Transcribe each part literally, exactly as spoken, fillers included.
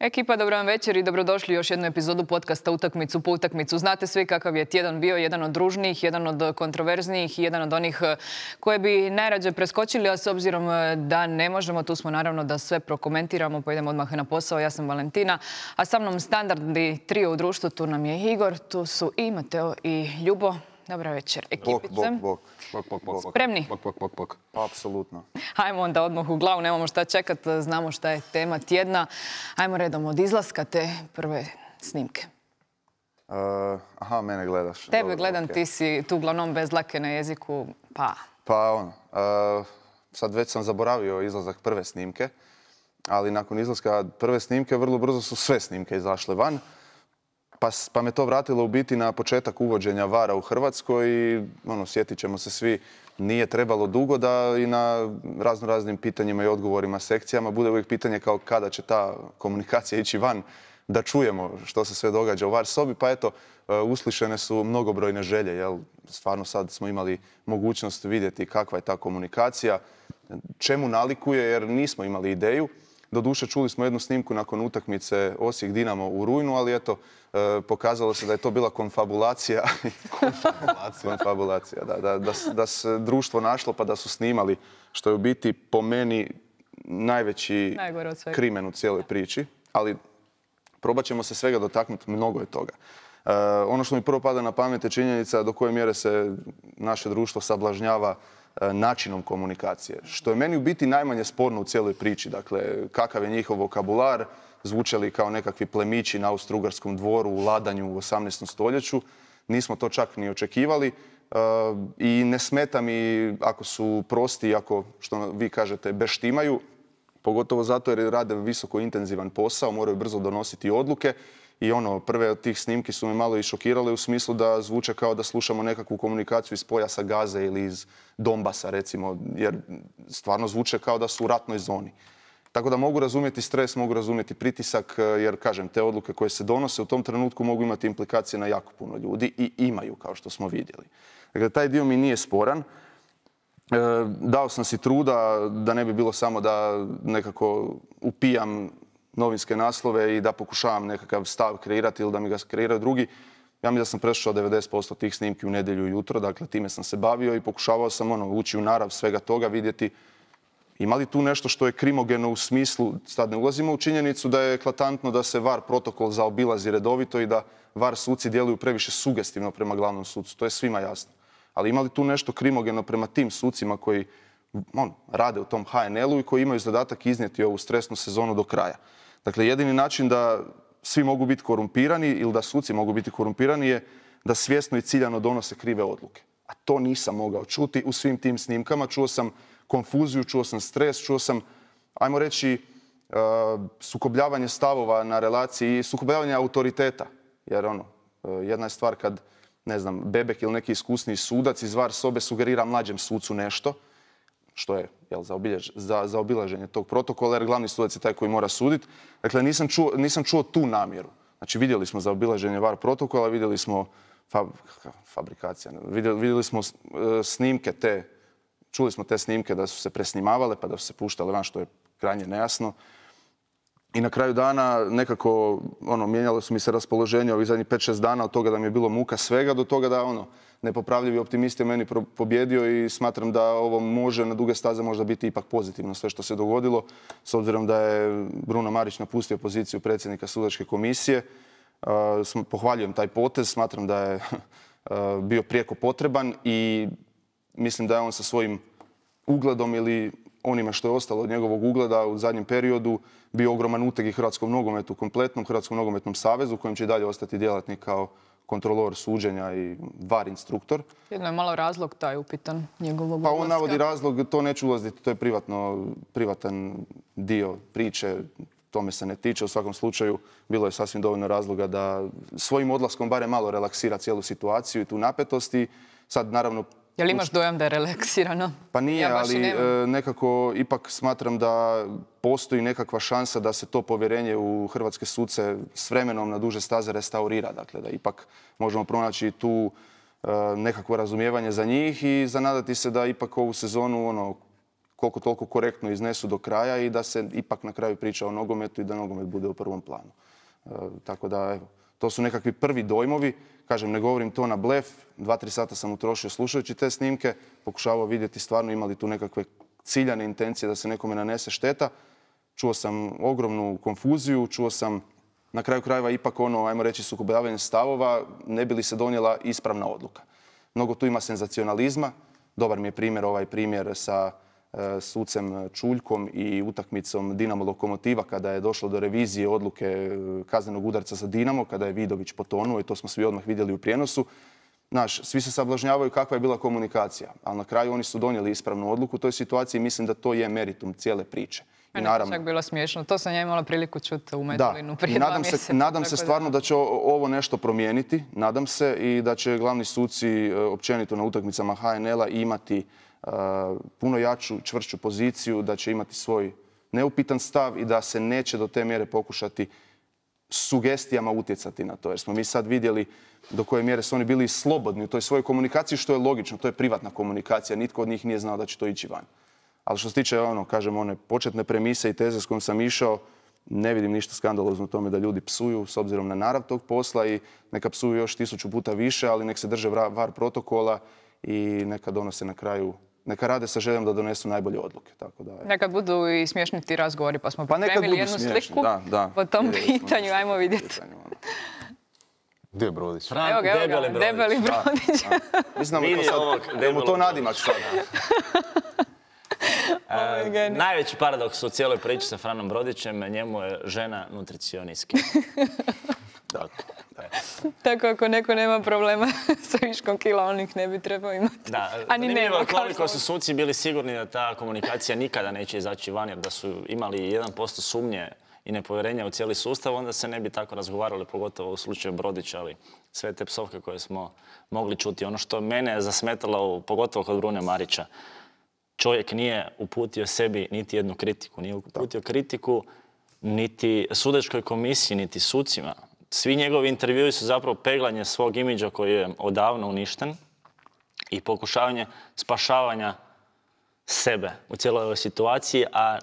Ekipa, dobro vam večer i dobrodošli u još jednu epizodu podcasta Utakmicu po utakmicu. Znate svi kakav je tjedan bio, jedan od ružnijih, jedan od kontroverznijih i jedan od onih koje bi najrađe preskočili, a s obzirom da ne možemo, tu smo naravno da sve prokomentiramo, pa idemo odmah na posao. Ja sam Valentina, a sa mnom standardni trio u društvu, tu nam je Igor, tu su i Mateo i Ljubo. Dobra večer, ekipice. Bok, bok, bok, bok, bok. Spremni? Bok, bok, bok, bok. Apsolutno. Hajmo onda odmah u glavu, nemamo šta čekat, znamo šta je tema tjedna. Hajmo redom od izlaska te prve snimke. Uh, aha, mene gledaš. Tebe Dobro, gledam, okay. Ti si tu uglavnom bez dlake na jeziku, pa... Pa ono, uh, sad već sam zaboravio izlazak prve snimke, ali nakon izlaska prve snimke vrlo brzo su sve snimke izašle van. Pa, pa me to vratilo u biti na početak uvođenja vara u Hrvatskoj i ono, sjetit ćemo se svi, nije trebalo dugo da i na razno raznim pitanjima i odgovorima sekcijama bude uvijek pitanje kao kada će ta komunikacija ići van, da čujemo što se sve događa u var sobi. Pa eto, uslišene su mnogobrojne želje, jel? Stvarno sad smo imali mogućnost vidjeti kakva je ta komunikacija, čemu nalikuje jer nismo imali ideju. Doduše, čuli smo jednu snimku nakon utakmice Osijek-Dinamo u rujnu, ali eto, e, pokazalo se da je to bila konfabulacija. konfabulacija. konfabulacija, da, da, da, da se društvo našlo pa da su snimali, što je u biti po meni najveći krimen u cijeloj priči. Ali probat ćemo se svega dotaknuti, mnogo je toga. E, ono što mi prvo pada na pamet je činjenica do koje mjere se naše društvo sablažnjava načinom komunikacije. Što je meni u biti najmanje sporno u cijeloj priči. Dakle, kakav je njihov vokabular, zvuče li kao nekakvi plemići na Austro-Ugarskom dvoru u ladanju u osamnaestom stoljeću. Nismo to čak ni očekivali. I ne smeta mi ako su prosti, ako, što vi kažete, beštimaju. Pogotovo zato jer rade visoko intenzivan posao, moraju brzo donositi odluke. I ono, prve od tih snimki su me malo i šokirale u smislu da zvuče kao da slušamo nekakvu komunikaciju iz pojasa Gaze ili iz Donbasa, recimo, jer stvarno zvuče kao da su u ratnoj zoni. Tako da mogu razumjeti stres, mogu razumjeti pritisak, jer, kažem, te odluke koje se donose u tom trenutku mogu imati implikacije na jako puno ljudi i imaju, kao što smo vidjeli. Dakle, taj dio mi nije sporan. E, dao sam si truda da ne bi bilo samo da nekako upijam novinske naslove i da pokušavam nekakav stav kreirati ili da mi ga kreiraju drugi. Ja mislim da sam prešao devedeset posto tih snimki u nedjelju jutro, dakle time sam se bavio i pokušavao sam ono, ući u narav svega toga, vidjeti ima li tu nešto što je krimogeno u smislu, sad ne ulazimo u činjenicu da je eklatantno da se var protokol zaobilazi redovito i da var suci djeluju previše sugestivno prema glavnom sucu, to je svima jasno. Ali ima li tu nešto krimogeno prema tim sucima koji on, rade u tom ha en el u i koji imaju zadatak iznijeti ovu stresnu sezonu do kraja. Dakle, jedini način da svi mogu biti korumpirani ili da suci mogu biti korumpirani je da svjesno i ciljano donose krive odluke. A to nisam mogao čuti u svim tim snimkama. Čuo sam konfuziju, čuo sam stres, čuo sam, ajmo reći, uh, sukobljavanje stavova na relaciji i sukobljavanje autoriteta. Jer ono, uh, jedna je stvar kad, ne znam, Bebek ili neki iskusniji sudac iz var sobe sugerira mlađem sucu nešto, što je jel, za, obiljež, za, za obilaženje tog protokola, jer glavni sudac je taj koji mora suditi. Dakle, nisam čuo, nisam čuo tu namjeru. Znači, vidjeli smo za obilaženje var protokola, vidjeli smo fab, fabrikacija, vidjeli, vidjeli smo uh, snimke te, čuli smo te snimke da su se presnimavale, pa da su se puštale van, što je krajnje nejasno. I na kraju dana nekako, ono, mijenjalo su mi se raspoloženje ovih zadnjih pet šest dana od toga da mi je bilo muka svega do toga da, ono, nepopravljivi optimist je meni pobjedio i smatram da ovo može na duge staze možda biti ipak pozitivno sve što se dogodilo, s obzirom da je Bruno Marić napustio poziciju predsjednika sudačke komisije. Uh, pohvaljujem taj potez, smatram da je uh, bio prijeko potreban i mislim da je on sa svojim ugledom ili onime što je ostalo od njegovog ugleda u zadnjem periodu bio ogroman uteg i hrvatskom nogometu, kompletnom Hrvatskom nogometnom savezu, kojem će i dalje ostati djelatnik kao kontrolor suđenja i var instruktor. Jedno je malo razlog taj upitan njegovog Pa odlaska. on navodi razlog, to neću ulaziti, to je privatno, privatan dio priče, tome se ne tiče. U svakom slučaju bilo je sasvim dovoljno razloga da svojim odlaskom barem malo relaksira cijelu situaciju i tu napetost i sad naravno... Jel imaš dojam da je relaksirano? Pa nije, ja ali nekako ipak smatram da postoji nekakva šansa da se to povjerenje u hrvatske suce s vremenom na duže staze restaurira. Dakle, da ipak možemo pronaći tu nekakvo razumijevanje za njih i zanadati se da ipak ovu sezonu ono, koliko toliko korektno iznesu do kraja i da se ipak na kraju priča o nogometu i da nogomet bude u prvom planu. E, tako da, evo, to su nekakvi prvi dojmovi. Kažem, ne govorim to na blef. Dva, tri sata sam utrošio slušajući te snimke. Pokušavao vidjeti stvarno imali tu nekakve ciljane intencije da se nekome nanese šteta. Čuo sam ogromnu konfuziju, čuo sam na kraju krajeva ipak ono, ajmo reći, sukobljavanje stavova, ne bi li se donijela ispravna odluka. Mnogo tu ima senzacionalizma. Dobar mi je primjer ovaj primjer sa e, sucem Čuljkom i utakmicom Dinamo Lokomotiva kada je došlo do revizije odluke kaznenog udarca za Dinamo, kada je Vidović potonuo i to smo svi odmah vidjeli u prijenosu. Znaš, svi se sablažnjavaju kakva je bila komunikacija, ali na kraju oni su donijeli ispravnu odluku u toj situaciji i mislim da to je meritum cijele priče. I naravno, čak bilo smiješno. To sam ja imala priliku čuti u Medulinu prije dva mjeseca. Se, nadam se stvarno da će ovo nešto promijeniti. Nadam se i da će glavni suci općenito na utakmicama H N L-a imati uh, puno jaču, čvršću poziciju, da će imati svoj neupitan stav i da se neće do te mjere pokušati sugestijama utjecati na to. Jer smo mi sad vidjeli do koje mjere su oni bili slobodni u toj svojoj komunikaciji, što je logično. To je privatna komunikacija. Nitko od njih nije znao da će to ići van. Ali što se tiče, ono, kažem, one početne premise i teze s kojom sam išao, ne vidim ništa skandalozno u tome da ljudi psuju s obzirom na narav tog posla i neka psuju još tisuću puta više, ali nek se drže var protokola i neka donose na kraju, neka rade sa željom da donesu najbolje odluke. Tako da, neka budu i smiješni ti razgovori, pa smo pripremili jednu smiješni sliku da, da. po tom pitanju. Ajmo vidjeti. Gdje je Brodić? Evo ga, evo ga, debeli, debeli Brodić. Mislim da mu to nadimak sad. E, najveći paradoks u cijeloj priči sa Franom Brodićem, njemu je žena nutricionistkinja. Tako ako neko nema problema sa viškom kila, on ih ne bi trebao imati. Da, zanimljivo je koliko su suci bili sigurni da ta komunikacija nikada neće izaći van, jer da su imali jedan posto sumnje i nepovjerenja u cijeli sustav, onda se ne bi tako razgovarali, pogotovo u slučaju Brodića, ali sve te psovke koje smo mogli čuti. Ono što mene je zasmetalo, pogotovo kod Brune Marića, čovjek nije uputio sebi niti jednu kritiku. Nije uputio kritiku niti sudačkoj komisiji, niti sucima. Svi njegovi intervjui su zapravo peglanje svog imidža koji je odavno uništen i pokušavanje spašavanja sebe u cijeloj ovoj situaciji, a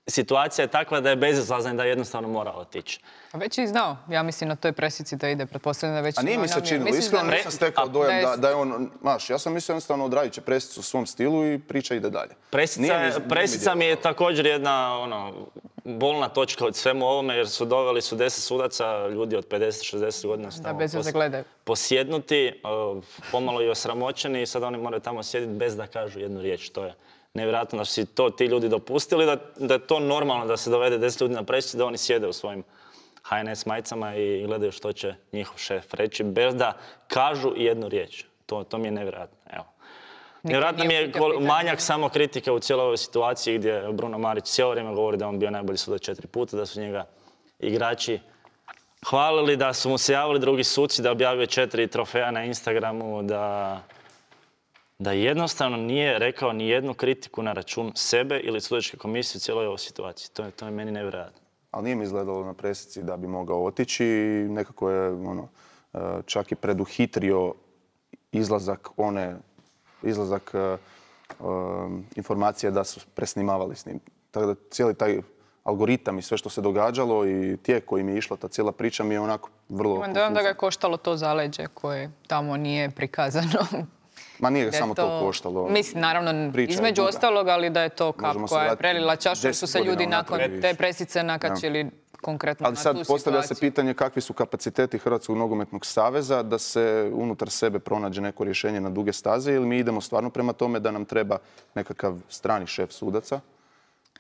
situacija je takva da je bezizlazna i da jednostavno mora otići. A već je znao, ja mislim, na toj presici da ide, pretpostavljam da već... A nije mi se činilo, iskreno nisam stekao dojam da, da je on... Maš, ja sam mislio jednostavno odradit će presicu u svom stilu i priča ide dalje. Presica, mi, presica mi je također jedna ono, bolna točka od svemu ovome, jer su doveli su deset sudaca, ljudi od pedeset šezdeset godina su tamo pos, posjednuti, pomalo i osramoćeni i sad oni moraju tamo sjediti bez da kažu jednu riječ. To je nevjerojatno da su si to ti ljudi dopustili, da, da je to normalno da se dovede deset ljudi na presicu, da oni sjede u svojim H N S majicama i gledaju što će njihov šef reći, bez da kažu jednu riječ. To, to mi je nevjerojatno. Evo. Nevjerojatno mi je manjak samo kritike u cijeloj ovoj situaciji gdje Bruno Marić cijelo vrijeme govori da on bio najbolji sudac četiri puta, da su njega igrači hvalili, da su mu se javili drugi suci, da objavio četiri trofeja na Instagramu, da... da jednostavno nije rekao ni jednu kritiku na račun sebe ili sudačke komisije u cijeloj ovoj situaciji. To je, to je meni nevjerojatno. Ali nije mi izgledalo na presici da bi mogao otići i nekako je ono, čak i preduhitrio izlazak one, izlazak um, informacije da su presnimavali s njim. Tako da cijeli taj algoritam i sve što se događalo i tijek kojim je išla ta cijela priča mi je onako vrlo... Imam dojam da ga je koštalo to zaleđe koje tamo nije prikazano. Ma nije ga samo to, to koštalo. Mislim, naravno, između ostalog, ali da je to kap koja je prelila čašu, su se ljudi nakon te presice nakačili ja. konkretno ali na tu situaciju. Ali sad postavlja se pitanje kakvi su kapaciteti Hrvatskog nogometnog saveza da se unutar sebe pronađe neko rješenje na duge staze ili mi idemo stvarno prema tome da nam treba nekakav strani šef sudaca.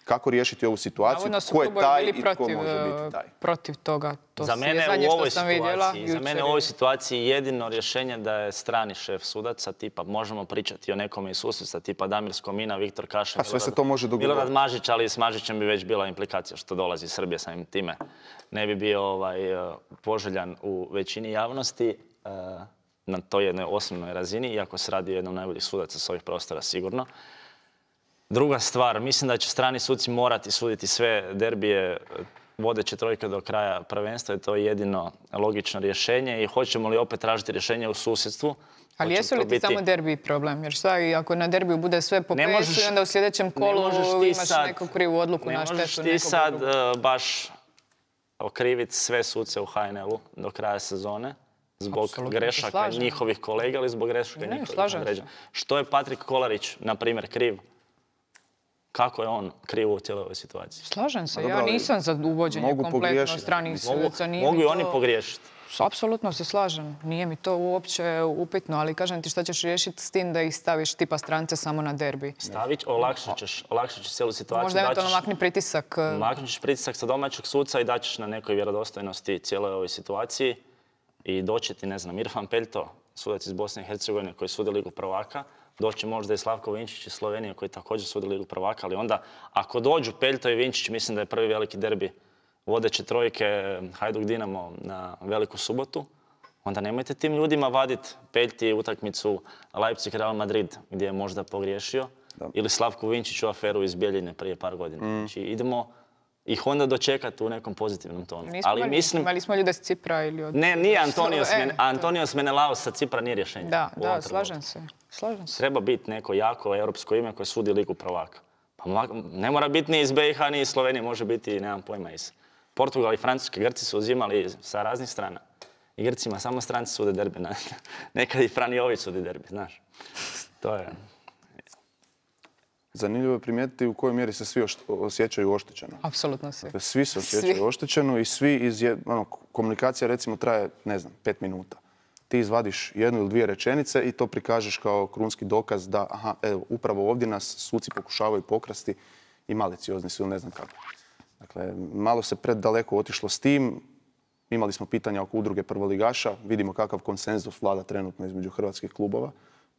Kako riješiti ovu situaciju, ko je taj i tko može biti taj. Protiv toga. To za mene, u ovoj situaciji, za mene u ovoj situaciji jedino rješenje da je strani šef sudaca, tipa možemo pričati o nekome iz susjedstva, tipa Damir Skomina, Viktor Kaša, a sve se to može dogovoriti. Milorad Mažić, ali s Mažićem bi već bila implikacija što dolazi iz Srbije samim time. Ne bi bio ovaj, poželjan u većini javnosti na toj jednoj osnovnoj razini, iako se radi o jednom najboljih sudaca s ovih prostora sigurno. Druga stvar, mislim da će strani suci morati suditi sve derbije vodeće trojke do kraja prvenstva i to je jedino logično rješenje i hoćemo li opet tražiti rješenje u susjedstvu. Ali jesu li ti biti... samo derbi problem? Jer šta i ako na derbiju bude sve po pesu i onda u sljedećem kolu imaš sad, neku krivu odluku na štetu nekog drugog? Ne možeš ti sad uh, baš okriviti sve suce u H N L-u do kraja sezone zbog Absolutno, grešaka njihovih kolega ili zbog grešaka ne, njihovih određena. Što je Patrik Kolarić, na primjer, kriv? Kako je on kriv u cijeloj ovoj situaciji? Slažem se, ja nisam za uvođenje kompletno stranih sudaca. Mogu i oni pogriješiti. Apsolutno se slažem. Nije mi to uopće upitno, ali kažem ti šta ćeš riješiti s tim da ih staviš tipa strance samo na derbi. Stavit, olakšat ćeš, olakšat ćeš cijelu situaciju. Možda eventualno makni pritisak. Maknut ćeš pritisak sa domaćeg suca i daćeš na nekoj vjerodostojnosti cijeloj ovoj situaciji. I doći ti, ne znam, Irfan Peljto, sudac iz Bosne i Hercegovine koji sudi Ligu prvaka. Doći možda i Slavko Vinčić iz Slovenije koji također sudi Ligu prvaka. Ali onda, ako dođu Peljto i Vinčić, mislim da je prvi veliki derbi vodeće trojke Hajduk Dinamo na Veliku subotu, onda nemojte tim ljudima vaditi Peljti utakmicu Leipzig Real Madrid gdje je možda pogriješio da. Ili Slavku Vinčiću aferu iz Bjeljine prije par godina. Mm. Znači idemo ih onda dočekati u nekom pozitivnom tonu. Nismo ali mislim... imali smo ljude s Cipra ili od... Ne, nije Antonios, e, Antonios Menelaos sa Cipra nije rješenje. Da, da, slažem se. slažem se. Treba biti neko jako europsko ime koje sudi Ligu prvaka. Pa ne mora biti ni iz B i H, ni iz Slovenije, može biti, nemam pojma, iz Portugal i Francuske. Grci su uzimali sa raznih strana. I Grcima samo stranci sude derbi. Nekad i Fran Jović sudi derbi, znaš. To je... Zanimljivo je primijetiti u kojoj mjeri se svi osjećaju oštećeno. Apsolutno svi. Dakle, svi se osjećaju svi. oštećeno i svi iz... Ono, komunikacija recimo traje, ne znam, pet minuta. Ti izvadiš jednu ili dvije rečenice i to prikažeš kao krunski dokaz da, aha, evo, upravo ovdje nas suci pokušavaju pokrasti i maliciozni su, ne znam kako. Dakle, malo se predaleko otišlo s tim. Imali smo pitanja oko udruge prvoligaša. Vidimo kakav konsenzus vlada trenutno između hrvatskih klubova.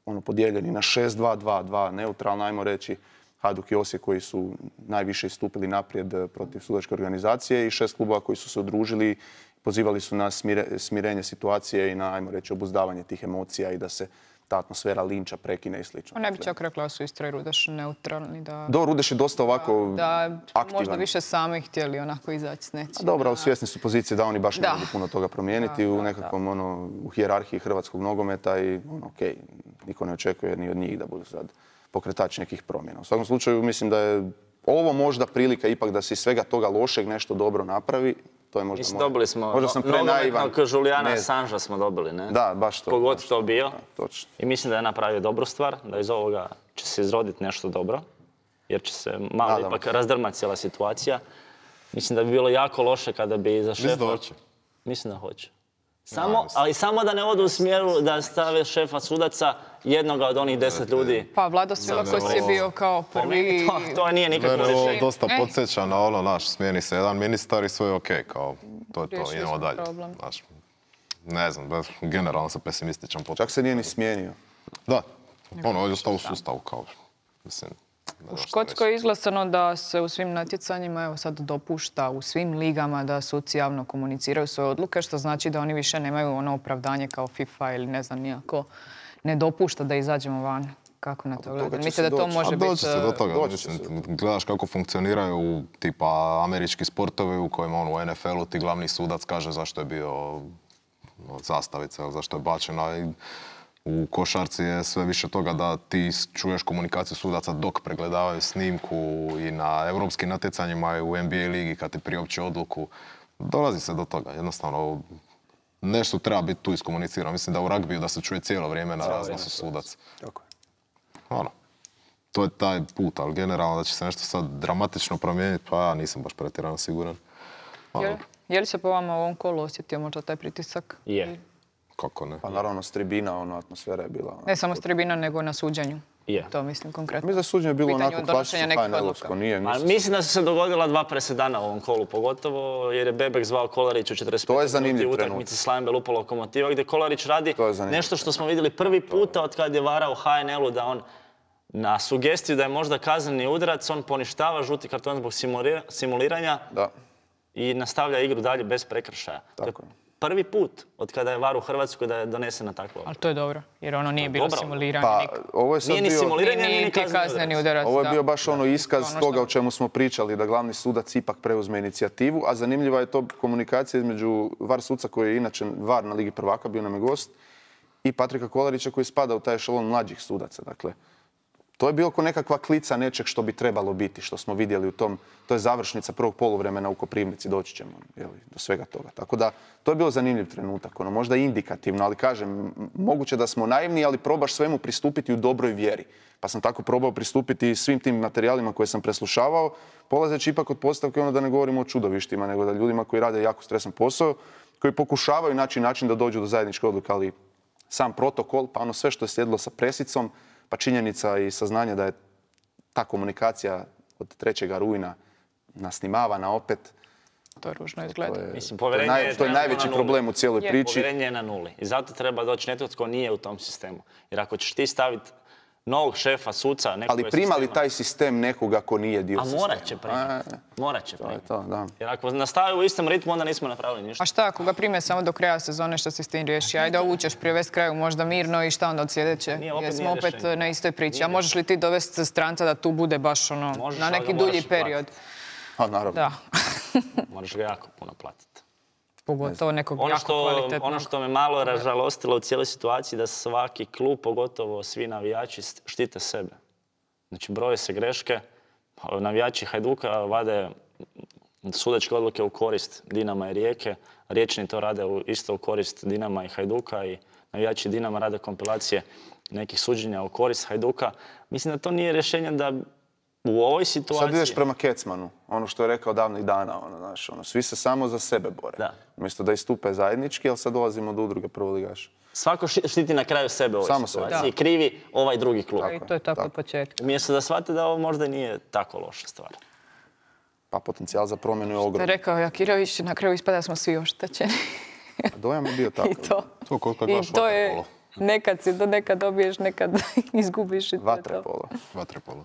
Ono, podijeljeni na šest dva dva dva, neutralno, ajmo reći, Hajduk i Osijek koji su najviše istupili naprijed protiv sudačke organizacije i šest klubova koji su se udružili, pozivali su na smire, smirenje situacije i na, ajmo reći, obuzdavanje tih emocija i da se ta atmosfera linča prekine i slično. Ne bi čak rekla da su Istra i Rudeš neutralni. Da, Do, Rudeš je dosta ovako da, aktivan. Možda više sami htjeli onako izaći s nečim. Dobro, ali svjesni su pozicije da oni baš ne mogu puno toga promijeniti da, u nekakvom da. Ono, u hijerarhiji hrvatskog nogometa i ono, okej, okay, niko ne očekuje ni od njih da budu sad pokretač nekih promjena. U svakom slučaju mislim da je ovo možda prilika ipak da se iz svega toga lošeg nešto dobro napravi. To je možda Mislim, dobili smo možda sam nogometnog Julijana Assangea smo dobili, ne? Da, baš to. Kogod baš to bio. Da, točno. I mislim da je napravio dobru stvar, da iz ovoga će se izroditi nešto dobro, jer će se malo Nadam. ipak razdrmati cijela situacija. Mislim da bi bilo jako loše kada bi za šefa... Mislim da hoće. Mislim da hoće. Samo, ali samo da ne odu u smjeru da stave šefa sudaca jednoga od onih deset ljudi. Pa Vlado Svilakos je bio kao prvi... To, to nije nikakvo rješenje. Mene ovo dosta podsjeća na ono, naš, smijeni se jedan ministar i sve je okej, kao to je to, idemo dalje. Naš, ne znam, generalno sam pesimističan. Čak se nije ni smijenio. Da, ono, ovdje ostao u sustavu, kao, mislim... U Škotskoj je izglasano da se u svim natjecanjima evo sad dopušta u svim ligama da suci javno komuniciraju svoje odluke, što znači da oni više nemaju ono opravdanje kao FIFA ili ne znam nijako ne dopušta da izađemo van. Kako na to gledate? Mislite da to može biti... Doći se do toga. Mislim, gledaš kako funkcioniraju tipa američki sportovi u kojima on u N F L-u ti glavni sudac kaže zašto je bio zastavica, zašto je bačena. U košarci je sve više toga da ti čuješ komunikaciju sudaca dok pregledavaju snimku i na europskim natjecanjima i u N B A ligi kad ti priopći odluku. Dolazi se do toga. Jednostavno, nešto treba biti tu iskomunicirano. Mislim da u ragbiju da se čuje cijelo vrijeme na raznosu sudac. Tako je. Ono, to je taj put, ali generalno da će se nešto sad dramatično promijeniti, pa ja nisam baš pretjerano siguran. Je, je li se po vama u ovom kolu osjetio možda taj pritisak? Je. Kako ne? Pa naravno s tribina, ono, atmosfera je bila... Ne samo s tribina, nego na suđenju. Je. To mislim konkretno. Mislim da suđenje je bilo onako klasično H N L-ovsko. Nije, mislim... mislim da su se dogodila dva presedana u ovom kolu, pogotovo jer je Bebek zvao Kolarić u četrdeset pet minuti u utakmici Slavija Lupo Lokomotiva, gdje Kolarić radi nešto što smo vidjeli prvi puta od kad je varao u H N L-u, da on na sugestiju da je možda kazneni udarac, on poništava žuti karton zbog simuliranja da. i nastavlja igru dalje bez prekršaja. Tako je. prvi put od kada je var u Hrvatskoj da je donesena takva. Ali to je dobro, jer ono nije bilo dobro. simuliranje. Pa, nikad. ovo je sad Nije ni bio... simuliranje, Nije ni ni kazneni udarac. Ovo je da. bio baš ono iskaz Ono što- toga o čemu smo pričali, da glavni sudac ipak preuzme inicijativu, a zanimljiva je to komunikacija između var suca koji je inače var na Ligi prvaka, bio nam je gost, i Patrika Kolarića koji spada u taj ešalon mlađih sudaca. Dakle, to je bilo ko nekakva klica nečeg što bi trebalo biti, što smo vidjeli u tom, to je završnica prvog poluvremena u Koprivnici, doći ćemo jeli, do svega toga. Tako da, to je bilo zanimljiv trenutak, ono, možda indikativno, ali kažem, m- moguće da smo naivni, ali probaš svemu pristupiti u dobroj vjeri. Pa sam tako probao pristupiti svim tim materijalima koje sam preslušavao, polazeći ipak od postavke ono da ne govorimo o čudovištima, nego da ljudima koji rade jako stresan posao, koji pokušavaju naći način da dođu do zajedničke odluke, ali sam protokol, pa ono sve što je slijedilo sa presicom, pa činjenica i saznanje da je ta komunikacija od trećeg rujna nasnimavana opet, To je ružno izgleda. to je, Mislim, to je, povjerenje naj- je to je trenutno najveći na nuli. problem u cijeloj Je. priči. Povjerenje je na nuli. I zato treba doći netko tko nije u tom sistemu. Jer ako ćeš ti staviti novog šefa, suca, nekoga Ali prima li sistema- taj sistem nekoga ko nije dio A sistema? morat će primiti. A, Morat će To je primiti. to, da. Jer ako nastavi u istom ritmu, onda nismo napravili ništa. A šta ako ga prime samo do kraja sezone, što se s tim riješi? Ajde, ovu ćeš privesti kraju možda mirno i šta onda od sljedeće? Nije, opet Jer smo nije opet rješenje. na istoj priči. Nije A možeš li ti dovesti stranca da tu bude baš ono, Možeš, na ali neki ga dulji moraš i period? platiti. A, naravno. Da. Moraš ga jako puno platiti. Pogotovo nekog Ono jako što, kvalitetnog. ono što me malo ražalostilo u cijeloj situaciji da svaki klub, pogotovo svi navijači, štite sebe. Znači, broje se greške, navijači Hajduka vade sudačke odluke u korist Dinama i Rijeke, Riječni to rade u- isto u korist Dinama i Hajduka i navijači Dinama rade kompilacije nekih suđenja u korist Hajduka. Mislim da to nije rješenje da u ovoj situaciji... Sad ideš prema Kecmanu, ono što je rekao davnih dana, ono, znaš, ono, svi se samo za sebe bore. Da. Umjesto da istupe zajednički, ali sad dolazimo do udruge prvoligaša. Svako ši- štiti na kraju sebe u ovoj Samo sebe. situaciji i krivi ovaj drugi klub. I to je tako od početka. Umjesto da shvate da ovo možda nije tako loša stvar. Pa potencijal za promjenu je To je ogroman. rekao Jakirović, na kraju ispada da smo svi oštećeni. Dojam je bio tako. I to. To kod kad I gledaš to je, vaterpolo. nekad si, do nekad dobiješ, nekad izgubiš i to je to. Vaterpolo. Vaterpolo.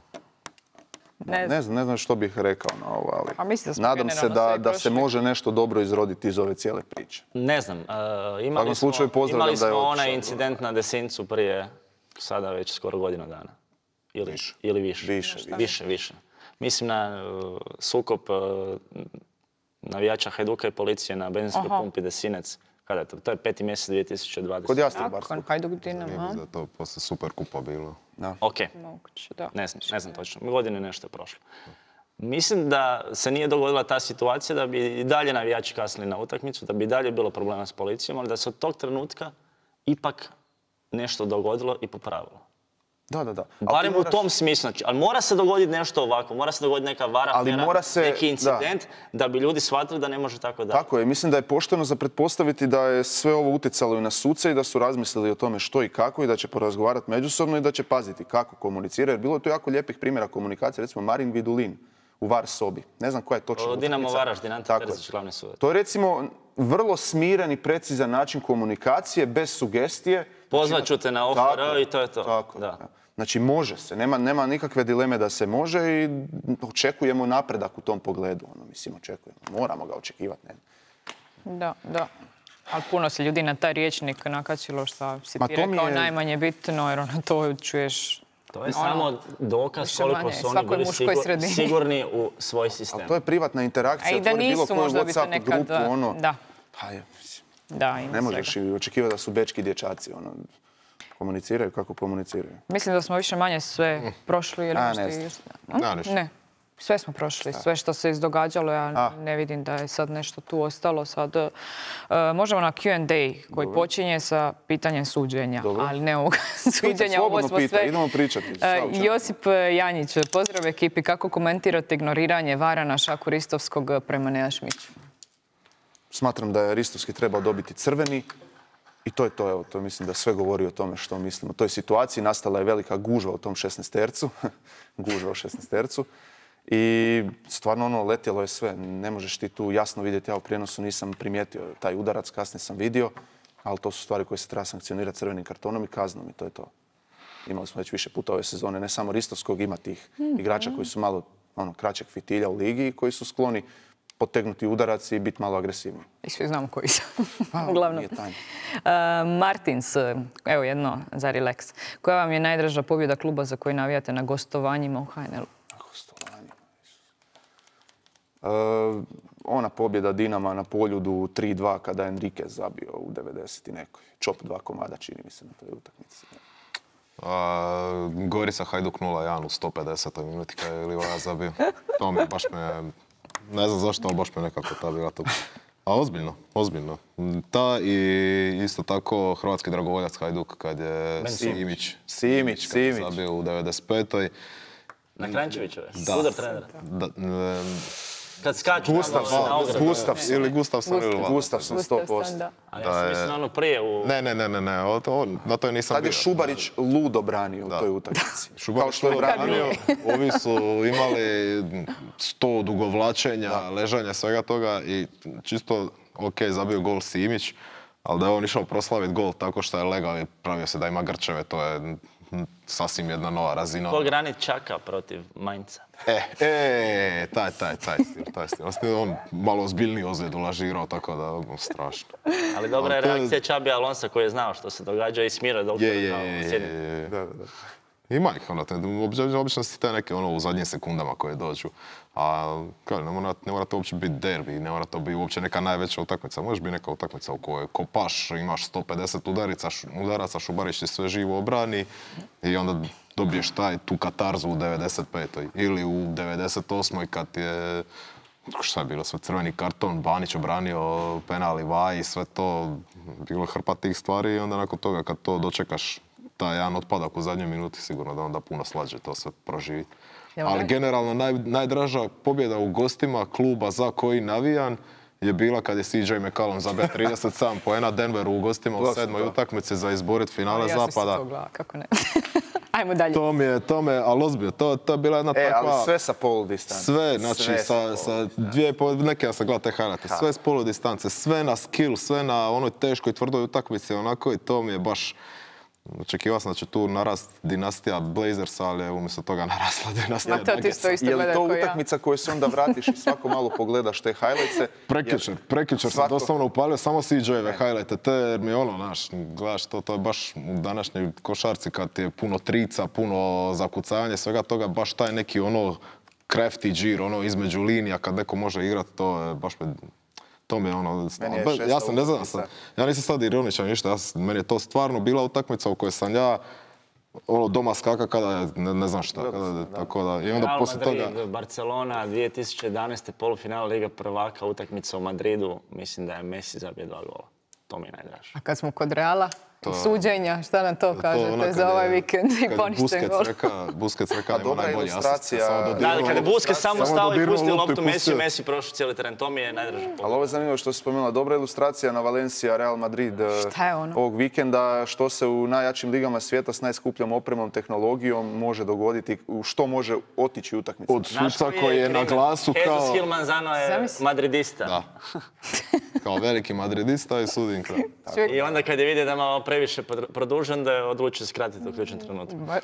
Ne znam. Ne znam, ne znam što bih rekao na ovo, ali A mislim da smo nadam se generalno da, sve da se prošli. može nešto dobro izroditi iz ove cijele priče. Ne znam, uh, imali svakom smo, slučaju pozdravljam imali da je smo otišao. onaj incident na Desincu prije sada već skoro godinu dana. Ili više. Ili više. Više, više. Više, više. Mislim na uh, sukob uh, navijača Hajduka i policije na benzinskoj Aha. pumpi Desinec. Kada je to? To je peti mjesec dvije tisuće dvadeset. Kod Nakon Jastrebarskog. Hajduk Dinamo, Nije da je to posle super kupa bilo. Ok, moguće, da. ne znam, ne znam točno. Godine nešto je prošlo. Mislim da se nije dogodila ta situacija da bi i dalje navijači kasnili na utakmicu, da bi i dalje bilo problema s policijom, ali da se od tog trenutka ipak nešto dogodilo i popravilo. Da, da, da. Ali ti Barem u moraš- tom smislu. Znači, ali mora se dogoditi nešto ovako, mora se dogoditi neka vara, Ali afera, mora se- neki incident, da. bi ljudi shvatili da ne može tako dalje. Tako je, mislim da je pošteno za pretpostaviti da je sve ovo utjecalo i na suce i da su razmislili o tome što i kako i da će porazgovarati međusobno i da će paziti kako komuniciraju. Jer bilo je tu jako lijepih primjera komunikacije, recimo Marin Vidulin u VAR sobi. Ne znam koja je točno O, Dinamo utakmica. Varaždin, Ante Tako je. Terzić, glavni sudac. To je recimo vrlo smiren i precizan način komunikacije, bez sugestije. Pozvat ću te na O F R Tako je, i to je to. Tako je, Da. da. Znači može se, nema, nema nikakve dileme da se može i očekujemo napredak u tom pogledu. Ono, mislim, očekujemo. Moramo ga očekivati. Ne? Da, da. Ali puno se ljudi na taj riječnik nakačilo što si Ma ti to mi rekao je- najmanje bitno, jer ono to čuješ. To je Ono, samo dokaz više koliko manje, su oni svakoj bili muškoj sigur- sredini. sigurni u svoj sistem. To je privatna A interakcija, i da otvori bilo nisu, koju možda bi se WhatsApp nekad... grupu, ono. Da, Pa je, mislim, da, ima ne možeš svega. i očekivati da su bečki dječaci, ono. Komuniciraju kako komuniciraju. Mislim da smo više manje sve prošli. Ili A, možda ne i- znam. Da, ništa. Ne, sve smo prošli, sve što se izdogađalo, ja A. ne vidim da je sad nešto tu ostalo. Sad, e, možemo na Q and A koji počinje sa pitanjem suđenja, Dobro. ali ne ovog suđenja, ovo slobodno smo pitaj, sve... idemo pričati. E, Šta u čemu? Josip Janjić, pozdrav ekipi, kako komentirate ignoriranje vara na Šaku Ristovskog prema Nejašmiću? Smatram da je Ristovski trebao dobiti crveni i to je to, evo, to mislim da sve govori o tome što mislim. U toj situaciji nastala je velika gužva u tom šesnaestercu, gužva u šesnaestercu i stvarno ono, letjelo je sve. Ne možeš ti tu jasno vidjeti, ja u prijenosu nisam primijetio taj udarac, kasnije sam vidio, ali to su stvari koje se treba sankcionirati crvenim kartonom i kaznom i to je to. Imali smo već više puta ove sezone, ne samo Ristovskog, ima tih igrača koji su malo ono, kraćeg fitilja u ligi i koji su skloni potegnuti udarac i biti malo agresivniji. I svi znamo koji su. Pa, Uglavnom. nije tajna. Uh, Martins, evo jedno za relax. Koja vam je najdraža pobjeda kluba za koji navijate na gostovanjima u H N L-u? Na gostovanjima? Uh, ona pobjeda Dinama na Poljudu tri dva kada je Enriquez zabio u devedeset i nekoj. Čop dva komada, čini mi se, na toj utakmici. Uh, Gorica Hajduk nula jedan u sto pedesetoj minuti kada je Livaja zabio. To mi baš me, ne znam zašto, ali baš me nekako ta bila to. A ozbiljno, ozbiljno. Ta i isto tako hrvatski dragovoljac Hajduk kad je Simić. Simić, Simić. Zabio u devedeset petoj. Na Krančevićove, Da. sudar trenera. Da, e, Kad skaču Gustafsson, na ogradu. Gustafsson. ili Gustafsson ili Vlada. Gustafsson, sto posto. Da. A ja sam mislim ono prije u... Ne, ne, ne, ne, ne, o, to, na to nisam Tad je bio. Šubarić ludo branio u toj utakmici. Šubarić što je branio, ovi su imali sto odugovlačenja, ležanja, svega toga i čisto, ok, zabio gol Simić, ali da je on išao proslaviti gol tako što je legao i pravio se da ima grčeve, to je sasvim jedna nova razina. Ko Granit Čaka protiv Mainca. E, e, taj, taj, taj stil, taj stil. On malo ozbiljniji ozljed ulažirao, tako da, strašno. Ali dobra je Ali to je- reakcija Čabi Alonsa koji je znao što se događa i smirao doktora. Je, je, kao je, sjednicu. je, je. Da, da, da. Ima ih, ono, te, obično, obično si te neke ono, u zadnjim sekundama koje dođu. A kao, ne, mora, ne mora to uopće biti derbi, ne mora to biti uopće neka najveća utakmica. Može biti neka utakmica u kojoj kopaš, imaš sto pedeset udarica, š, udaraca, Šubarić ti sve živo obrani i onda dobiješ taj, tu katarzu u devedeset petoj ili u devedeset osmoj kad je, šta je bilo, sve crveni karton, Banić obranio penal i Vaj, sve to, bilo je hrpa tih stvari i onda nakon toga kad to dočekaš taj jedan otpadak u zadnjoj minuti, sigurno da onda puno slađe to sve proživi. Jel Ali ne? generalno naj, najdraža pobjeda u gostima kluba za koji navijan je bila kad je C J McCallum zabio trideset sedam poena Denveru u gostima u sedmoj utakmici za izborit finale Ja sam se zapada. to gledala, kako ne. Ajmo dalje. To mi je, to me, ali ozbiljno, to, to je bila jedna E, takva... ali sve sa polu distance. Sve, znači Sve sa, polu sa distance. dvije i pol, neke ja sam gledao te highlighte, sve s polu distance, sve na skill, sve na onoj teškoj, tvrdoj utakmici, onako i to mi je baš... Očekivao sam da će tu narast dinastija Blazersa, ali je umjesto toga narasla dinastija Ma to ti Nuggetsa. što isto Je li gleda to ko ja. utakmica koju se onda vratiš i svako malo pogledaš te highlightse? Prekjučer, prekjučer sam svako- doslovno upalio samo C J-eve highlighte, te jer mi je ono, znaš, gledaš to, to je baš u današnjoj košarci kad je puno trica, puno zakucavanja, svega toga, baš taj neki ono crafty džir, ono između linija kad neko može igrati, to je baš me... To mi je ono, Meni je ba- šesta ja sam, ne znam, utakmica. sam, ja nisam sad ironičan ništa, ja sam, meni je to stvarno bila utakmica u kojoj sam ja ono doma skaka kada je, ne, ne znam šta, kada je, tako da, i onda Real poslije Madrid, toga... Barcelona, dvije tisuće jedanaeste polufinale Liga prvaka, utakmica u Madridu, mislim da je Messi zabio dva gola. To mi je najdraže. A kad smo kod Reala i To- suđenja, šta nam to kažete ono kad za je- ovaj vikend i kad poništen Busquets gol? reka, Busquets reka, nema dobra najbolji ilustracija- asist, samo Da, dodirnuo ali kada je loptu. Busquets samo Samo stao i dodirnuo pustio loptu i loptu Messi, pustio. Messi prošao cijeli teren. To mi je najdraže. Ali ovo je zanimljivo što si spomenula. Dobra ilustracija na Valencia Real Madrid eh, Šta je ono? ovog vikenda. Što se u najjačim ligama svijeta s najskupljom opremom, tehnologijom može dogoditi, u što može otići utakmica. Od suca koji je na glasu kao... Jesus Gil Manzano je Zamisli. madridista. Da. Kao veliki madridista i sudin kraj. Čovjek- I onda kad je vidio da je malo previše podr- produžen, da je odlučio skratiti u ključnom trenutku. Bar,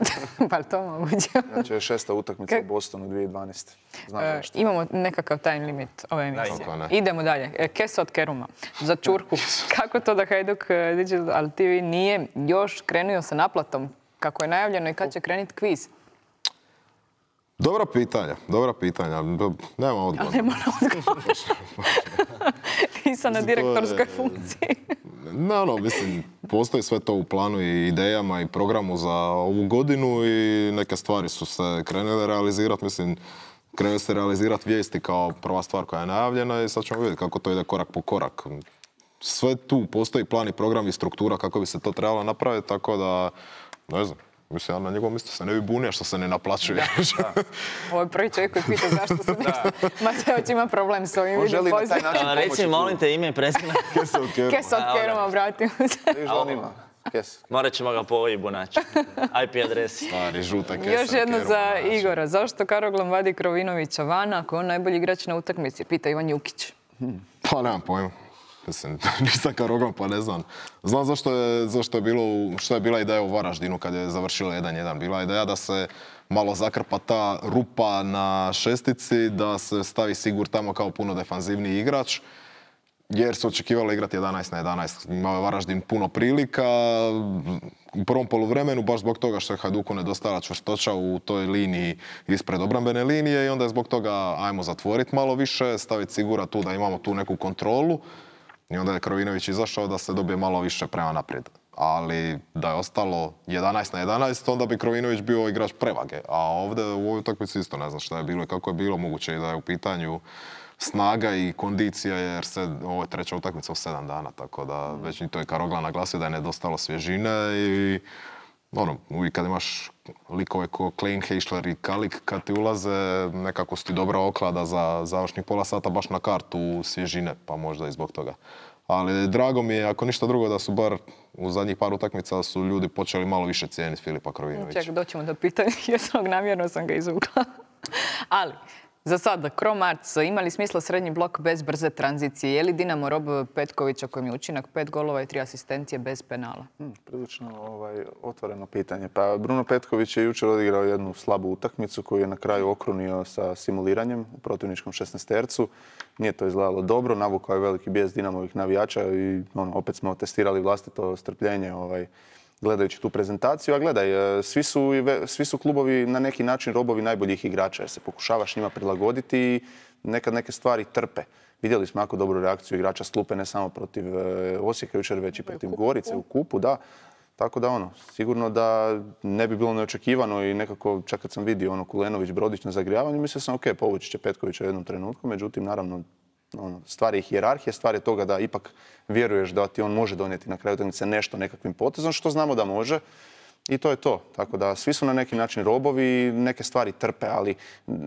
bar to moguće. Znači je šesta utakmica Kak- u Bostonu dvije tisuće dvanaeste. Znam E, zašto. imamo nekakav time limit ove emisije. Kako ne. Idemo dalje. E, Kesa od Keruma. Za Čurku. Kako to da Hajduk e, Digital T V nije još krenuo sa naplatom kako je najavljeno i kad će krenuti kviz? Dobra pitanja, dobra pitanja. B- Nema odgovora. Ne moram odgovoriti. Nisam na Mislim, to je- direktorskoj funkciji. Ne, ono, mislim, postoji sve to u planu i idejama i programu za ovu godinu i neke stvari su se krenule realizirati. Mislim, krenuli se realizirati vijesti kao prva stvar koja je najavljena i sad ćemo vidjeti kako to ide korak po korak. Sve tu postoji plan i program i struktura kako bi se to trebalo napraviti, tako da, ne znam, mislim, ja na njegovom mjestu se ne bi bunio što se ne naplaćuje. Ovo je prvi čovjek koji pita zašto se nešto... Mateoć ima problem s ovim On želi video na taj način A, pomoći Reci, molim te, ime i prezime. Kesa od Keruma. Kesa od Keruma, vratimo se. Viš da on ima. Kes. Morat ćemo ga po ojibu naći. I P adresi. Stari, žuta kesa Još od jedno Keruma, za znači. Igora. Zašto Karoglan vadi Krovinovića van ako je on najbolji igrač na utakmici? Pita Ivan Jukić. Pa nemam pojma. Mislim, nisam Karoglan, pa ne znam. Znam zašto je, zašto je bilo, u- što je bila ideja u Varaždinu kad je završilo jedan jedan. Bila je ideja da se malo zakrpa ta rupa na šestici, da se stavi Sigur tamo kao puno defanzivniji igrač. Jer su očekivali igrati jedanaest na jedanaest. Imao je Varaždin puno prilika u prvom poluvremenu, baš zbog toga što je Hajduku nedostajala čvrstoća u toj liniji ispred obrambene linije i onda je zbog toga ajmo zatvoriti malo više, staviti Sigura tu da imamo tu neku kontrolu i onda je Krovinović izašao da se dobije malo više prema naprijed. Ali da je ostalo jedanaest na jedanaest, onda bi Krovinović bio igrač prevage. A ovdje u ovoj utakmici isto ne znam šta je bilo i kako je bilo, moguće i da je u pitanju snaga i kondicija, jer se ovo je treća utakmica u sedam dana, tako da već i to je Karogla naglasio da je nedostalo svježine i ono, uvijek kad imaš likove ko Klein, Heišler i Kalik, kad ti ulaze, nekako su ti dobra oklada za završnih pola sata baš na kartu svježine, pa možda i zbog toga. Ali drago mi je, ako ništa drugo, da su bar u zadnjih par utakmica su ljudi počeli malo više cijeniti Filipa Krovinovića. Ček, doćemo do pitanja, jesnog namjerno sam ga izvukla. Ali, za sada, Kro-Marc, ima li smisla srednji blok bez brze tranzicije? Je li Dinamo rob Petkovića kojem je učinak pet golova i tri asistencije bez penala? Hmm, prilično ovaj, otvoreno pitanje. Pa Bruno Petković je jučer odigrao jednu slabu utakmicu koju je na kraju okrunio sa simuliranjem u protivničkom šesnaestercu. Nije to izgledalo dobro, navukao je veliki bijes Dinamovih navijača i ono, opet smo testirali vlastito strpljenje ovaj, gledajući tu prezentaciju. A gledaj, svi su, svi su klubovi na neki način robovi najboljih igrača jer se pokušavaš njima prilagoditi i nekad neke stvari trpe. Vidjeli smo jako dobru reakciju igrača s klupe, ne samo protiv Osijeka jučer, već i protiv Gorice u kupu, da. Tako da ono, sigurno da ne bi bilo neočekivano i nekako, čak kad sam vidio ono Kulenović, Brodić na zagrijavanju, mislio sam ok, povući će Petkovića u jednom trenutku, međutim, naravno, ono, stvar je hijerarhije, stvar je toga da ipak vjeruješ da ti on može donijeti na kraju utakmice nešto nekakvim potezom, što znamo da može. I to je to. Tako da svi su na neki način robovi i neke stvari trpe, ali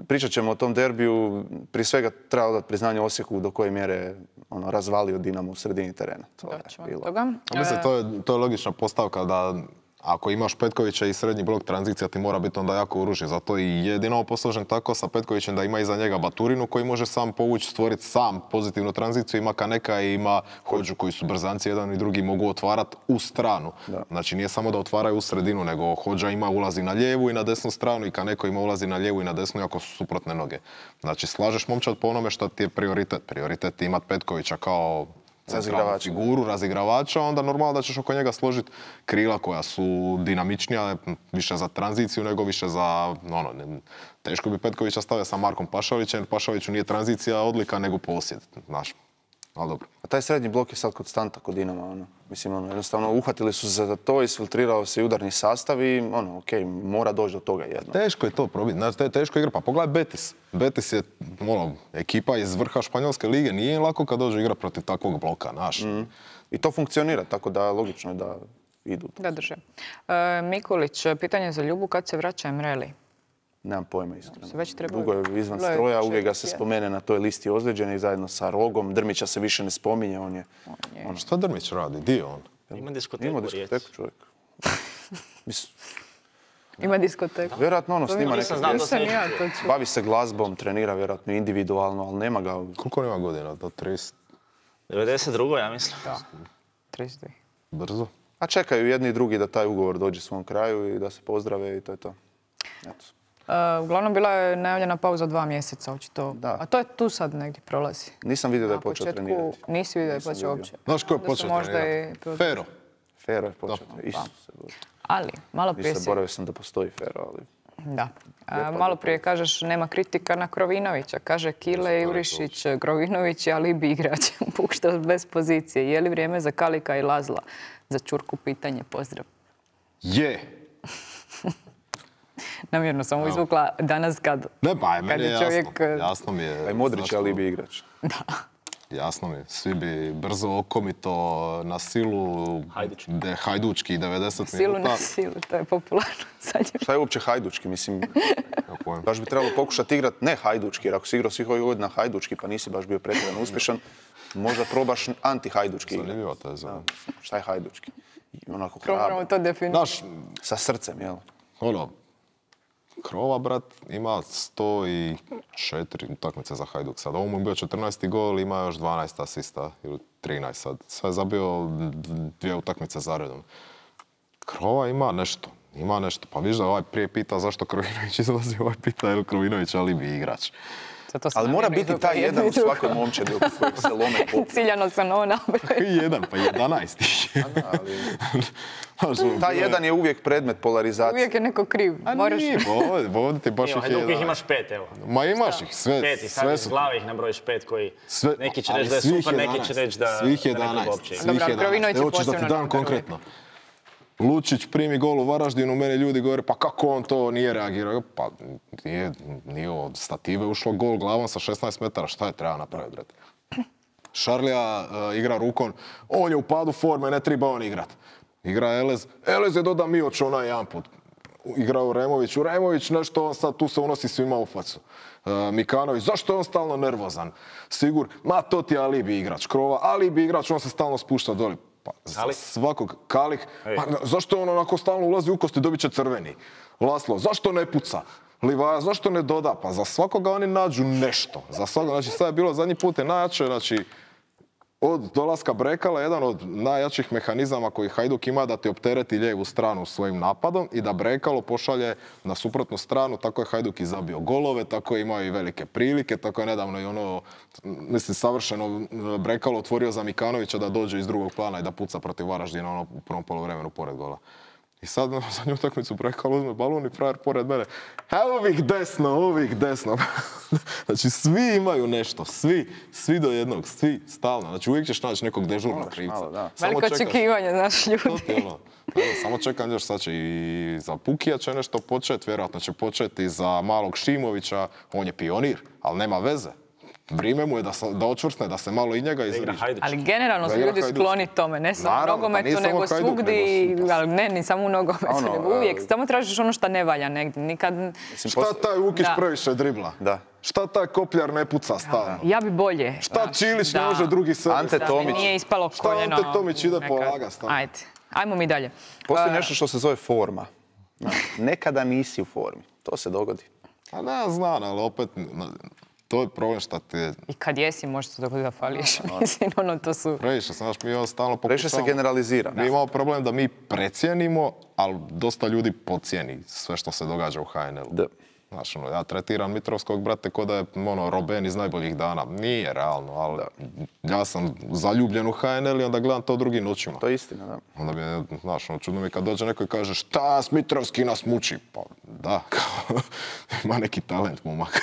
pričat ćemo o tom derbiju. Prije svega treba odati priznanje Osijeku do koje mjere ono, razvalio Dinamo u sredini terena. To je bilo. Mislim, to je, to je logična postavka da ako imaš Petkovića i srednji blok, tranzicija ti mora biti onda jako oružje. Zato i je Dinamo posložen tako sa Petkovićem da ima iza njega Baturinu koji može sam povući, stvoriti sam pozitivnu tranziciju. Ima Kaneka i ima Hođu koji su brzanci, jedan i drugi mogu otvarati u stranu. Da. Znači nije samo da otvaraju u sredinu, nego Hođa ima ulazi na lijevu i na desnu stranu i Kaneko ima ulazi na lijevu i na desnu, iako su suprotne noge. Znači slažeš momčad po onome što ti je prioritet. Prioritet je imati Petkovića kao centralnu figuru, razigravača, onda normalno da ćeš oko njega složiti krila koja su dinamičnija, više za tranziciju nego više za, ono, ne, teško bi Petkovića stavio sa Markom Pašalićem, Pašaliću nije tranzicija odlika nego posjed, znaš, ali dobro. A taj srednji blok je sad konstanta kod Dinama, ono, mislim, ono, jednostavno uhvatili su se za to, isfiltrirao se i udarni sastav i, ono, okej, okay, mora doći do toga jedno. Teško je to probiti, znači, to je teško igra, pa pogledaj Betis. Betis je, ono, ekipa iz vrha Španjolske lige, nije im lako kad dođe igra protiv takvog bloka, znaš. Mm. I to funkcionira, tako da logično je da idu. Da drže. E, Mikulić, pitanje za Ljubu, kad se vraća Emreli? Nemam pojma iskreno. Već Dugo je izvan stroja, uvijek ga se spomene na toj listi ozlijeđenih zajedno sa Rogom. Drmića se više ne spominje, on je... On je... Ono, šta Drmić radi? Di je on? Ima diskoteku. Ima diskoteku čovjek. Ima diskoteku. Vjerojatno ono snima neke pjesme. Bavi se glazbom, trenira vjerojatno individualno, ali nema ga... Koliko nema godina? Do trideset? devedeset dva. ja mislim. Da. trideset dva. Brzo. A čekaju jedni i drugi da taj ugovor dođe svom kraju i da se pozdrave i to je to. Eto. Uh, uglavnom bila je najavljena pauza dva mjeseca, očito. Da. A to je tu sad negdje prolazi. Nisam vidio da je počeo početku, trenirati. Nisi vidio da je počeo uopće. Znaš ko je počeo trenirati? Fero. Fero je počeo. Isuse Bože. Ali, malo prije si... Zaboravio sam da postoji Fero, ali... Da. A, malo prije kažeš nema kritika na Krovinovića. Kaže Kile, Jurišić, Krovinović je alibi igrač. Pušta bez pozicije. Je li vrijeme za Kalika i Lazla? Za Čurku pitanje. Pozdrav. Je. Namjerno sam izvukla danas kad... Ne, pa je meni je čovjek... jasno. Jasno mi je... Aj Modrić je alibi igrač. Da. Jasno mi je. Svi bi brzo okomito na silu... Hajdučki. De, hajdučki devedeset silu minuta. Silu na silu, to je popularno. Šta je uopće hajdučki? Mislim, baš bi trebalo pokušati igrati ne hajdučki, jer ako si igrao svih ovih godina hajdučki pa nisi baš bio pretjerano uspješan, možda probaš anti-hajdučki igrati. Zanimljiva teza. Šta je hajdučki? Onako hrabro. to definirati. Sa srcem, jel? Ono, Krova, brat, ima sto četiri utakmice za Hajduk sad. Ovo mu je bio četrnaesti gol, ima još dvanaest asista ili trinaest sad. Sve je zabio dvije utakmice za redom. Krova ima nešto. Ima nešto. Pa viš da ovaj prije pita zašto Krovinović izlazi, ovaj pita je li Krovinović alibi igrač. Ali mora biti taj jedan u svakoj momčadi oko kojeg se lome poput. Ciljano sam ovo nabrao. Jedan, pa jedanaest. Taj jedan je uvijek predmet polarizacije. Uvijek je neko kriv. A nije, ovdje ti baš ih je jedan. Hajduk ih imaš pet, evo. Ma imaš ih, sve. Pet i sad iz glave ih nabrojiš pet koji neki će reći da je super, neki će reći da svih jedanaest. Svih jedanaest. Evo ćeš da ti dam konkretno. Lučić primi gol u Varaždinu, meni ljudi govore pa kako on to nije reagirao? Pa nije, nije od stative ušlo gol glavom sa šesnaest metara, šta je treba napraviti? Šarlija uh, igra rukom, on je u padu forme, ne treba on igrat. Igra Elez, Elez je doda Mioć onaj jedan put. Igrao Remović, u Remović nešto on sad tu se unosi svima u facu. Uh, Mikanović, zašto je on stalno nervozan? Sigur, ma to ti je alibi igrač, Krova, alibi igrač, on se stalno spušta doli. Pa, za svakog Kalik, pa, zašto on onako stalno ulazi u kosti, dobit će crveni. Laslo, zašto ne puca? Livaja, zašto ne doda? Pa za svakoga oni nađu nešto. Za svakoga, znači sad je bilo zadnji put je najjače, znači od dolaska Brekala, jedan od najjačih mehanizama koji Hajduk ima da ti optereti lijevu stranu svojim napadom i da Brekalo pošalje na suprotnu stranu, tako je Hajduk i zabio golove, tako je imao i velike prilike, tako je nedavno i ono, mislim, savršeno Brekalo otvorio za Mikanovića da dođe iz drugog plana i da puca protiv Varaždina ono u prvom poluvremenu pored gola. I sad na zadnju utakmicu Brekalo uzme balon i frajer pored mene. Evo ovih desno, ovih desno. Znači svi imaju nešto, svi, svi do jednog, svi, stalno. Znači uvijek ćeš naći nekog dežurnog krivca. Veliko očekivanje, znaš, ljudi. Ono, evo, samo čekam još sad će i za Pukija će nešto početi, vjerojatno će početi za malog Šimovića, on je pionir, ali nema veze. Vrijeme mu je da, da očvrsne, da se malo i njega izriže. Ali generalno su ljudi skloni tome, ne samo u nogometu, nego svugdje, ali ne, ni samo u nogometu, ono, nego uvijek. Samo tražiš ono što ne valja negdje, nikad... Šta taj Vukić previše dribla? Da. Šta taj Kopljar ne puca stalno? Ja bi bolje. Šta Čilić ne može drugi sebi? Ante Tomić. Nije ispalo koljeno. Šta Ante Tomić ide polaga stalno? Ajde, ajmo mi dalje. Postoji nešto što se zove forma. Nekada nisi u formi, to se dogodi. A ne, znam, ali opet... To je problem šta te... I kad jesi, može se dogoditi da fališ. Mislim, ono, to su... Previše, znaš, mi ovo stalno pokušamo... Previše se generalizira. Mi imamo problem da mi precijenimo, ali dosta ljudi podcijeni sve što se događa u ha en el-u. Znaš, ono, ja tretiram Mitrovskog, brate, ko da je ono, Robben iz najboljih dana. Nije realno, ali da. Ja sam zaljubljen u ha en el i onda gledam to drugim očima. To je istina, da. Onda mi je, znaš, ono, čudno mi kad dođe neko i kaže šta Mitrovski nas muči. Pa da, kao, ima neki talent, momak.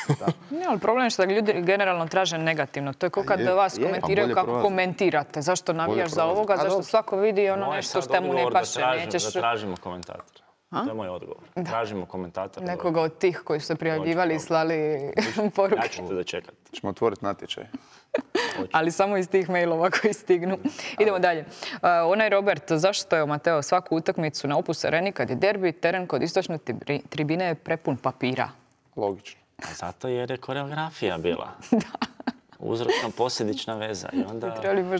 Ne, ali problem je što da ljudi generalno traže negativno. To je kao kad je, vas je, komentiraju kako prolazi. Komentirate. Zašto navijaš za ovoga, a zašto svako vidi ono nešto što mu ne paše. Da, tražim, da tražimo komentatora. A? To je moj odgovor. Da. Tražimo komentatora. Nekoga od tih koji su se prijavljivali i slali poruke. Ja ću te dočekati. Ćemo otvoriti natječaj. Ali samo iz tih mailova koji stignu. Idemo dalje. Uh, onaj Robert, zašto je Mateo svaku utakmicu na Opus Areni kad je derbi, teren kod istočne tribine je prepun papira? Logično. A zato jer je koreografija bila. Da. Uzročno posljedična veza. I onda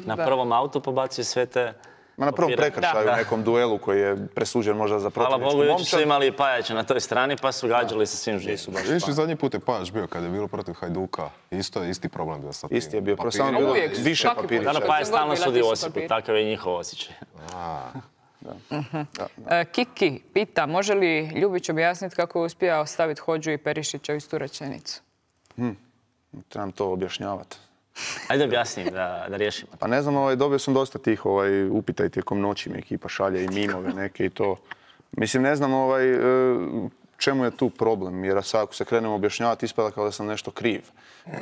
na prvom autu pobacio sve te... Ma na prvom prekršaju u nekom duelu koji je presuđen možda za protivničku momčad. Hvala Bogu, jučer su imali Pajača na toj strani pa su gađali sa svim živim. Viš li zadnji put je Pajač bio kad je bilo protiv Hajduka? Isto je isti problem bio sa tim. Isti je bio, pro samo bilo više papirića. Da, Pajač stalno sudi Osipu, takav je njihov osjećaj. Kiki pita, može li Ljubić objasniti kako je uspio staviti Hodžu i Perišića u istu rečenicu? Trebam to objašnjavati. Ajde objasnim da, da riješimo. Pa ne znam, ovaj, dobio sam dosta tih ovaj, upita i tijekom noći mi ekipa šalje i mimove neke i to. Mislim, ne znam ovaj, čemu je tu problem, jer sad ako se krenemo objašnjavati ispada kao da sam nešto kriv. Uh,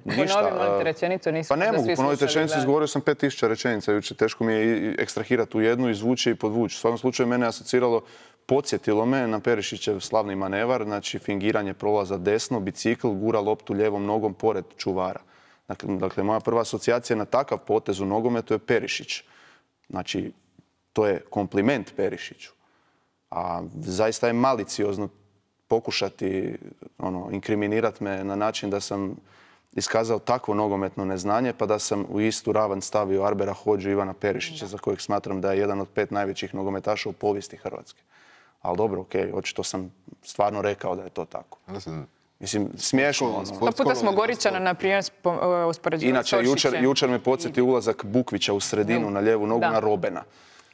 ništa, Ponovi rečenicu, nisam pa ne mogu ponoviti rečenicu, izgovorio sam pet tisuća rečenica jučer, teško mi je ekstrahirati u jednu, izvući i podvući. U svakom slučaju mene asociralo, podsjetilo me na Perišićev slavni manevar, znači fingiranje prolaza desno, bicikl, gura loptu lijevom nogom pored čuvara. Dakle, moja prva asocijacija na takav potez u nogometu je Perišić. Znači, to je kompliment Perišiću. A zaista je maliciozno pokušati ono, inkriminirati me na način da sam iskazao takvo nogometno neznanje, pa da sam u istu ravan stavio Arbera Hodžu i Ivana Perišića, za kojeg smatram da je jedan od pet najvećih nogometaša u povijesti Hrvatske. Ali dobro, okej, okay, očito sam stvarno rekao da je to tako. Mislim, smiješno. Sto puta smo Goričana, na primjer, uspoređivali s Ošićem. Inače, jučer, jučer me podsjeti ulazak Bukvića u sredinu na lijevu nogu na Robena.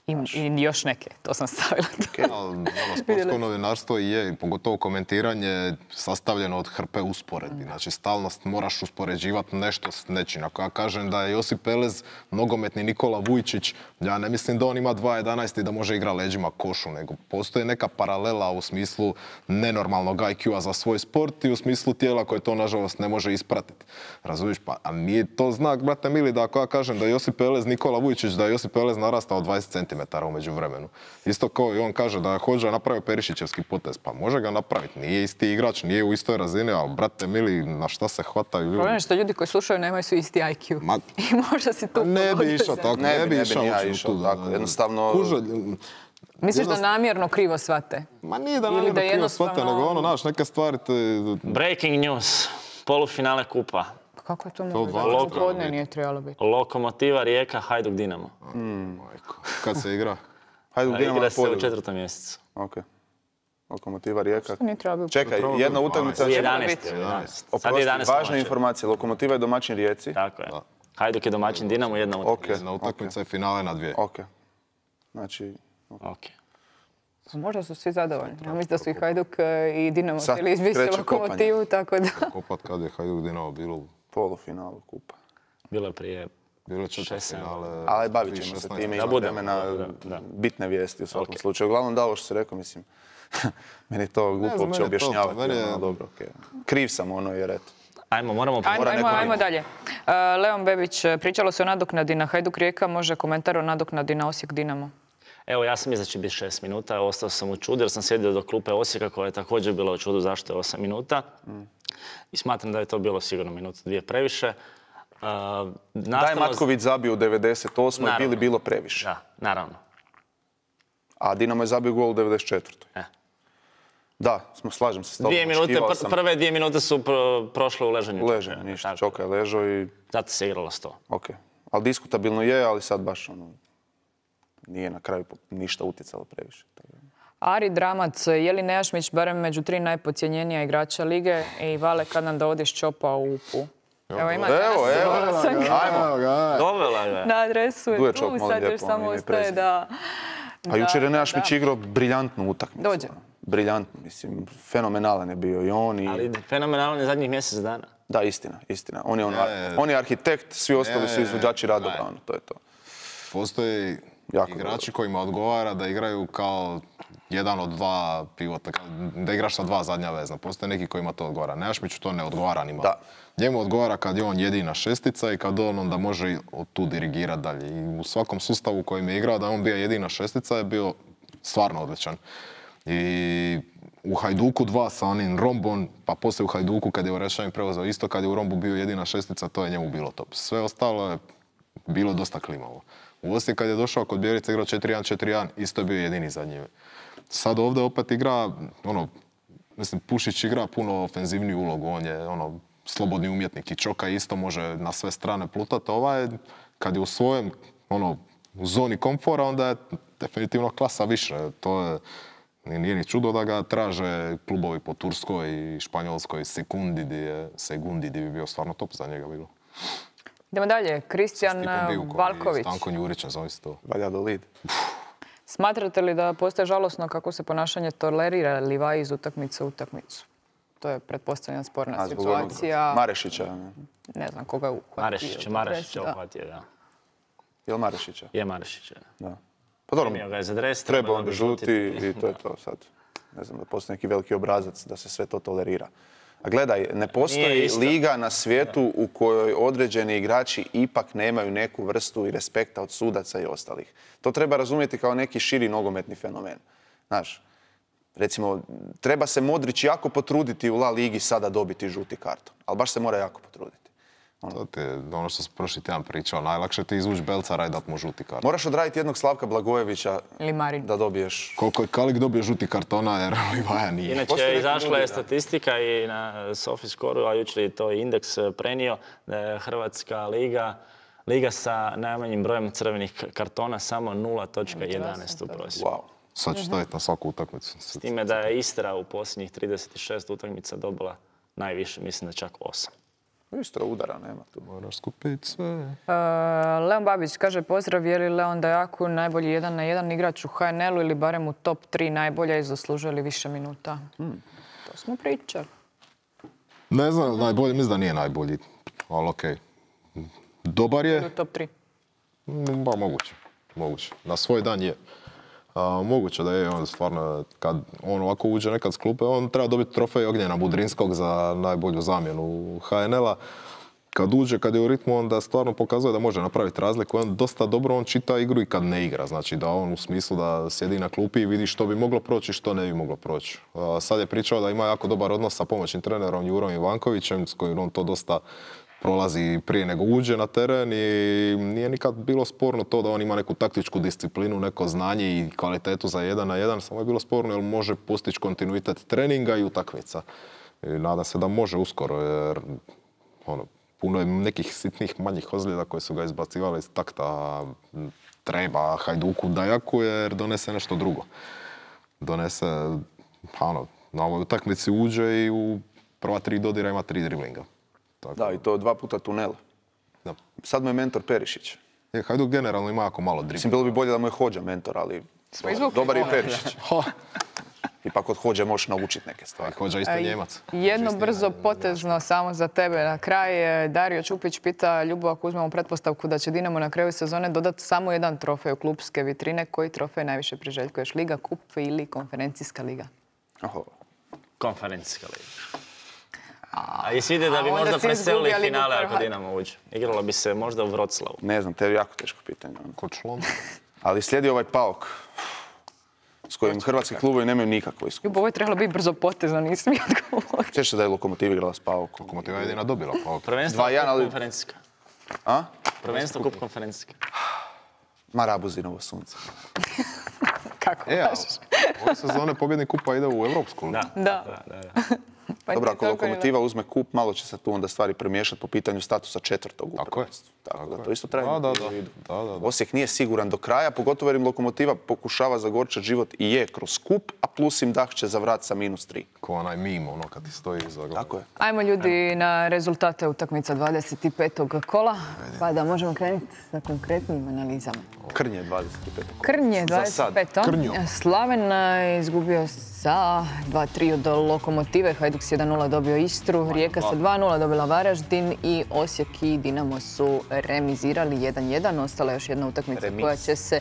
I, I još neke, to sam stavila. Okay. Ono, sportsko novinarstvo je, pogotovo komentiranje, sastavljeno od hrpe usporedbi. Znači, stalno moraš uspoređivati nešto s nečim. Ako ja kažem da je Josip Pelez nogometni Nikola Vujčić, ja ne mislim da on ima dva jedanaest i da može igrati leđima košu, nego postoji neka paralela u smislu nenormalnog I Q-a za svoj sport i u smislu tijela koje to, nažalost, ne može ispratiti. Razumiješ? Pa, a nije to znak, brate mili, da ako ja kažem da je Josip Pelez Nikola Vujčić, da je Josip Pelez narastao dvadeset centimetara u međuvremenu. Isto kao i on kaže da je Hodža napravio Perišićevski potez. Pa može ga napraviti. Nije isti igrač, nije u istoj razini, ali brate mili, na šta se hvataju ljudi? Problem je što ljudi koji slušaju nemaju su isti I Q. Ma, i možda si tu... Ne bi išao tako, ne, ne bi išao išao tako. Jednostavno... Kuža, misliš da namjerno krivo shvate? Ma nije da namjerno krivo shvate, nego ono, znaš, neke stvari te... Breaking news. Polufinale kupa. Kako je to moguće? Podne nije trebalo biti. Lokomotiva Rijeka, Hajduk Dinamo. Mm. Kad se igra? Hajduk Dinamo igra se u četvrtom mjesecu. Ok. Lokomotiva Rijeka. Što nije trebalo biti? Čekaj, jedna utakmica... jedanaest. Oprosti, važna informacija. Lokomotiva je domaćin Rijeci. Tako je. Hajduk je domaćin Dinamo, jedna utakmica. Jedna utakmica je finale na dvije. Ok. Znači... Ok. Možda su svi zadovoljni. Ja mislim da su i Hajduk i Dinamo htjeli izbiti Lokomotivu, tako da... Kopat kad je Hajduk Dinamo bilo u polufinalu kupa. Bilo je prije bilo je četvrtfinale. Ali bavit ćemo se time, ima vremena, bitne vijesti u svakom slučaju. Uglavnom da, ovo što si rekao, mislim, meni to glupo uopće objašnjavati. Dobro, okej. Kriv sam ono jer eto. Ajmo, moramo... Ajmo, ajmo, ajmo dalje. Leon Bebić, pričalo se o nadoknadi na Hajduk Rijeka, može komentar o nadoknadi na Osijek Dinamo? Evo, ja sam mislio da će biti šest minuta, ostao sam u čudu jer sam sjedio do klupe Osijeka koja je također bila u čudu zašto je osam minuta. Mm. I smatram da je to bilo sigurno minuta dvije previše. Uh, da je Matković zabio u devedeset osmoj bili bilo previše. Da, naravno. A Dinamo je zabio gol u devedeset četvrtoj E. Da, smo, slažem se s tobom. Dvije minute, pr sam... Prve dvije minute su pro, prošle u ležanju. U ležanju, ništa. Čoka je ležao i... Zato se igralo sto. Ok. Ali diskutabilno je, ali sad baš ono... Nije na kraju ništa utjecalo previše. Ari Dramac, je li Nejašmić barem među tri najpocijenjenija igrača lige i Vale kad nam dovodiš Čopa u U P U? Evo, imate evo, evo, ajmo. Dovela ga. Na adresu je tu, sad još samo ostaje da... A jučer je Nejašmić igrao briljantnu utakmicu. Dođe. Briljantno, mislim, fenomenalan je bio i on i... Ali fenomenalan je zadnjih mjesec dana. Da, istina, istina. On je, on, on je arhitekt, svi ostali su izvođači radova, ono, to je to. Postoji jako igrači dobro. Kojima odgovara da igraju kao jedan od dva pivota, da igraš sa dva zadnja vezna. Postoje neki kojima to odgovara. Nejašmiću to ne odgovara ni malo. Da. Njemu odgovara kad je on jedina šestica i kad on onda može od tu dirigirati dalje. I u svakom sustavu u kojem je igrao da on bio jedina šestica je bio stvarno odličan. I u Hajduku dva sa onim Rombom, pa poslije u Hajduku kad je Orešajin preuzeo isto, kad je u Rombu bio jedina šestica, to je njemu bilo top. Sve ostalo je bilo dosta klimavo. U Osijek kad je došao kod Bjelice igrao četiri jedan četiri jedan, isto je bio jedini za njime. Sad ovdje opet igra, ono, mislim, Pušić igra puno ofenzivniju ulogu, on je ono, slobodni umjetnik i Čoka isto može na sve strane plutati. Ovaj, kad je u svojem, ono, u zoni komfora, onda je definitivno klasa više. To je, nije ni čudo da ga traže klubovi po Turskoj i Španjolskoj sekundi di je, sekundi di bi bio stvarno top za njega bilo. Idemo dalje. Kristijan Valković. Stanko Njurića, zove se to. Valladolid. Smatrate li da postaje žalosno kako se ponašanje tolerira Livaji iz utakmice u utakmicu? To je pretpostavljena sporna A, situacija. Marešića. Ne znam koga je uhvatio. Marešića, Marešića uhvatio, da. Je li Marešića? Je Marešića. Da. Pa dobro, ga je za dres, treba onda žuti i to je to sad. Ne znam, da postoji neki veliki obrazac da se sve to tolerira. A gledaj, ne postoji liga na svijetu u kojoj određeni igrači ipak nemaju neku vrstu i respekta od sudaca i ostalih. To treba razumjeti kao neki širi nogometni fenomen. Znaš, recimo, treba se Modrić jako potruditi u La Ligi sada dobiti žuti karton. Ali baš se mora jako potruditi. Ono. To je ono što sam prošli tjedan pričao. Najlakše ti izvući Belcara i dat mu žuti karton. Moraš odraditi jednog Slavka Blagojevića da dobiješ... Koliko je Kalik dobio žuti kartona jer Livaja nije. Inače, izašla je statistika i na Sofiscoreu, a jučer je to indeks prenio, da je Hrvatska liga, liga sa najmanjim brojem crvenih kartona samo nula zarez jedanaest u prosjeku. Wow. Sad ću staviti na svaku utakmicu. S time da je Istra u posljednjih trideset šest utakmica dobila najviše, mislim da čak osam. Isto udara, nema tu. Moraš skupiti sve. Uh, Leon Babić kaže pozdrav, je li Leon Dajaku najbolji jedan na jedan igrač u H N L-u ili barem u top tri najbolja i zaslužuje li više minuta? Hmm. To smo pričali. Ne znam, najbolji, mislim da nije najbolji, ali okej. Okay. Dobar je. U top tri? Ba, moguće. Moguće. Na svoj dan je. A, moguće da je on stvarno, kad on ovako uđe nekad s klupe, on treba dobiti trofej Ognjena Budrinskog za najbolju zamjenu H N L-a. Kad uđe, kad je u ritmu, onda stvarno pokazuje da može napraviti razliku. On dosta dobro on čita igru i kad ne igra. Znači da on u smislu da sjedi na klupi i vidi što bi moglo proći i što ne bi moglo proći. A, sad je pričao da ima jako dobar odnos sa pomoćnim trenerom Jurom Ivankovićem, s kojim on to dosta prolazi prije nego uđe na teren i nije nikad bilo sporno to da on ima neku taktičku disciplinu, neko znanje i kvalitetu za jedan na jedan. Samo je bilo sporno jer može postići kontinuitet treninga i utakmica. I nadam se da može uskoro jer ono, puno je nekih sitnih manjih ozljeda koje su ga izbacivali iz takta. Treba Hajduku Dajaku jer donese nešto drugo. Donese, ono, na ovoj utakmici uđe i u prva tri dodira ima tri driblinga. Tako. Da, i to dva puta tunel. Da. Sad mu je mentor Perišić. Je, Hajduk generalno ima jako malo driblinga. Mislim, bilo bi bolje da mu je Hođa mentor, ali dobar je Perišić. I pa kod Hođe možeš naučiti neke stvari. Hođa isto Njemac. Jedno brzo potezno samo za tebe na kraj. Dario Čupić pita Ljubo, ako uzmemo pretpostavku da će Dinamo na kraju sezone dodati samo jedan trofej u klupske vitrine, koji trofej najviše priželjkuješ? Liga, kup ili konferencijska liga? Oho. Konferencijska liga. A jesi vidi da bi možda preselili finale ako Dinamo uđe? Igralo bi se možda u Vroclavu. Ne znam, te je jako teško pitanje. Kod Šlonda. Ali slijedi ovaj Paok s kojim hrvatski klubovi nemaju nikakvo iskustvo. Ljubo, ovo je trebalo biti brzo potezno, nisi mi odgovorio. Sjećaš se da je Lokomotiv igrala s Paokom? Lokomotiva je jedina dobila Paok. Prvenstvo kup ali... konferencijska. A? Prvenstvo kup konferencijska. Marabuzinovo sunce. Kako e, baš? Ove sezone pobjednik kupa ide u Evropsku. Da, da. da, da, da. Pa dobro, ako Lokomotiva uzme kup, malo će se tu onda stvari premiješati po pitanju statusa četvrtog u prvenstvu. Tako da to isto treba da, imati da, u vidu. da, da, da. Osijek nije siguran do kraja, pogotovo jer im Lokomotiva pokušava zagorčati život i je kroz kup, a plus im dah će zavrat sa minus tri. Ko onaj mim, ono kad ti stoji iza glava. Tako je. Ajmo ljudi na rezultate utakmica dvadeset petog kola, pa da možemo krenuti sa konkretnim analizama. Krnje dvadeset pet. Krnje dvadeset pet. Slaven je izgubio sa dva tri od Lokomotive, Hajduk s jedan nula dobio Istru, Rijeka sa dva nula dobila Varaždin i Osijek i Dinamo su remizirali jedan jedan. Ostala je još jedna utakmica Remiz. koja će se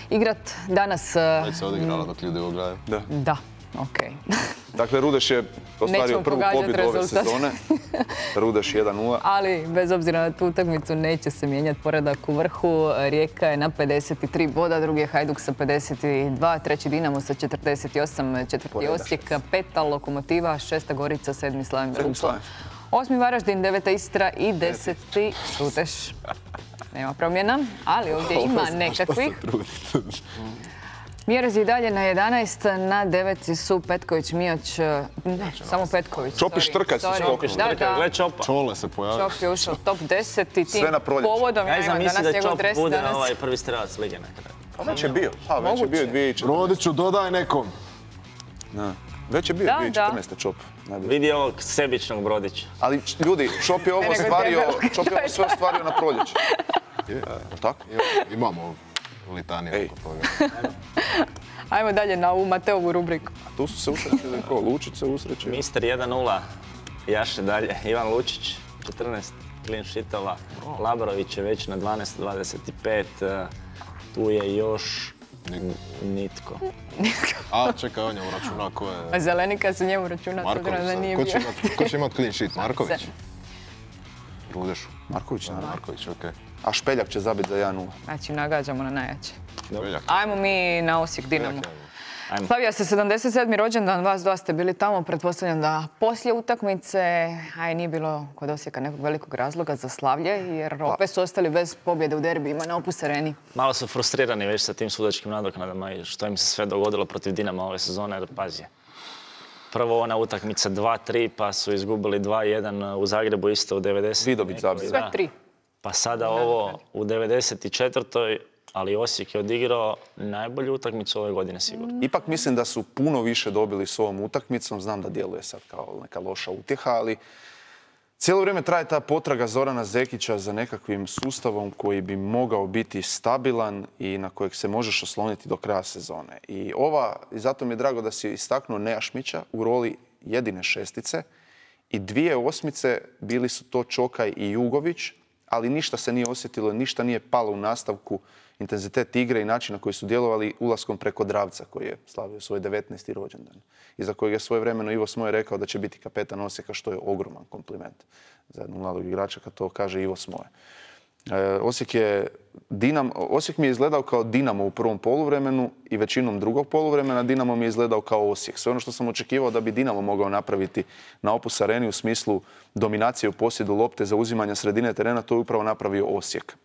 igrat danas. Već se odigrala dok ljudi ovo gledaju. Da. Da, okej. Okay. Dakle, Rudeš je ostvario prvu pobjedu ove sezone. Rudeš jedan nula. Ali, bez obzira na tu utakmicu, neće se mijenjati poredak u vrhu. Rijeka je na pedeset tri boda, drugi je Hajduk sa pedeset dva, treći Dinamo sa četrdeset osam, četvrti Osijek, peta Lokomotiva, šesta Gorica, sedmi Slaven Grupo, osmi Varaždin, deveta Istra i deseti Rudeš. Nema promjena, ali ovdje ima nekakvih. Mjerez i dalje na jedanaest, na deveti su Petković, Mijoć, ne, samo Petković. Čopi Štrkac su skokali. Da, da. Gle Čopa. Čole se pojavio. Čop je ušao top deset i tim povodom ja imam danas njegov dres. Bude na ovaj prvi strelac lige nekada. Pa već je bio. Pa već je bio dvije tisuće četrnaeste. Rodiću, dodaj nekom. Već je bio dvije tisuće četrnaeste Čop. Vidi ovog sebičnog Brodića. Ali ljudi, Čop je ovo ostvario, Čop je ovo sve ostvario na proljeće. Tako? Imamo litanije oko toga. Ajmo dalje na ovu Mateovu rubriku. A tu su se usrećili ko? Lučić se usrećio. Mister jedan nula. Jaše dalje. Ivan Lučić, četrnaest clean sheetova. Labrović je već na dvanaest dvadeset pet. Tu je još nitko. A čekaj, on je uračunao ko je... A Zelenika se njemu računa, Marković, da nije ko bio. će imat, ko će imat clean sheet? Marković? Rudešu. Marković, naravno. Marković, okej. A Špeljak će zabiti za jedan nula. Znači, nagađamo na najjače. Špeljak. Ajmo mi na Osijek Dinamo. Slavija se sedamdeset sedmi rođendan, vas dva ste bili tamo, pretpostavljam da poslije utakmice, a i nije bilo kod Osijeka nekog velikog razloga za slavlje, jer opet su ostali bez pobjede u derbijima na Opus Areni. Malo su frustrirani već sa tim sudačkim nadoknadama i što im se sve dogodilo protiv Dinama ove sezone, jer pazi. Prvo ona utakmica dva tri, pa su izgubili dva jedan u Zagrebu isto u devedeset. Vidović zabio. Sve tri. Pa sada ovo u devedeset četvrtoj ali Osijek je odigrao najbolju utakmicu ove godine sigurno. Ipak mislim da su puno više dobili s ovom utakmicom. Znam da djeluje sad kao neka loša utjeha, ali cijelo vrijeme traje ta potraga Zorana Zekića za nekakvim sustavom koji bi mogao biti stabilan i na kojeg se možeš osloniti do kraja sezone. I ova, i zato mi je drago da si istaknuo Nejašmića u roli jedine šestice i dvije osmice bili su to Čokaj i Jugović, ali ništa se nije osjetilo, ništa nije palo u nastavku, intenzitet igre i način na koji su djelovali ulaskom preko Dravca koji je slavio svoj devetnaesti rođendan. I za kojeg je svojevremeno Ivo Smoje rekao da će biti kapetan Osijeka, što je ogroman kompliment za jednog mladog igrača kad to kaže Ivo Smoje. E, Osijek, je Dinam, Osijek mi je izgledao kao Dinamo u prvom poluvremenu i većinom drugog poluvremena Dinamo mi je izgledao kao Osijek. Sve ono što sam očekivao da bi Dinamo mogao napraviti na Opus Areni u smislu dominacije u posjedu lopte, zauzimanja sredine terena, to je upravo napravio Osijek.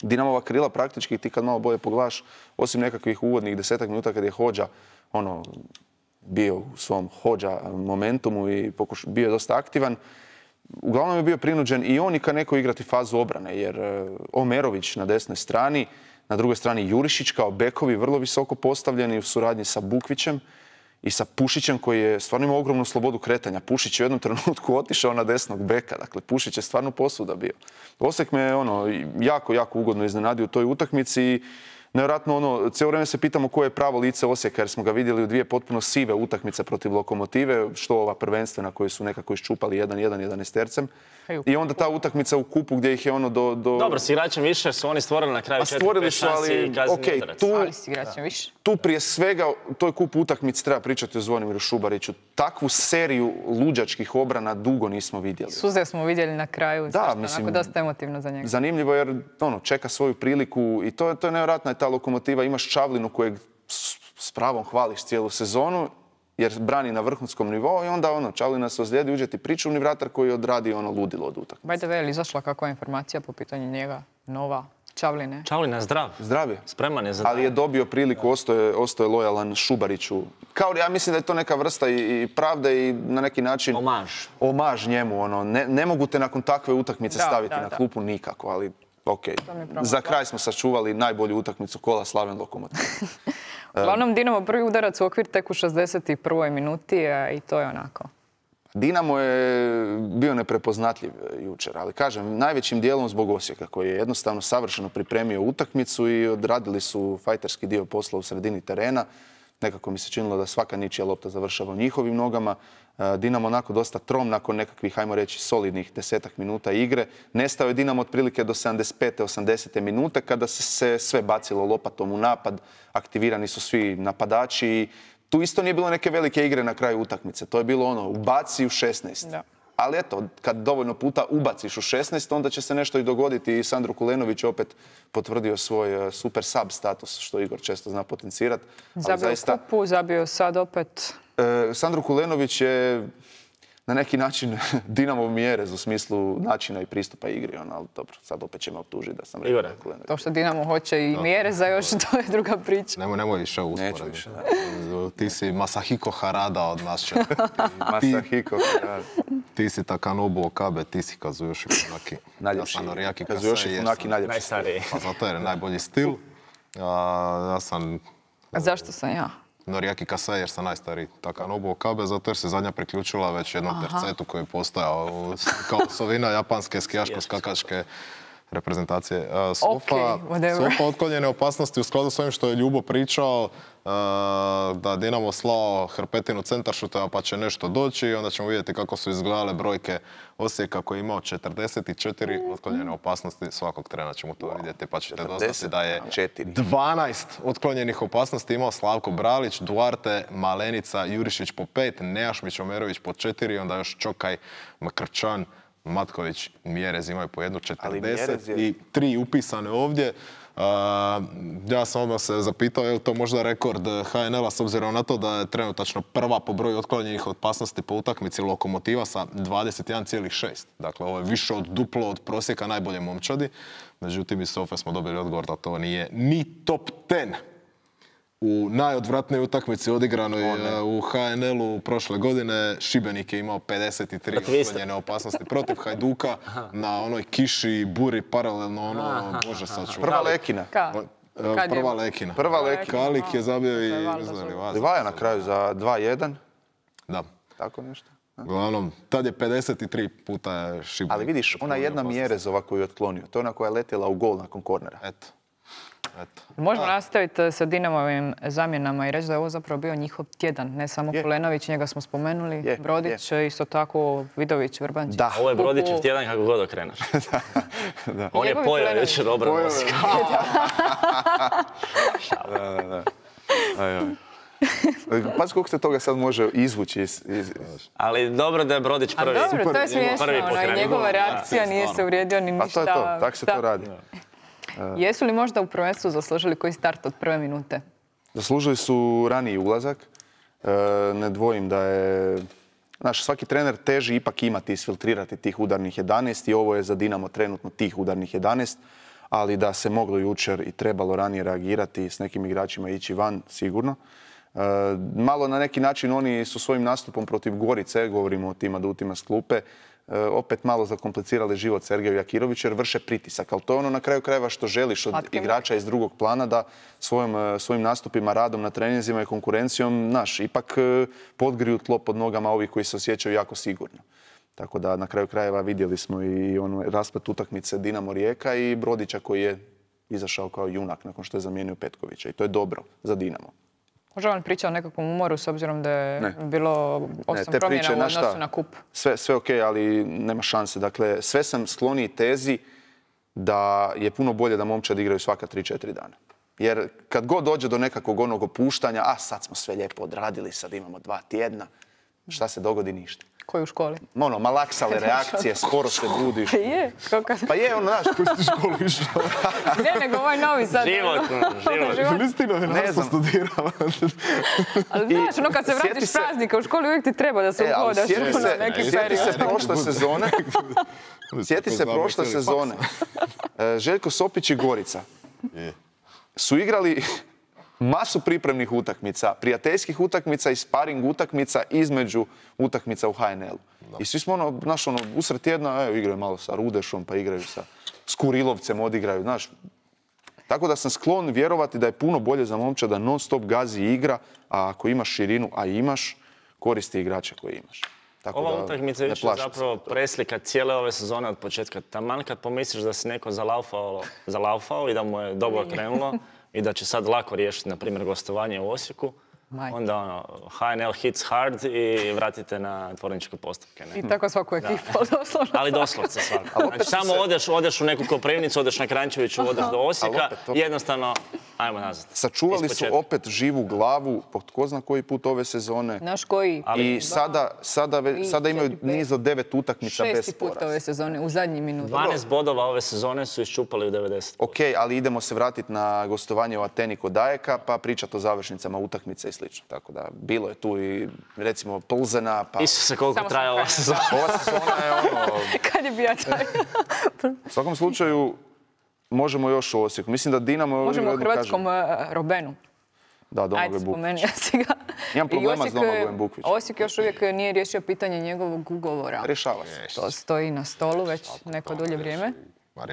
Dinamova krila praktički, ti kad malo bolje pogledaš, osim nekakvih uvodnih desetak minuta kad je Hodža ono, bio u svom Hodža momentumu i pokuš, bio je dosta aktivan, uglavnom je bio prinuđen i on i Kaneko igrati fazu obrane, jer Omerović na desnoj strani, na drugoj strani Jurišić kao bekovi vrlo visoko postavljeni u suradnji sa Bukvićem i sa Pušićem koji je stvarno imao ogromnu slobodu kretanja. Pušić je u jednom trenutku otišao na desnog beka, dakle Pušić je stvarno posuda bio. Osijek me ono, jako, jako ugodno iznenadio u toj utakmici i nevjerojatno ono, cijelo vrijeme se pitamo koje je pravo lice Osijeka jer smo ga vidjeli u dvije potpuno sive utakmice protiv Lokomotive, što ova prvenstvena koji su nekako iščupali jedan jedan jedanaestercem. I onda ta utakmica u kupu gdje ih je ono do... do... Dobro, s igračem više su oni stvorili na kraju četiri pet šansi i kazni udarac. Tu, ali s igračem više. Tu prije svega, u toj kupu utakmici treba pričati o Zvonimiru Šubariću. Takvu seriju luđačkih obrana dugo nismo vidjeli. Suze smo vidjeli na kraju, da, mislim, onako dosta emotivno za njega. Zanimljivo jer ono, čeka svoju priliku i to, to je nevjerojatna je ta Lokomotiva. Imaš Čavlinu kojeg s pravom hvališ cijelu sezonu jer brani na vrhunskom nivou i onda ono, Čavlina se ozlijedi, uđe ti pričuvni vratar koji odradi ono ludilo od utakmice. By the way, je li izašla kakva informacija po pitanju njega, nova, Čavline? Čavlina je zdrav. Zdrav je. Spreman je za... Ali je dobio priliku, ostoje, ostoje lojalan Šubariću. Kao ja mislim da je to neka vrsta i, i pravde i na neki način... Omaž. Omaž njemu, ono. Ne, ne mogu te nakon takve utakmice da, staviti da, na da. klupu nikako, ali okej. Okay. Za kraj smo sačuvali najbolju utakmicu kola Slaven Lokomotiv. Uglavnom, Dinamo prvi udarac u okvir tek u šezdeset prvoj minuti i to je onako. Dinamo je bio neprepoznatljiv jučer, ali kažem, najvećim dijelom zbog Osijeka koji je jednostavno savršeno pripremio utakmicu i odradili su fajterski dio posla u sredini terena. Nekako mi se činilo da svaka ničija lopta završava u njihovim nogama. Dinamo onako dosta trom nakon nekakvih, hajmo reći, solidnih desetak minuta igre. Nestao je Dinamo otprilike do sedamdeset pete osamdesete minute kada se sve bacilo lopatom u napad. Aktivirani su svi napadači. Tu isto nije bilo neke velike igre na kraju utakmice. To je bilo ono, ubaci u šesnaest. Da. Ali eto, kad dovoljno puta ubaciš u šesnaest, onda će se nešto i dogoditi. I Sandro Kulenović opet potvrdio svoj super sub status, što Igor često zna potencirati. Zabio zaista, kupu, zabio sad opet. E, Sandro Kulenović je na neki način Dinamov Mjerez u smislu načina i pristupa igri. Ono, ali dobro, sad opet će me optužiti da sam rekao Kulenović. To što Dinamo hoće i Mjereza još, to je druga priča. Nemoj, nemoj više usporediti. Više. Ti si Masahiko Harada od nas će. Masahiko Harada. Ti si Takanobu Okabe, ti si Kazuyoshi Funaki. Najljepši. Kazuyoshi Funaki najljepši. Najstariji. Pa zato jer je najbolji stil. Ja sam... A zašto sam ja? Noriaki Kasai jer sam najstariji Takanobu Okabe, zato jer se zadnja priključila već jednom Aha. tercetu koji je postojao kao osovina japanske skijaško-skakačke reprezentacije. Sofa, okay, Sofa otklonjene opasnosti u skladu s ovim što je Ljubo pričao, da Dinamo slao hrpetinu centaršuta pa će nešto doći i onda ćemo vidjeti kako su izgledale brojke Osijeka koji je imao četrdeset četiri otklonjene opasnosti. Svakog trena ćemo to vidjeti pa ćete doznati da je dvanaest otklonjenih opasnosti imao Slavko Bralić, Duarte, Malenica, Jurišić po pet, Nejašmić, Omerović po četiri, onda još Čokaj, Makrčan, Matković, Mjerez imaju po jednu četrdeset i tri upisane ovdje. Uh, ja sam odmah se zapitao je li to možda rekord H N L-a s obzirom na to da je trenutačno prva po broju otklonjenih opasnosti po utakmici Lokomotiva sa dvadeset jedan zarez šest. Dakle, ovo je više od duplo od prosjeka najbolje momčadi. Međutim, iz Sofe smo dobili odgovor da to nije ni top deset. U najodvratnijoj utakmici odigranoj u H N L-u prošle godine Šibenik je imao pedeset tri otklonjene opasnosti protiv Hajduka na onoj kiši, buri, paralelno ono, može sačuvati. Prva Lekina. Ka? Prva Lekina. Prva Lekina. Kalik je zabio i... Livaja na kraju za dva jedan. Da. Tako nešto. Uglavnom, tad je pedeset tri puta Šibenik. Ali vidiš, ona jedna Mjerezova koju je otklonio, to je ona koja je letjela u gol nakon kornera. Eto. Eto. Možemo nastaviti sa Dinamovim zamjenama i reći da je ovo zapravo bio njihov tjedan. Ne samo je. Polenović, njega smo spomenuli, je. Brodić, je. Isto tako Vidović, Vrbančić. Da. Ovo je Brodićev tjedan kako god okrenaš. da, da. On je pojao jučer obranu Osijeka. da, da, da. Aj, aj. Pazi koliko se toga sad može izvući iz... iz... Ali dobro da je Brodić prvi. A dobro, to je smiješno. Ono, njegova reakcija nije se uvrijedio ni ništa. Pa to je to, tako se to radi. Jesu li možda u prvenstvu zaslužili koji start od prve minute? Zaslužili su raniji ulazak. Ne dvojim da je... Znaš, svaki trener teži ipak imati, isfiltrirati tih udarnih jedanaest i ovo je za Dinamo trenutno tih udarnih jedanaest, ali da se moglo jučer i trebalo ranije reagirati s nekim igračima ići van, sigurno. Malo na neki način oni su svojim nastupom protiv Gorice, govorimo o tim adutima s klupe, opet malo zakomplicirali život Sergeju Jakiroviću jer vrše pritisak. Ali to je ono na kraju krajeva što želiš od igrača iz drugog plana da svojim, svojim nastupima, radom na treninzima i konkurencijom, naš, ipak podgriju tlo pod nogama ovih koji se osjećaju jako sigurno. Tako da na kraju krajeva vidjeli smo i ono rasplet utakmice Dinamo Rijeka i Brodića koji je izašao kao junak nakon što je zamijenio Petkovića. I to je dobro za Dinamo. Može vam priča o nekakvom umoru s obzirom da je ne. bilo osam promjena u odnosu na, na kup? Sve, sve ok, ali nema šanse. Dakle, sve sam skloniji tezi da je puno bolje da momčad igraju svaka tri četiri dana. Jer kad god dođe do nekakvog onog opuštanja, a sad smo sve lijepo odradili, sad imamo dva tjedna, šta se dogodi? Ništa. Koji u školi? Ono, malaksale reakcije, sporo se budiš. Pa je. Kako... Pa je, ono, znaš, koji si školu išao. Ne, nego ovaj novi sad. Život, život. Nisi ti novinarstvo studirala. Ali znaš, ono kad se vratiš s praznika u školi uvijek ti treba da se uhodaš u neki period. Sjeti se prošle sezone. Sjeti se prošle sezone. Željko Sopić i Gorica su igrali masu pripremnih utakmica, prijateljskih utakmica i sparing utakmica između utakmica u H N L-u. I svi smo ono, znaš, ono, usred tjedna, evo, igraju malo sa Rudešom, pa igraju sa Kurilovcem, odigraju, znaš. Tako da sam sklon vjerovati da je puno bolje za momčad da non stop gazi igra, a ako imaš širinu, a imaš, koristi igrače koje imaš. Tako ova utakmica je zapravo preslika cijele ove sezone od početka. Taman kad pomisliš da se neko zalaufao, zalaufao i da mu je dobro krenulo, i da će sad lako riješiti, na primjer, gostovanje u Osijeku, Maj. onda ono, H N L hits hard i vratite na tvorničke postupke. Ne? I tako svaku ekipu, doslovno. Ali doslovce svaku. Znači, samo se... odeš, odeš u neku Koprivnicu, odeš na Kranjčeviću, odeš do Osijeka i jednostavno, ajmo nazad. Sačuvali su opet živu glavu, po tko zna koji put ove sezone. Naš koji? Ali, I sada, sada, sada imaju niz od devet utakmica bez poraza. Šesti put ove sezone, u zadnji minut. dvanaest bodova ove sezone su iščupali u devedeset. Ok, ali idemo se vratiti na gostovanje u Ateni kod Ajeka, pa pričati o završnicama utakmice i slično. Tako da, bilo je tu i, recimo, Plzena, pa... Isuse, koliko traje ova sezona. Ova sezona je ono... Kad je bio taj? U svakom slučaju, možemo još u Osijeku. Mislim da Dinamo... Možemo u hrvatskom kažem. Robenu. Da, Domagoj Bukvić. Ajde, spomenio si ga. Imam problema s Domagojem Bukvićem. Osijek još uvijek nije riješio pitanje njegovog ugovora. Rješava se. To stoji na stolu već neko dulje vrijeme.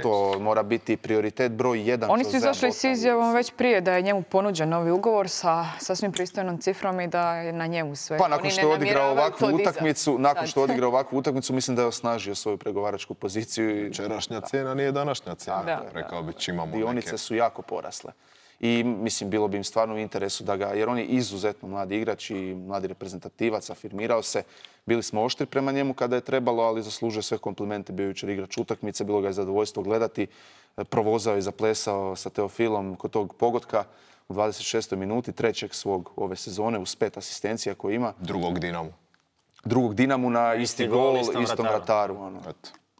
To mora biti prioritet broj jedan. Oni su izašli s izjavom već prije da je njemu ponuđen novi ugovor sa sasvim pristojnom cifrom i da je na njemu sve. Pa nakon što je odigrao ovakvu utakmicu, nakon što je odigrao ovakvu utakmicu, mislim da je osnažio svoju pregovaračku poziciju. Včerašnja cijena nije današnja cijena. Rekao bi čimamo neke. Dionice su jako porasle. I mislim, bilo bi im stvarno u interesu da ga, jer on je izuzetno mladi igrač i mladi reprezentativac, afirmirao se. Bili smo oštri prema njemu kada je trebalo, ali zaslužuje sve komplimente. Bio jučer igrač utakmice, bilo ga je zadovoljstvo gledati. Provozao i zaplesao sa Teofilom kod tog pogotka u dvadeset šestoj minuti, trećeg svog ove sezone, uz pet asistencija koje ima. Drugog Dinamu. Drugog Dinamu na isti, isti gol, istom, istom vrataru. Ono.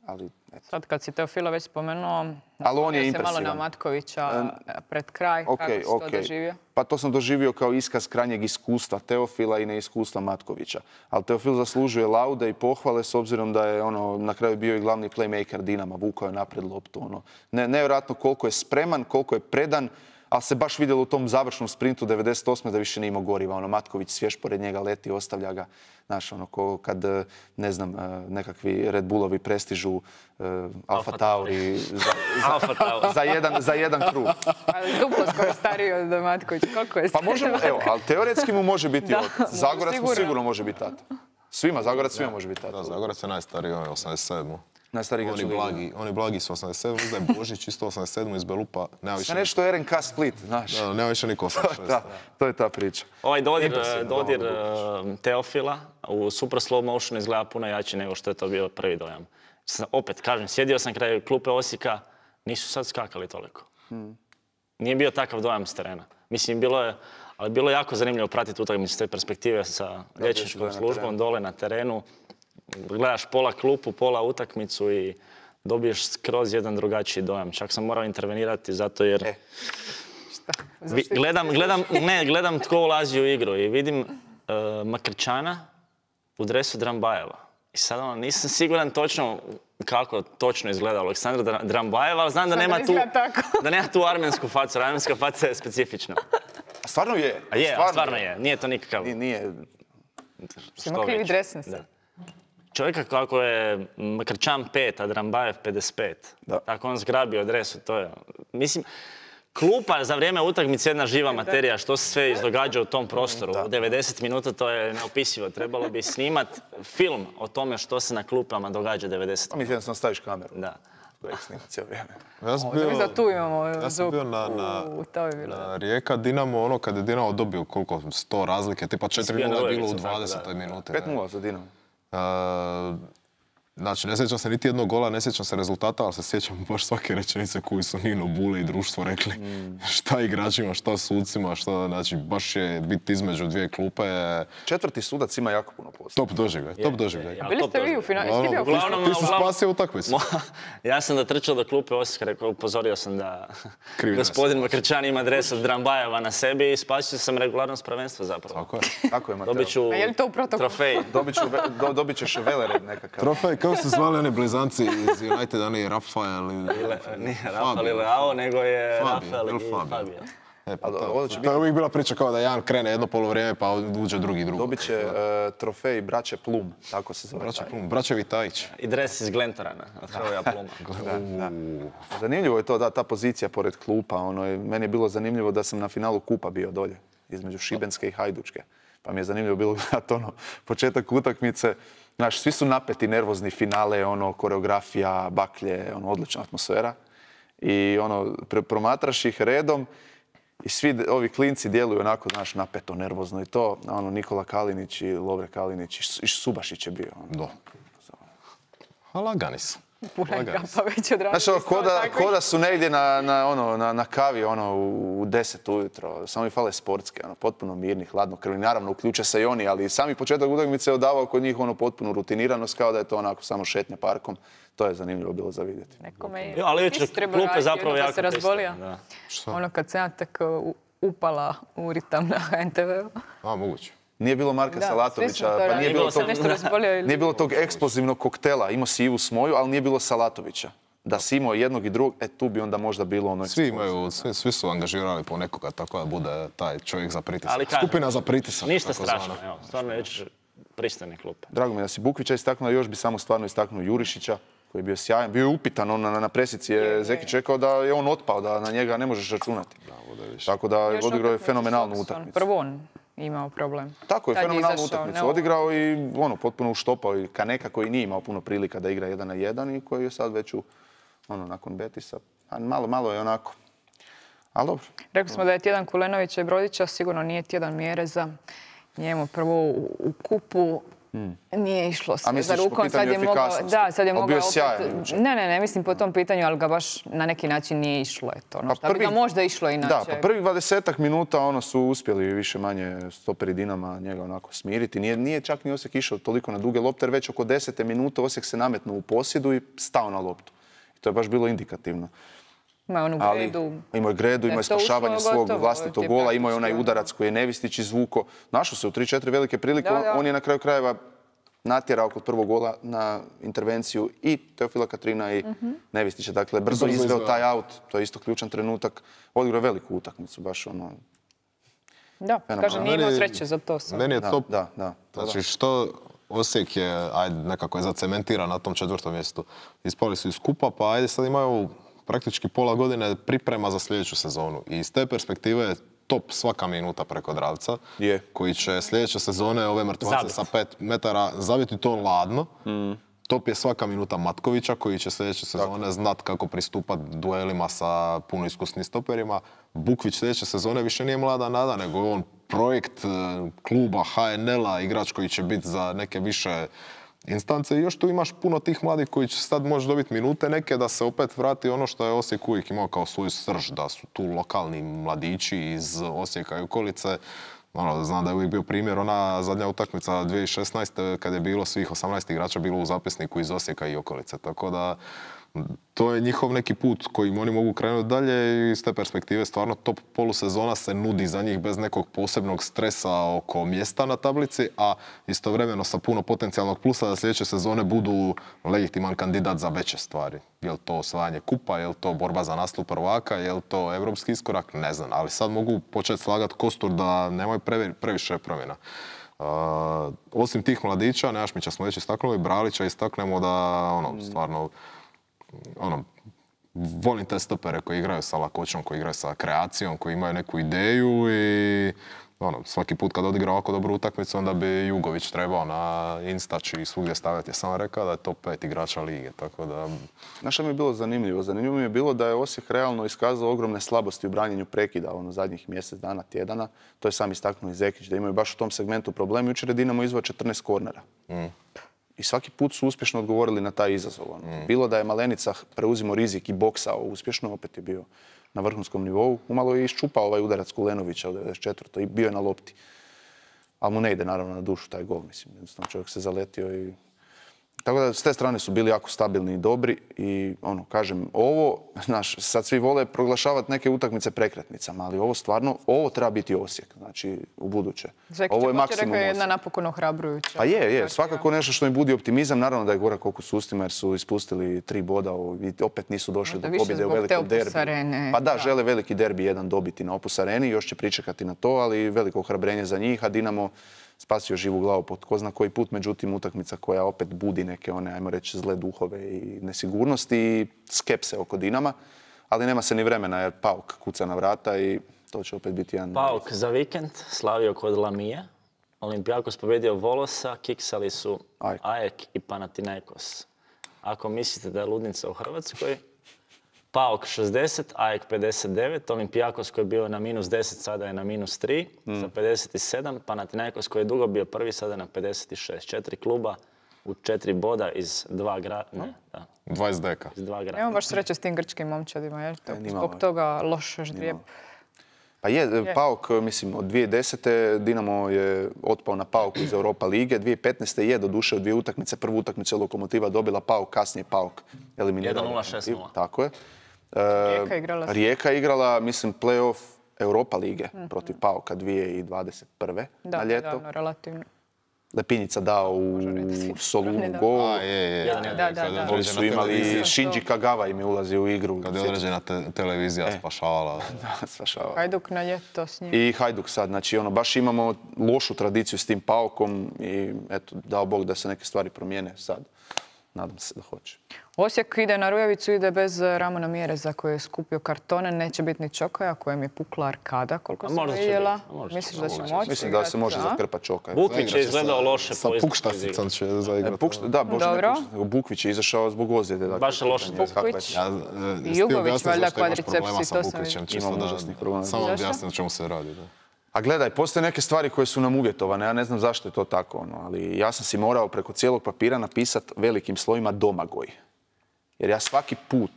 Ali, sad kad si Teofila već spomenuo, ali on je se impresivan. Malo na Matkovića pred kraj, okay, kako si okay. to doživio? Pa to sam doživio kao iskaz krajnjeg iskustva Teofila i neiskustva Matkovića. Ali Teofil zaslužuje laude i pohvale s obzirom da je ono, na kraju bio i glavni playmaker Dinama, vukao je napred loptu. Ono. Ne, nevjerojatno koliko je spreman, koliko je predan, ali se baš vidjelo u tom završnom sprintu devedeset osme da više nije imao goriva. Ono, Matković svjež pored njega leti, ostavlja ga. Znaš, ono, ko kad, ne znam, nekakvi Red Bullovi prestižu uh, Alfa Tauri za, za, za, jedan, za jedan krug. Ali duplo skoro stariji od Matkovića. Koliko je Pa možemo, evo, ali teoretski mu može biti otac. Zagorac mu sigurno može biti tata. Svima, Zagorac svima može biti tata. Da, Zagorac je najstariji, on je osamdeset sedam. Najstariji oni blagi, oni blagi su osamdeset sedam, mislim da je Božić isto osamdeset sedam iz Belupa. Nema više nešto R N K Split, znaš. Da, nema više niko osamdeset šest. Da, to je ta priča. Ovaj dodir, dodir Teofila u super slow motionu izgleda puno jači nego što je to bio prvi dojam. Opet, kažem, sjedio sam kraj klupe Osijeka, nisu sad skakali toliko. Hmm. Nije bio takav dojam s terena. Mislim, bilo je, ali bilo je jako zanimljivo pratiti utakmicu s te perspektive sa liječničkom službom dole na terenu. Gledaš pola klupu, pola utakmicu i dobiješ skroz jedan drugačiji dojam. Čak sam morao intervenirati zato jer e. Vi, gledam, gledam, ne, gledam tko ulazi u igru i vidim uh, Makrčana u dresu Drambajeva. I sad ono, nisam siguran točno kako točno izgleda Aleksandra Drambajeva, ali znam da nema, tu, da nema tu armensku facu. Armenska faca je specifična. A stvarno je? A je, stvarno, stvarno je. je. Nije to nikakav... Nije. nije... Ima krivi dresni se. Čovjeka kako je Makrčan pet, a Drambajev pedeset pet. Da. Tako on zgrabio dresu, to je... Mislim, klupa za vrijeme utakmice jedna živa materija, što se sve izdogađa u tom prostoru. Da. U devedeset minuta to je neopisivo. Trebalo bi snimat film o tome što se na klupama događa devedeset minuta. Mislim da sam staviš kameru. Da. Da ih snima cijelo vrijeme. Ja sam bio, da tu imamo ja sam bio na, na, na Rijeka Dinamo, ono kad je Dinamo dobio koliko, sto razlike, tipa četiri nula je bilo u dvadesetoj minuti. pet nula za Dinamo. Uh, Znači, ne sjećam se niti jednog gola, ne sjećam se rezultata, ali se sjećam baš svake rečenice koju su Nino, Bule i društvo rekli. Mm. Šta igračima, šta sucima, šta, znači, baš je biti između dvije klupe. Četvrti sudac ima jako puno posla. Top doživljaj, top doživljaj. Ja, Bili ste vi u finalu? Ti si spasio utakmicu. Ja sam da trčao do klupe Osijeka, rekao, upozorio sam da gospodin Makrčan ima dres od Drambajeva na sebi i spasio sam regularnost prvenstva zapravo. Tako je. Tako je, Mateo. Dobit ću trofej. Dobit ćeš velered nekakav. Trofej, kako se zvali oni blizanci iz United, oni Rafael ili... Nije Rafael ili Leao, nego je Rafael i Fabio. E, pa to, to je uvijek bila priča kao da jedan krene jedno polovrijeme pa uđe drugi drugo. Dobit će uh, trofej Braće Plum, tako se zove. Braće Plum, Braće Vitajić. I dres iz Glentorana, od Hrvoja Pluma. Da, da. Zanimljivo je to, da, ta pozicija pored klupa. Ono, meni je bilo zanimljivo da sam na finalu kupa bio dolje, između Šibenske i Hajdučke. Pa mi je zanimljivo bilo gledati ono, početak utakmice. Znaš, svi su napeti, nervozni, finale, ono, koreografija, baklje, ono, odlična atmosfera. I ono, promatraš ih redom i svi ovi klinci djeluju onako, znaš, napeto, nervozno i to. Ono, Nikola Kalinić i Lovre Kalinić i Subašić je bio. Ono. Do. A lagani su. Puna kapa već odradili. Znaš, ko da, ko da su negdje na, na, ono, na, na kavi ono, u deset ujutro. Samo mi fale sportske, ono, potpuno mirni, hladnokrvni. Naravno, uključe se i oni, ali sami početak utakmice je odavao kod njih ono, potpuno rutiniranost, kao da je to onako samo šetnja parkom. To je zanimljivo bilo za vidjeti. Nekome je ali već klupe zapravo jako se razbolio. Ono kad se ja tek upala u ritam na H N T V-u. A, moguće. Nije bilo Marka da, Salatovića, pa nije bilo, tog, ili... nije bilo tog eksplozivnog koktela. Imao si Ivu Smoju, ali nije bilo Salatovića. Da si imao jednog i drugog, e tu bi onda možda bilo ono... Svi imaju, svi, svi su angažirali po nekoga, tako da bude taj čovjek za pritisak. Skupina za pritisak. Ništa strašno, evo, stvarno već pristojne klupe. Drago mi je da si Bukvića istaknuo, još bi samo stvarno istaknuo Jurišića, koji je bio sjajan. Bio je upitan, on na, na presici je Zekić rekao da je on otpao, da na njega ne možeš računati. Tako da odigrao je fenomenalnu utakmicu. Prvo on imao problem. Tako je, fenomenalnu utakmicu odigrao i ono, potpuno uštopao i Kaneka koji nije imao puno prilika da igra jedan na jedan i koji je sad već u, ono, nakon Betisa. A malo, malo je onako. Ali dobro. Rekli smo da je tjedan Kulenovića i Brodića, sigurno nije tjedan Mjereza. Njemu prvo u, u kupu Hmm. nije išlo sve za rukom. Sad je mogao, da, sad je mogao opet... Sjajan, ne, ne, ne mislim po tom pitanju, ali ga baš na neki način nije išlo. Eto, ono, šta bi ga možda išlo inače. Da, pa prvih dvadesetak minuta ono su uspjeli više manje stoperi Dinama njega onako smiriti. Nije, nije čak ni Osijek išao toliko na duge lopte, jer već oko desete minute Osijek se nametnuo u posjedu i stao na loptu. I to je baš bilo indikativno. Ima onu gredu. Imao je gredu, imao je spašavanje svog vlastitog gola, imao je onaj udarac koji je Nevistić izvuko. Našao se u tri četiri velike prilike, da, da. On je na kraju krajeva natjerao kod prvog gola na intervenciju i Teofila Katrina i mm-hmm. Nevistića. Dakle, brzo izveo taj aut, to je isto ključan trenutak. Odigrao veliku utakmicu, baš ono... Da, kaže, nije imao sreće za to sam. Meni je to... Da, da. Znači, što Osijek je, ajde, nekako je zacementiran na tom četvrtom mjestu. Ispali su iz skupa, pa ajde sad imaju praktički pola godine priprema za sljedeću sezonu. I iz te perspektive top svaka minuta preko Dravca, Je. koji će sljedeće sezone ove mrtvace sa pet metara zabiti to ladno. Mm. Top je svaka minuta Matkovića, koji će sljedeće sezone tako znat kako pristupati duelima sa puno iskusnim stoperima. Bukvić sljedeće sezone više nije mlada nada, nego je on projekt kluba H N L-a, igrač koji će biti za neke više instance. I još tu imaš puno tih mladih koji će sad moći dobiti minute neke, da se opet vrati ono što je Osijek uvijek imao kao svoju srž, da su tu lokalni mladići iz Osijeka i okolice. Ono, znam da je uvijek bio primjer ona zadnja utakmica dvije tisuće šesnaeste kad je bilo svih osamnaest igrača bilo u zapisniku iz Osijeka i okolice. Tako da to je njihov neki put kojim oni mogu krenuti dalje i iz te perspektive stvarno top polusezona se nudi za njih bez nekog posebnog stresa oko mjesta na tablici, a istovremeno sa puno potencijalnog plusa da sljedeće sezone budu legitiman kandidat za veće stvari. Je li to osvajanje kupa, je li to borba za naslov prvaka, je li to evropski iskorak, ne znam. Ali sad mogu početi slagati kostur da nemaju previše promjena. Uh, osim tih mladića, Nejašmića smo već istaknuli, Bralića istaknemo da ono, stvarno ono, volim te stopere koji igraju sa lakoćom, koji igraju sa kreacijom, koji imaju neku ideju i ono, svaki put kad odigra ovako dobru utakmicu, onda bi Jugović trebao na Instač i svugdje stavljati. Ja sam rekao da je top pet igrača lige, tako da... Znaš što mi je bilo zanimljivo? Zanimljivo mi je bilo da je Osijek realno iskazao ogromne slabosti u branjenju prekida ono, zadnjih mjesec dana, tjedana. To je sam istaknuo i Zekić, da imaju baš u tom segmentu problem. Jučer je Dinamo izveo četrnaest kornera. Mm. I svaki put su uspješno odgovorili na taj izazov. Mm. Bilo da je Malenica preuzimo rizik i boksao uspješno, opet je bio na vrhunskom nivou. Umalo je iščupao ovaj udarac Kulenovića od devedeset četvrte i bio je na lopti. Ali mu ne ide naravno na dušu taj gol, mislim. Jednostavno čovjek se zaletio i... Tako da s te strane su bili jako stabilni i dobri i ono, kažem, ovo, znaš, sad svi vole proglašavati neke utakmice prekretnicama, ali ovo stvarno, ovo treba biti Osijek, znači, u buduće. Ovo je maksimum Osijek. Jedna napokon ohrabrujuća. Pa je, je, svakako nešto što im budi optimizam, naravno da je gorak oko s ustima jer su ispustili tri boda i opet nisu došli do pobjede u velikom derbi. Pa da, žele veliki derbi jedan dobiti na Opus Areni, još će pričekati na to, ali veliko ohrabrenje za njih, a Dinamo spasio živu glavu pod ko zna koji put, međutim utakmica koja opet budi neke one, ajmo reći, zle duhove i nesigurnosti i skepse oko Dinama, ali nema se ni vremena jer Pauk kuca na vrata i to će opet biti jedan... Pauk za vikend slavio kod Lamije, Olimpijakos pobjedio Volosa, kiksali su Ajek i Panathinaikos. Ako mislite da je ludnica u Hrvatskoj, Pauk šezdeset, Ajek pedeset devet, Olimpijakos koji je bio na minus deset, sada je na minus tri, mm. sa pedeset sedam, Panathinaikos koji je dugo bio prvi, sada je na pedeset šest. Četiri kluba u četiri boda iz dva grada. Ne, da. dvadeset deka. Iz dva grada. Imamo baš sreće s tim grčkim momčadima, jer to zbog toga loš ždrijeb. Pa je, je, Pauk, mislim, od dvije tisuće desete. Dinamo je otpao na Pauku iz Europa lige. dvije tisuće petnaeste. je doduše od dvije utakmice. Prvu utakmicu Lokomotiva dobila Pauk, kasnije Pauk eliminirala. jedan nula šest nula. Tako je. Rijeka igrala, Rijeka igrala, mislim, play-off Europa lige mm-hmm. protiv Pauka dvije tisuće dvadeset prve. Da, na ljeto. davno, relativno. Lepinjica dao u Solunu gol. A, je, je. Da, da, da, da. Oni su imali, Shinji Kagawa im je ulazio u igru. Kad je određena te, televizija e. spašavala. Da, spašavala. Hajduk na ljeto s njim. I Hajduk sad, znači ono, baš imamo lošu tradiciju s tim Paukom i eto, dao Bog da se neke stvari promijene sad. Nadam se da hoće. Osijek ide na Rujevicu, ide bez Ramona Mjereza koji je skupio kartone. Neće biti ni Čokaja kojem je pukla arkada, koliko sam vidjela. Misliš da će moći? Mislim da se može zakrpati Čokaj. Bukvić je izgledao loše. Sa Pukštasicom će zaigrati. Da, Bukvić je izašao zbog ozljede. Baš je loše. Bukvić i Jugović, valjda kvadricepsi, to sam vidio. Samo objasnim o čemu se radi. A gledaj, postoje neke stvari koje su nam uvjetovane, ja ne znam zašto je to tako, ono, ali ja sam si morao preko cijelog papira napisati velikim slovima Domagoj. Jer ja svaki put,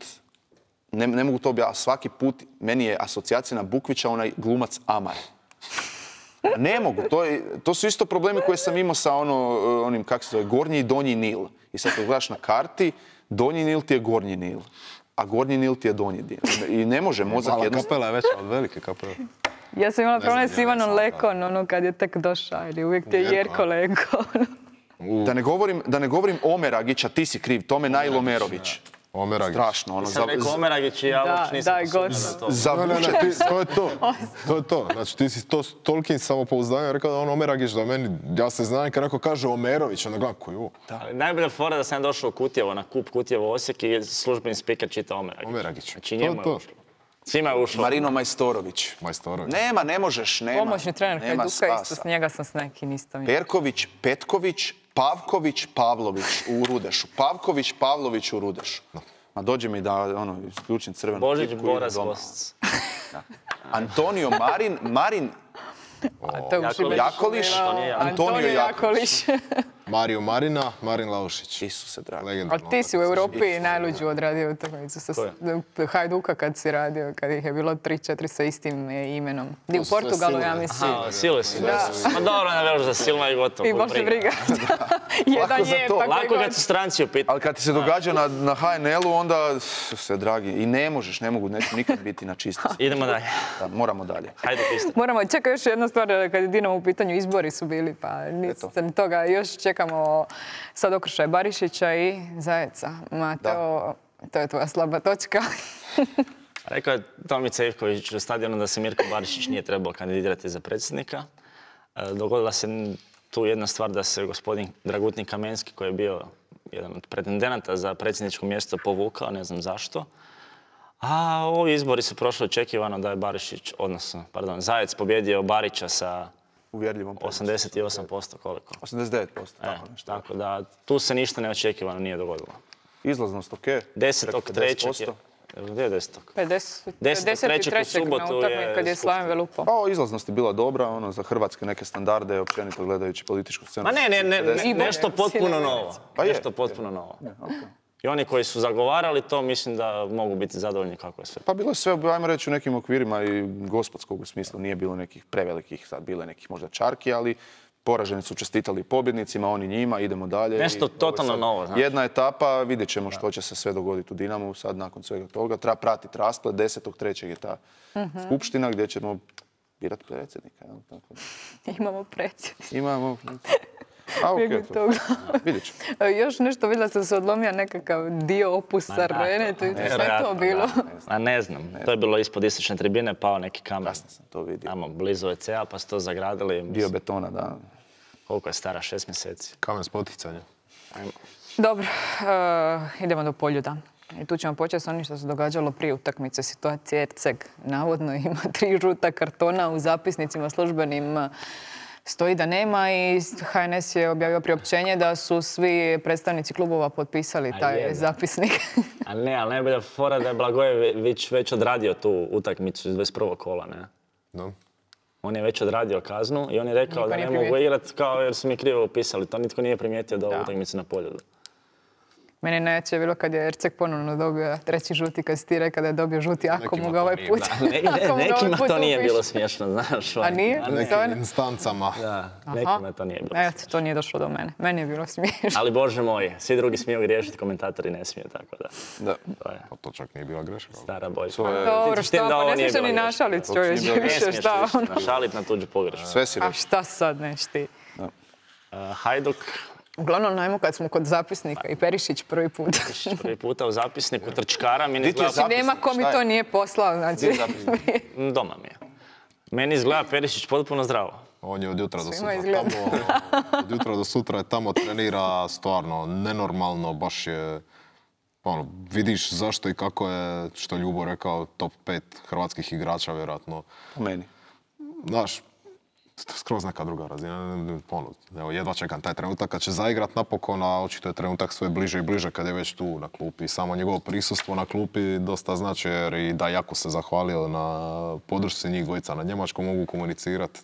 ne, ne mogu to objasniti, svaki put meni je asocijacija na Bukvića onaj glumac Amar. Ne mogu, to, je, to su isto problemi koje sam imao sa ono, onim, kako se zove, Gornji i Donji Nil. I sad kad gledaš na karti, Donji Nil ti je Gornji Nil, a Gornji Nil ti je Donji Nil. I ne može mozak jednostavno... Mala kapela je veća od velike kapele. Ja sam imala problem s Ivanom Lekon, ono kad je tek došao, ili uvijek ti je Jerko Lekon. Da ne govorim, da ne govorim Omeragića, ti si kriv, Tome Najl Omerović. Omeragić. Strašno. Ono, sam rekao Omeragić i ja uopće nisam posumnio na to. Za ne, ne, ne, ti, to je to. To je to. Znači ti si to toliki samopouzdanja rekao da on Omeragić da meni, ja se znam kad neko kaže Omerović, onda gledam koji je ovo. Najbolja fora da sam došao u Kutjevo, na kup Kutjevo Osijek i službeni speaker čita Omeragić. Omeragić. Znači njemu je ušlo. Svima je ušlo. Marino Majstorović. Majstorović. Nema, ne možeš, nema. Pomoćni trener Hajduka, isto s njega sam s neki nisam. Perković, Petković, Pavković, Pavlović u Rudešu. Pavković, Pavlović u Rudešu. Ma dođe mi da ono, isključim crvenu Božić, tipku Boras, i doma. Bosac. Antonio Marin, Marin Jakolić. Jakolić, Antonio Jakolić. Mario Marina, Marin Laušić. Isuse dragi. Legendarno. A ti si u Europi najluđu odradio utakmicu sa Hajduka kad si radio, kad ih je bilo tri četiri sa istim imenom. Di u Portugalu, ja mislim. Aha, Sile si. Ma dobro, ne veliš za Silma i gotovo. I baš je briga. Jedan je, pa lako kad su stranci u pitanju. Ali kad ti se događa na, na H N L-u, onda se dragi. I ne možeš, ne mogu, neću nikad biti na čistosti. Idemo dalje. Da, moramo dalje. Hajde, Pista. Moramo, čekaj još jedna stvar, kad je Dinamo u pitanju, izbori su bili, pa nisam toga. Još čekamo sad okršaj Barišića i Zajeca. Mateo, to je tvoja slaba točka. Rekao je Tomica Ivković u stadionu da se Mirko Barišić nije trebao kandidirati za predsjednika. Dogodila se tu jedna stvar da se gospodin Dragutni Kamenski, koji je bio jedan od pretendenata za predsjedničko mjesto, povukao, ne znam zašto. A ovi izbori su prošli očekivano da je Barišić, odnosno, pardon, Zajec pobjedio Barića sa Uvjerljivom osamdeset osam posto koliko? osamdeset devet posto, E, tako nešto. tako da tu se ništa neočekivano nije dogodilo. Izlaznost, ok. desetog trećeg je... Gdje je desetog? deset trećeg u subotu je kad je Slaven Velupao. Pa, izlaznost je bila dobra, ono, za hrvatske neke standarde, općenito gledajući političku scenu. Ma ne, ne, ne, ne nešto potpuno novo. Pa je. Nešto potpuno novo. Ja, okay. I oni koji su zagovarali to, mislim da mogu biti zadovoljni kako je sve. Pa bilo je sve, ajmo reći, u nekim okvirima i gospodskog u smislu. Nije bilo nekih prevelikih, sad bile nekih možda čarki, ali poraženi su čestitali pobjednicima, oni njima, idemo dalje. Nešto totalno novo, znaš. Jedna etapa, vidjet ćemo što će se sve dogoditi u Dinamu sad nakon svega toga. Treba pratiti rasplet, desetog trećeg je ta skupština gdje ćemo birati predsjednika. Imamo predsjednika. Imamo... A, okej, to. Vidjet ćemo. Još nešto, vidjela sam se odlomio nekakav dio opusa arene, to je sve to bilo. A ne znam, to je bilo ispod istočne tribine, pao neki kamen. Kasno sam to vidio. Tamo, blizu E C A, pa su to zagradili. Dio betona, da. Koliko je stara, šest mjeseci. Kamen spoticanja. Dobro, idemo do Poljuda. I tu ćemo početi s onim što se događalo prije utakmice. Situacija Erceg navodno ima tri žuta kartona u zapisnicima službenim. Stoji da nema i H N S je objavio priopćenje da su svi predstavnici klubova potpisali taj zapisnik. A ne, ali najbolja fora da je Blagojević već odradio tu utakmicu iz dvadeset prvog kola, ne? No. On je već odradio kaznu i on je rekao da ne mogu igrati kao jer su mi krivo upisali. To nitko nije primijetio do utakmice na Poljudu. Meni najjače je bilo kad je Erceg ponovno dobio treći žuti, kad si ti rekao da je dobio žuti, ako mu ga ovaj put... Nekima to nije bilo smiješno, znaš. A nije? Nekim instancama. Da, nekima to nije bilo smiješno. Eto, to nije došlo do mene. Meni je bilo smiješno. Ali Bože moj, svi drugi smiju griješiti, komentatori ne smiju, tako da. Da. Pa to čak nije bila greška. Stara boljka. Dobro, šta, pa ne smiješ se ni našalit, čovječ, više, šta ono. Našalit na tuđu pogrešku. Sve si A rekao. šta sad neš ti? Hajduk. Uglavnom, najmo kad smo kod zapisnika i Perišić prvi put. Prvi puta u zapisniku trčkara. Znači, nema ko mi to nije poslao. Znači, doma mi je. Meni izgleda Perišić potpuno zdravo. On je od jutra do sutra tamo. Od jutra do sutra je tamo, trenira stvarno nenormalno, baš je... Ono, vidiš zašto i kako je, što Ljubo rekao, top pet hrvatskih igrača, vjerojatno. Po meni. Znaš, skroz neka druga razina. Ono, evo, jedva čekam taj trenutak kad će zaigrat napokon, a očito je trenutak sve bliže i bliže kad je već tu na klupi. Samo njegovo prisustvo na klupi dosta znači jer i da jako se zahvalio na podršci njih dvojica. Na njemačkom mogu komunicirati.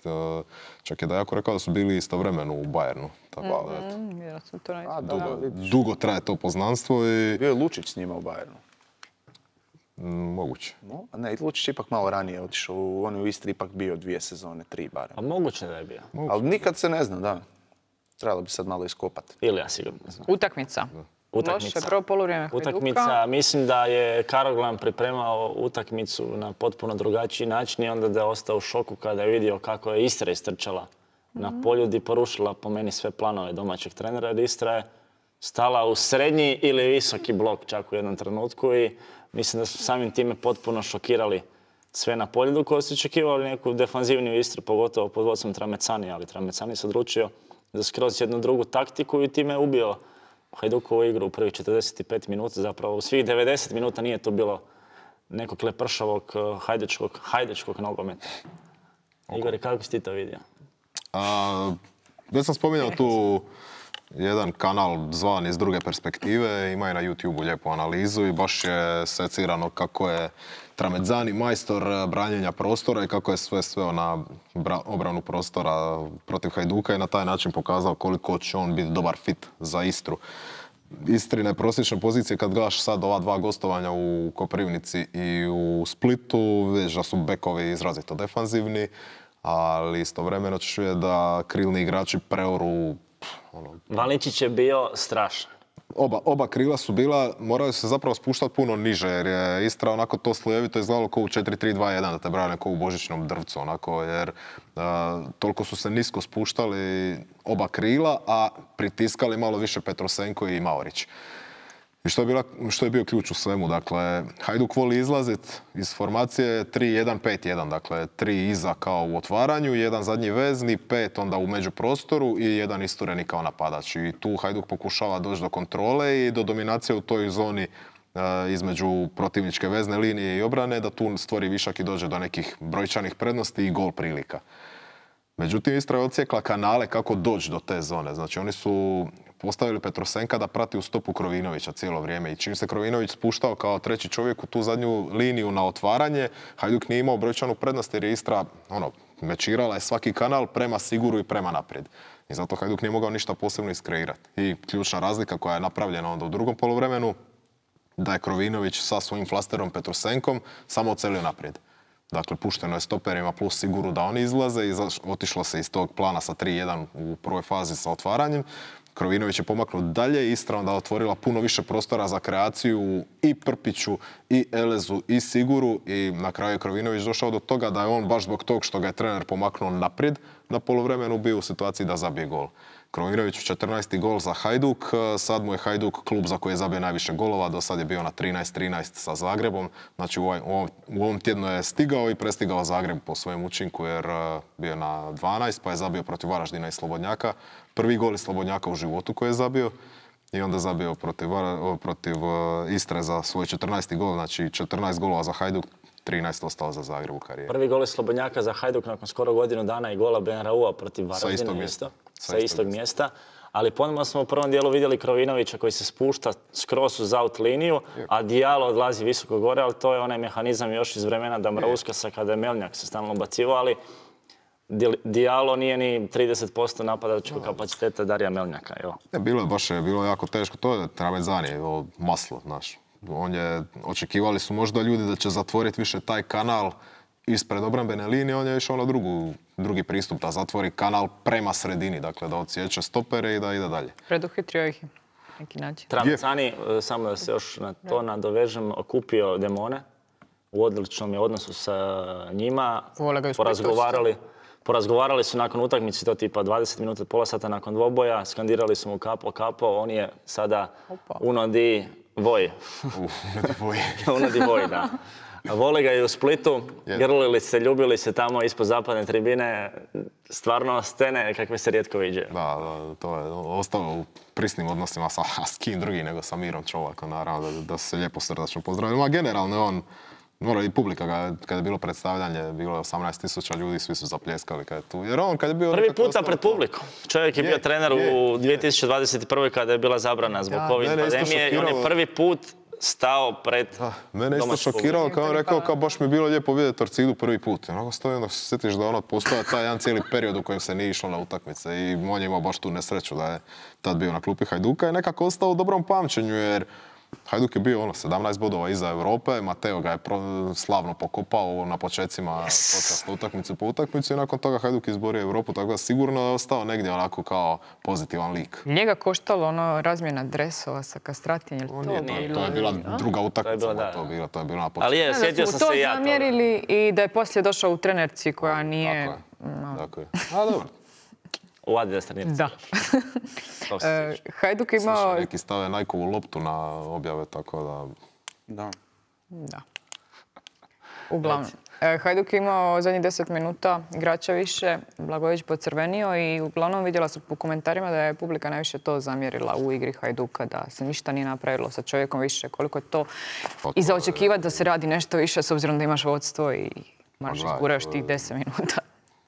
Čak je da jako rekao da su bili istovremeno u Bayernu. Tako, mm-hmm. dugo, dugo traje to poznanstvo i... Bio je Lučić s njima u Bayernu. Mm, moguće. No, a ne, Lučić je ipak malo ranije otišao. On je u Istri ipak bio dvije sezone, tri barem. A moguće da je bio. Moguće. Ali nikad se ne zna, da. Trebalo bi sad malo iskopati. Ili ja sigurno ne znam. Utakmica. Utakmica. Loše, prvo poluvrijeme Hajduka. Utakmica, mislim da je Karoglan pripremao utakmicu na potpuno drugačiji način i onda da je ostao u šoku kada je vidio kako je Istra istrčala mm-hmm. na Poljud i porušila po meni sve planove domaćeg trenera jer Istra je stala u srednji ili visoki blok čak u jednom trenutku i mislim da su samim time potpuno šokirali sve na Poljudu koji su očekivali neku defanzivniju Istru, pogotovo pod vodstvom Tramecani, ali Tramecani se odlučio za skroz jednu drugu taktiku i time je ubio Hajdukovu igru u prvih četrdeset pet minuta. Zapravo u svih devedeset minuta nije to bilo nekog lepršavog hajdučkog, hajdučkog nogometa. Igor, kako si ti to vidio? A, već sam spominjao tu jedan kanal zvan Iz druge perspektive, ima i na YouTubeu lijepu analizu i baš je secirano kako je Tramezzani majstor branjenja prostora i kako je sve sveo na obranu prostora protiv Hajduka i na taj način pokazao koliko će on biti dobar fit za Istru. Istrine prosječne pozicije kad gledaš sad ova dva gostovanja u Koprivnici i u Splitu, vidiš da su bekovi izrazito defanzivni, ali istovremeno ćeš vidjeti da krilni igrači preoru. Ono, Valičić je bio strašan. Oba, oba krila su bila, moraju se zapravo spuštati puno niže, jer je Istra onako to slojevito izgledalo kao u četiri tri dva jedan, da te brane kao u božićnom drvcu, onako, jer uh, toliko su se nisko spuštali oba krila, a pritiskali malo više Petrosenko i Maorić. I što je, bila, što je bio ključ u svemu, dakle, Hajduk voli izlaziti iz formacije tri jedan pet jedan, dakle, tri iza kao u otvaranju, jedan zadnji vezni, pet onda u međuprostoru i jedan istureni kao napadač. I tu Hajduk pokušava doći do kontrole i do dominacije u toj zoni e, između protivničke vezne linije i obrane, da tu stvori višak i dođe do nekih brojčanih prednosti i gol prilika. Međutim, Istra je odsjekla kanale kako doći do te zone. Znači, oni su postavili Petrosenka da prati u stopu Krovinovića cijelo vrijeme. I čim se Krovinović spuštao kao treći čovjek u tu zadnju liniju na otvaranje, Hajduk nije imao brojčanu prednost jer je Istra ono, mečirala je svaki kanal prema Siguru i prema naprijed. I zato Hajduk nije mogao ništa posebno iskreirati. I ključna razlika koja je napravljena onda u drugom poluvremenu, da je Krovinović sa svojim flasterom Petrosenkom samo ocelio naprijed. Dakle, pušteno je stoperima plus Siguru da oni izlaze i otišlo se iz tog plana sa tri jedan u prvoj fazi sa otvaranjem. Krovinović je pomaknut dalje, Istra onda otvorila puno više prostora za kreaciju i Prpiću, i Elezu, i Siguru i na kraju je Krovinović došao do toga da je on baš zbog tog što ga je trener pomaknuo naprijed na poluvremenu bio u situaciji da zabije gol. Krovinović četrnaesti gol za Hajduk, sad mu je Hajduk klub za koji je zabio najviše golova, do sad je bio na trinaest trinaest sa Zagrebom, znači u, ovaj, u, ovom, u ovom tjednu je stigao i prestigao Zagreb po svojem učinku jer bio na dvanaest pa je zabio protiv Varaždina i Slobodnjaka. Prvi gol iz Slobodnjaka u životu koji je zabio i onda zabio protiv, protiv Istre za svoj četrnaesti gol, znači četrnaest golova za Hajduk, trinaest ostalo za Zagreb u karijeri. Prvi gol iz Slobodnjaka za Hajduk nakon skoro godinu dana i gola Benraua protiv Varaždina. Sa istog mjesta. Sa istog mjesta. Ali ponovno smo u prvom dijelu vidjeli Krovinovića koji se spušta skroz uz out liniju, a Diallo odlazi visoko gore, ali to je onaj mehanizam još iz vremena Dambrauskasa kada je Melnjak se stalno ubacivao, ali Diallo nije ni trideset posto napadačkog kapaciteta Darija Melnjaka. Evo. Ne, bilo je baš bilo jako teško, to je Tramezzani, maslo, znaš. On je, očekivali su možda ljudi da će zatvoriti više taj kanal ispred obrambene linije, on je išao na drugu, drugi pristup, da zatvori kanal prema sredini, dakle da odsjeće stopere i da ide dalje. Preduhitrio ih neki način. Tramezzani, samo da se još na to nadovežem, okupio demone, u odličnom je odnosu sa njima, porazgovarali, porazgovarali su nakon utakmice, to tipa dvadeset minuta, pola sata nakon dvoboja, skandirali su mu kapo, kapo, on je sada uno di voj. Uno di voj, da. Vole ga i u Splitu, grlili se, ljubili se tamo ispod zapadne tribine, stvarno scene kakve se rijetko viđaju. Da, da, to je ostao u prisnim odnosima sa, s kim drugi nego sa Mirom Čovakom, naravno da, da se lijepo srdačno pozdravili. A generalno on, mora i publika ga, kada je bilo predstavljanje, bilo je osamnaest tisuća ljudi, svi su zapljeskali kad je tu. Jer on kad je bio... Prvi puta pred publikom. Čovjek je, je bio trener je. u dvije tisuće dvadeset prve kada je bila zabrana zbog da, COVID pandemije i on je prvi put stao pred da, mene isto šokirao kao on rekao kao baš mi je bilo lijepo vidjeti Torcidu prvi put. Onako stoji onda se sjetiš da ono postoja taj jedan cijeli period u kojem se nije išlo na utakmice i on je imao baš tu nesreću da je tad bio na klupi Hajduka i nekako ostao u dobrom pamćenju jer Hajduk je bio ono sedamnaest bodova iza Europe, Mateo ga je pro, slavno pokopao na počecima yes. utakmicu po utakmicu i nakon toga Hajduk izborio Europu, tako da sigurno je ostao negdje onako kao pozitivan lik. Njega koštalo ono razmjena dresova sa Kastratijem, je li to? To, nije, to je bila druga utakmica, to je bila, to je bila, to je bila na početku. Ali je, sjetio sam se i ja to zamjerili i da je poslije došao u trenerci koja nije... Tako je, no. tako je. A dobro. U Adidas trenirci. Da. e, Hajduk je imao... Slušaj, neki stave Nikeovu loptu na objave, tako da... Da. Da. Uglavnom. Hajduk je imao zadnjih deset minuta igrača više, Blagojević pocrvenio i uglavnom vidjela sam po komentarima da je publika najviše to zamjerila u igri Hajduka, da se ništa nije napravilo sa čovjekom više. Koliko je to i za očekivati da se radi nešto više s obzirom da imaš vodstvo i možeš izguraš tih deset minuta.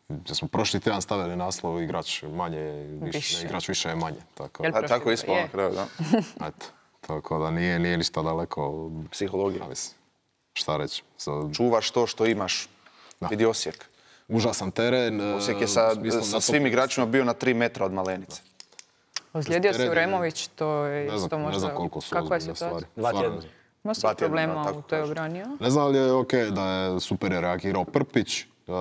Da smo prošli tjedan stavili naslov igrač manje, više, igrač više je manje. Tako, A, tako ispalo na kraju, da. Eto, tako da nije, nije ništa daleko. Psihologija. Šta reći? So, čuvaš to što imaš. Da. Vidi Osijek. Užasan teren. Osijek je sa, sa svim igračima bio na tri metra od Malenice. Ozlijedio se Uremović, to je ne znam, isto možda... Ne znam koliko su kakva je situacija? Dva tjedna. Ima se problema u toj obrani, a? Ne znam li je okej okay da je super reagirao Prpić. Uh,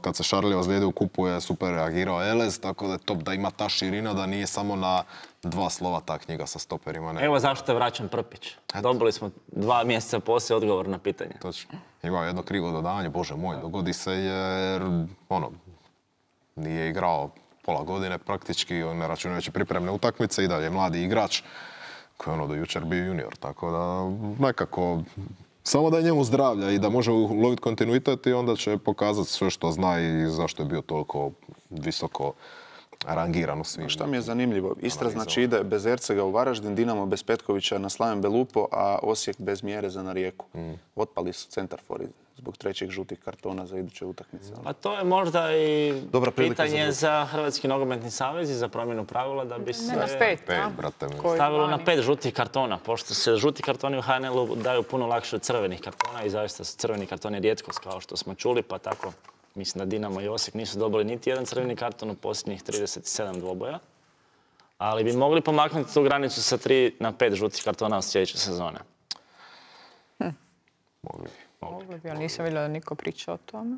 kad se Šarli ozlijedio u kupu je super reagirao Elez, tako da je top da ima ta širina, da nije samo na dva slova ta knjiga sa stoperima. Ne. Evo zašto je vraćan Prpić. Dobili smo dva mjeseca poslije odgovor na pitanje. Točno. Ima jedno krivo dodavanje, bože moj, dogodi se jer ono, nije igrao pola godine praktički, ne računajući pripremne utakmice i dalje mladi igrač koji je ono do jučer bio junior, tako da nekako samo da je njemu zdravlja i da može uloviti kontinuitet i onda će pokazati sve što zna i zašto je bio toliko visoko rangiran u svim. Šta mi je zanimljivo? Istra znači ide bez Ercega u Varaždin, Dinamo bez Petkovića na Slaven Belupo, a Osijek bez Mjereza na Rijeku. Mm. Otpali su centarfori zbog trećeg žutih kartona za iduće utakmice. A to je možda i dobra pitanje za, za Hrvatski nogometni savez i za promjenu pravila da bi se ne, na pet, pet, brate, stavilo na pet žutih kartona, pošto se žuti kartoni u H N L-u daju puno lakše od crvenih kartona i zaista su crveni kartoni rijetkost kao što smo čuli, pa tako mislim da Dinamo i Osijek nisu dobili niti jedan crveni karton u posljednjih trideset sedam dvoboja. Ali bi mogli pomaknuti tu granicu sa tri na pet žutih kartona od sljedeće sezone. Hm. Mogli. Mogli bi, ali nisam vidjela da niko priča o tome.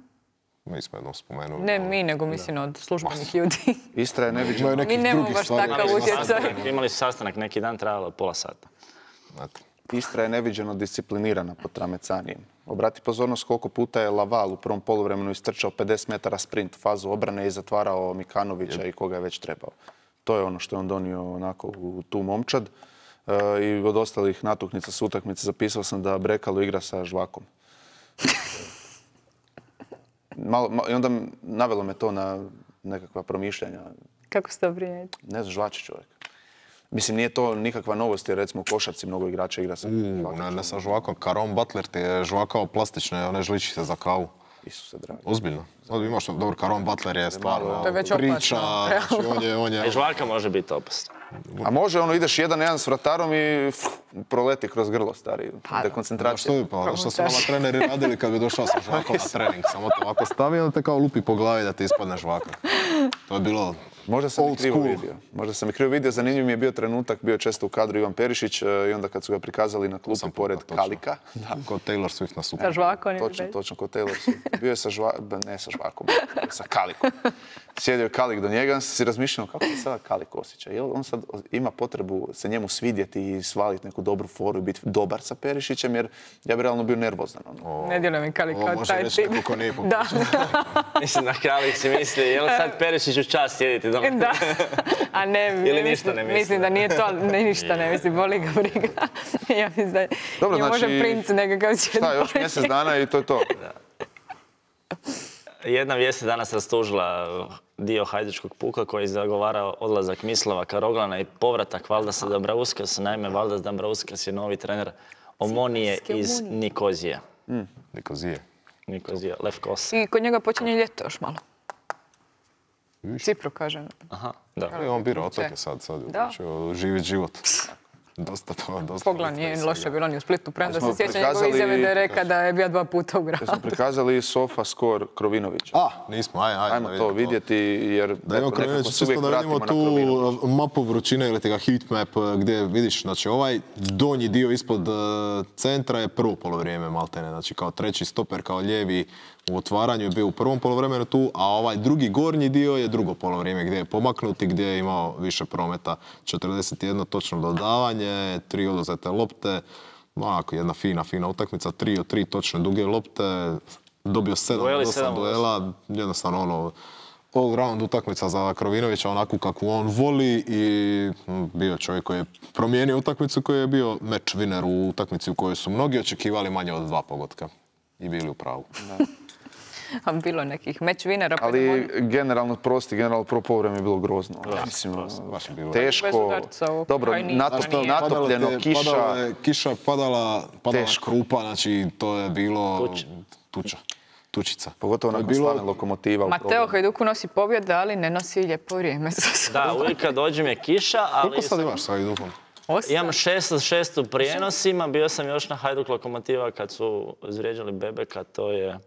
Mi smo jednom spomenuli. Ne mi, nego mislim od službenih ljudi. Istra je neviđena. Mi nemamo baš takav utjecaj. Imali su sastanak neki dan, trajalo pola sata. Istra je neviđeno disciplinirana pod Tramecanijem. Obrati pozornost koliko puta je Laval u prvom poluvremenu istrčao pedeset metara sprint, fazu obrane i zatvarao Mikanovića i koga je već trebao. To je ono što je on donio onako u tu momčad. E, I od ostalih natuknica s utakmice zapisao sam da Brekalo igra sa Žvakom. Malo, malo, I onda navelo me to na nekakva promišljanja. Kako ste obrinjeti? Ne znam, žvači čovjek. Mislim, nije to nikakva novost, jer recimo u košarci mnogo igrača igra sa Žvakom. Ne, ne sa Žvakom. Caron Butler ti je žvakao plastične, one žličice za kavu. Isuse dragi. Ozbiljno. Ovdje imaš, dobro, Caron Butler je stvarno to je već priča. Znači, on je, on je... I žvaka može biti opasna. A može, ono, ideš jedan jedan s vratarom i f, proleti kroz grlo, stari. Pa, dekoncentracija. Što bi, pa, što su nama treneri radili kad bi došao sa žvakom na trening? Samo to ovako stavi, onda te kao lupi po glavi da ti ispadne žvaka. To je bilo Možda sam old i krivo school. vidio. Možda sam i krivo vidio. Zanimljiv mi je bio trenutak, bio često u kadru Ivan Perišić i onda kad su ga prikazali na klupi pored točno. Kalika. Da. Kod Taylor Swift na super. Sa žvakom. Točno, točno, kod Taylor Swift. Bio je sa žvakom, ne sa žvakom, sa Kalikom. Sjedio je Kalik do njega, on se si razmišljao kako se sada Kalik osjeća. Jel on sad ima potrebu se njemu svidjeti i svaliti neku dobru foru i biti dobar sa Perišićem, jer ja bi realno bio nervozan. Ono. Ne djeluje mi Kalik kao taj tip. Kako nije da. Mislim da Kalik si misli, je li sad Perišić u čast sjediti doma? Da. A ne, ili ništa ne misli. Mislim da nije to, ne, ništa ne misli, boli ga briga. Ja mislim da Dobro, je znači, može princ nekakav svijet. Šta, još mjesec dana i to je to. Da. Jedna vijest je danas rastužila dio hajdučkog puka koji je zagovarao odlazak Mislava Karoglana i povratak Valdasa Dambrauskas. Naime, Valdas Dambrauskas je novi trener Omonije iz Nikozije. Mm. Nikozije. Nikozije, Lefkos. I kod njega počinje ljeto još malo. Cipru, kažem. Aha, da. I on bira otoke sad, sad je živjeti život. Dosta to, dosta. Pogla nije loše bilo ni u Splitu, premda se sjeća njegove izjave da je reka da je bio dva puta u gradu. Smo prikazali Sofa Skor Krovinovića. A, nismo, aj, aj. Ajmo to vidjeti, jer da imamo Krovinović, čisto da vidimo tu mapu vrućine ili tega heat map gdje vidiš, znači ovaj donji dio ispod centra je prvo polovrijeme maltene, znači kao treći stoper, kao lijevi u otvaranju je bio u prvom polovremenu tu, a ovaj drugi gornji dio je drugo polovrijeme gdje je pomaknut i gdje je imao više prometa. četrdeset jedno točno dodavanje, tri oduzete lopte, onako jedna fina, fina utakmica, tri od tri točne duge lopte, dobio sedam od osam duela, jednostavno ono, all round utakmica za Krovinovića, onako kako on voli i bio je čovjek koji je promijenio utakmicu, koji je bio match winner u utakmici u kojoj su mnogi očekivali manje od dva pogotka. i bili u pravu. A bilo je nekih meč vinera. Ali generalno, prosti, generalno prvo povreme je bilo grozno. Mislim, teško. Dobro, natopljeno, kiša. Kiša padala, padala krupa, znači to je bilo tuča. Tučica. Pogotovo nakon bilo... slane Lokomotiva. Mateo Hajduku nosi pobjede, ali ne nosi lijepo vrijeme. Da, uvijek kad dođem je kiša, ali... Koliko sad imaš sa Hajdukom? Imam šest od šest u prijenosima, bio sam još na Hajduk Lokomotiva kad su izvrijeđali Bebeka, to je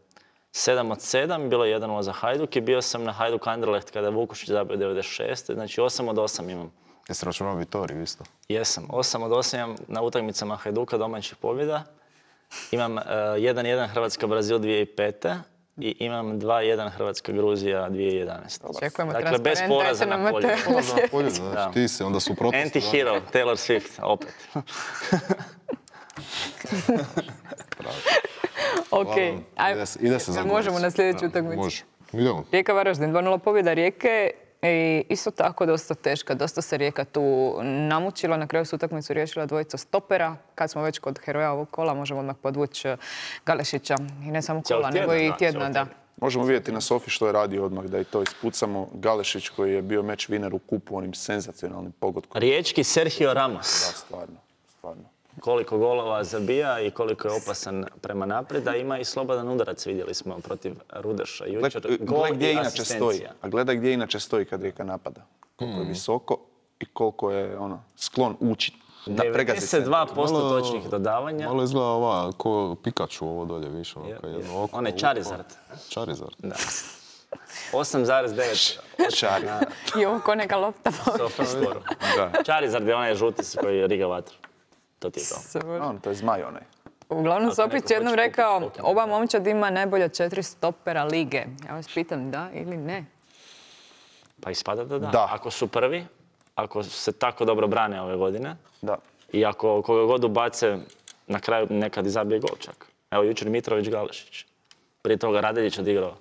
sedam od sedam, bilo je jedan nula za Hajduk i bio sam na Hajduk Anderlecht kada je Vukušić zabio devedeset šest. Znači osam od osam imam. Jesi računao Vitoriju isto? Jesam, osam od osam imam na utakmicama Hajduka domaćih pobjeda. Imam uh, jedan jedan Hrvatska-Brazil dvije tisuće pete. I imam dva jedan Hrvatska-Gruzija dvije tisuće jedanaeste. Čekujemo dakle, bez poraza na polju. Poraza na polju, znači ti si onda suprotno. Anti-hero, Taylor Swift, opet. Ok, ide se za možemo na sljedeću utakmicu. Može, idemo. Rijeka Varaždin, dva nula pobjeda Rijeke. I isto tako dosta teška, dosta se Rijeka tu namučila, na kraju su utakmicu riješila dvojica stopera. Kad smo već kod heroja ovog kola, možemo odmah podvući Galešića. I ne samo kola, nego i tjedna, da. Možemo vidjeti na Sofi što je radio odmah, da i to ispucamo. Galešić koji je bio meč winner u kupu onim senzacionalnim pogodkom. Riječki Sergio Ramos. Da, stvarno, stvarno. Koliko golova zabija i koliko je opasan prema naprijed, a ima i slobodan udarac, vidjeli smo, protiv Rudeša. Jučer gol i asistencija. A gledaj gdje inače stoji kad Rijeka napada. Koliko je visoko i koliko je ono, sklon ući. devedeset dva posto točnih dodavanja. Malo izgleda ova, ko Pikachu ovo dolje više. On je Charizard. Charizard. Da. osam zarez devet. Charizard. I ovo ko neka lopta. Charizard je onaj žuti koji je riga vatru. To ti je to. On, to je zmaj onaj. Uglavnom, Sopić jednom rekao, ova momčad ima najbolje četiri stopera lige. Ja vas pitam, da ili ne? Pa ispada da da. da. Ako su prvi, ako se tako dobro brane ove godine, da. I ako koga god ubace, na kraju nekad i zabije gol čak. Evo, jučer Mitrović Galešić. Prije toga Radeljić odigrao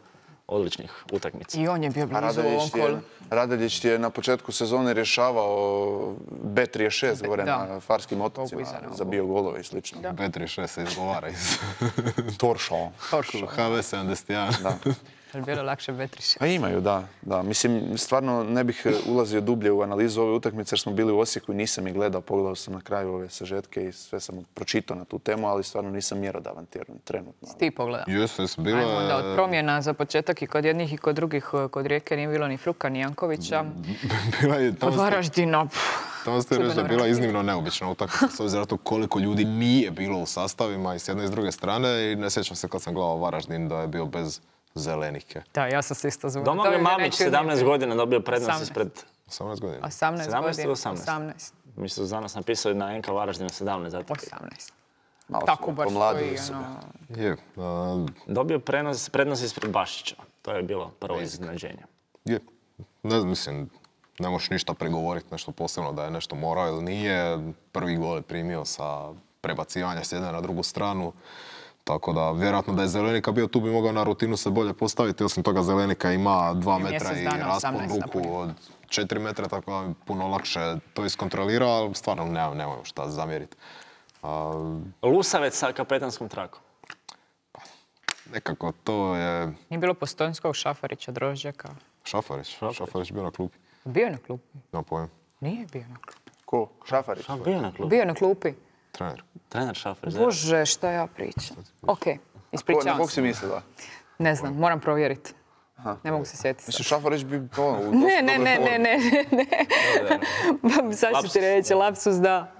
odličnih utakmica. I on je bio blizu u ovom kolu. Radeljić je na početku sezone rješavao B trideset šest gore na Farskim otocima, zabio golove i slično. B trideset šest se izgovara iz... Toršo. H V sedamdeset jedan. Ali bilo lakše B trideset šest. Pa imaju, da, da. Mislim, stvarno ne bih ulazio dublje u analizu ove utakmice jer smo bili u Osijeku i nisam ih gledao. Pogledao sam na kraju ove sažetke i sve sam pročitao na tu temu, ali stvarno nisam mjerodavan trenutno. Ti pogledao? Jes, jes, bilo je... Ajmo onda od promjena za početak i kod jednih i kod drugih. Kod Rijeke nije bilo ni Fruka, ni Jankovića. Bila je... Od Varaždina. Tamo ste reći da je bila iznimno neobična utakmica, s obzirom na to koliko ljudi nije bilo u sastavima i s jedne i s druge strane. I ne sjećam se kad sam gledao Varaždin da je bio bez Zelenike. Da, ja sam se isto zvučila. Domagoj Mamić, sedamnaest godina, dobio prednost ispred... osamnaest godina. osamnaest godina. osamnaest. Mislim da su danas napisali na N K Varaždinu sedamnaest. Zato. osamnaest. Tako baš stoji. Je. Dobio prednost ispred Bašića. To je bilo prvo iznenađenje. Je. Ne znam, mislim, ne možeš ništa pregovoriti nešto posebno da je nešto morao ili nije. Prvi gol je primio sa prebacivanja s jedne na drugu stranu. Tako da, vjerojatno da je Zelenika bio tu bi mogao na rutinu se bolje postaviti. Osim toga, Zelenika ima dva metra i raspon ruku od četiri metra, tako da puno lakše to iskontrolira, ali stvarno nemojmo šta zamjeriti. A... Lusavec sa kapetanskom trakom. Nekako to je... Nije bilo Postojnskog, Šafarića, Drožđaka? Šafarić? Šafarić, Šafarić bio na klupi. Bio je na klupi? Nemam pojem. Nije bio na klupi. Ko? Šafarić? Bio je na klupi. Bio je na klupi. Trener. Trener Šafarić. Bože, šta ja pričam. Ok, ispričavam se. Na kog si mislila? Ne znam, moram provjeriti. Ne mogu se sjetiti. Mislim, Šafarić bi... Ne, ne, ne, ne, ne, ne. Sad ću ti reći, lapsus da.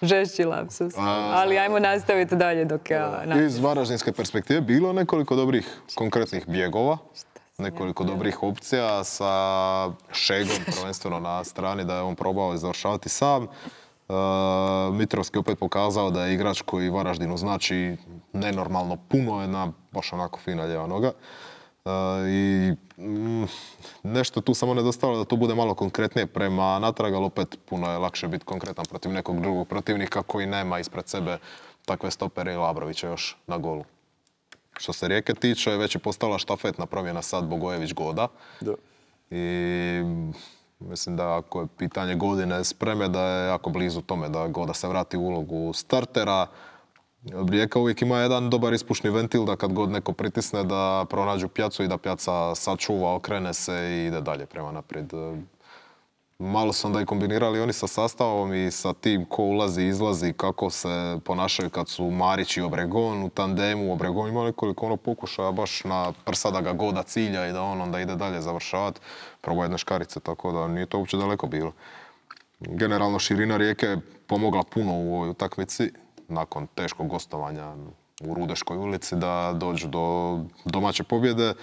Žešći lapsus. Ali ajmo nastaviti dalje dok ja... Iz varaždinske perspektive bilo nekoliko dobrih konkretnih bjegova. Nekoliko dobrih opcija sa Šegom prvenstveno na strani da je on probao završavati sam. Uh, Mitrovski opet pokazao da je igrač koji Varaždinu znači nenormalno puno, jedna baš onako fina ljeva noga. Uh, I mm, nešto tu samo nedostalo da to bude malo konkretnije prema natrag, ali opet puno je lakše biti konkretan protiv nekog drugog protivnika koji nema ispred sebe takve stopere i Labrovića još na golu. Što se Rijeke tiče, već je postala štafetna promjena sad Bogojević-Goda. Da. I mislim da ako je pitanje godine spreme, da je jako blizu tome da Goda se vrati u ulogu startera. Rijeka uvijek ima jedan dobar ispušni ventil da kad god neko pritisne da pronađu pjacu i da pjaca sačuva, okrene se i ide dalje prema naprijed. Malo su onda i kombinirali oni sa sastavom i sa tim ko ulazi i izlazi, kako se ponašaju kad su Marić i Obregon u tandemu. Obregon ima nekoliko ono pokušaja baš na prsa da ga goda cilja i da on onda ide dalje završavati. Probao jedne škarice, tako da nije to uopće daleko bilo. Generalno širina Rijeke je pomogla puno u ovoj utakmici nakon teškog gostovanja u Rudeškoj ulici da dođu do domaće pobjede.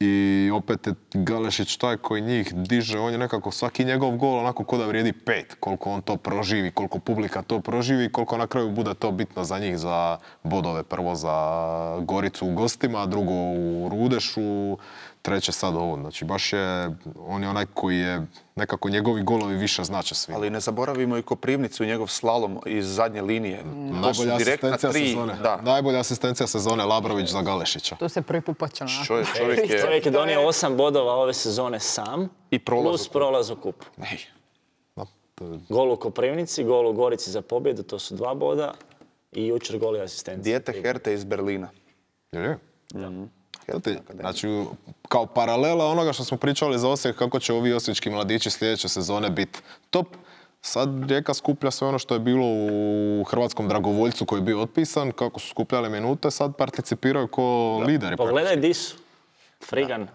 I opet je Galešić taj koji njih diže, on je nekako svaki njegov gol onako ko da vrijedi pet, koliko on to proživi, koliko publika to proživi, koliko na kraju bude to bitno za njih, za bodove, prvo za Goricu u gostima, drugo u Rudešu, treće sad ovo. Znači baš je, on je onaj koji je, nekako njegovi golovi više znače svi. Ali ne zaboravimo i Koprivnicu i njegov slalom iz zadnje linije. Mm. Najbolja asistencija sezone. Da. Najbolja asistencija sezone Labrović za Galešića. Tu se prvi put počeo. Čovjek, čovjek, je... čovjek je donio osam bodova ove sezone sam i prolaz plus prolaz u kupu. Gol u Koprivnici, gol u Gorici za pobjedu, to su dva boda i jučer gol i asistencija. Dijete Herte iz Berlina. Je li? Mm-hmm. Ti, znači, kao paralela onoga što smo pričali za Osijek, kako će ovi osječki mladići sljedeće sezone biti top. Sad Rijeka skuplja sve ono što je bilo u hrvatskom dragovoljcu koji je bio otpisan, kako su skupljali minute, sad participiraju ko da. lideri. Pogledaj di su. Frigan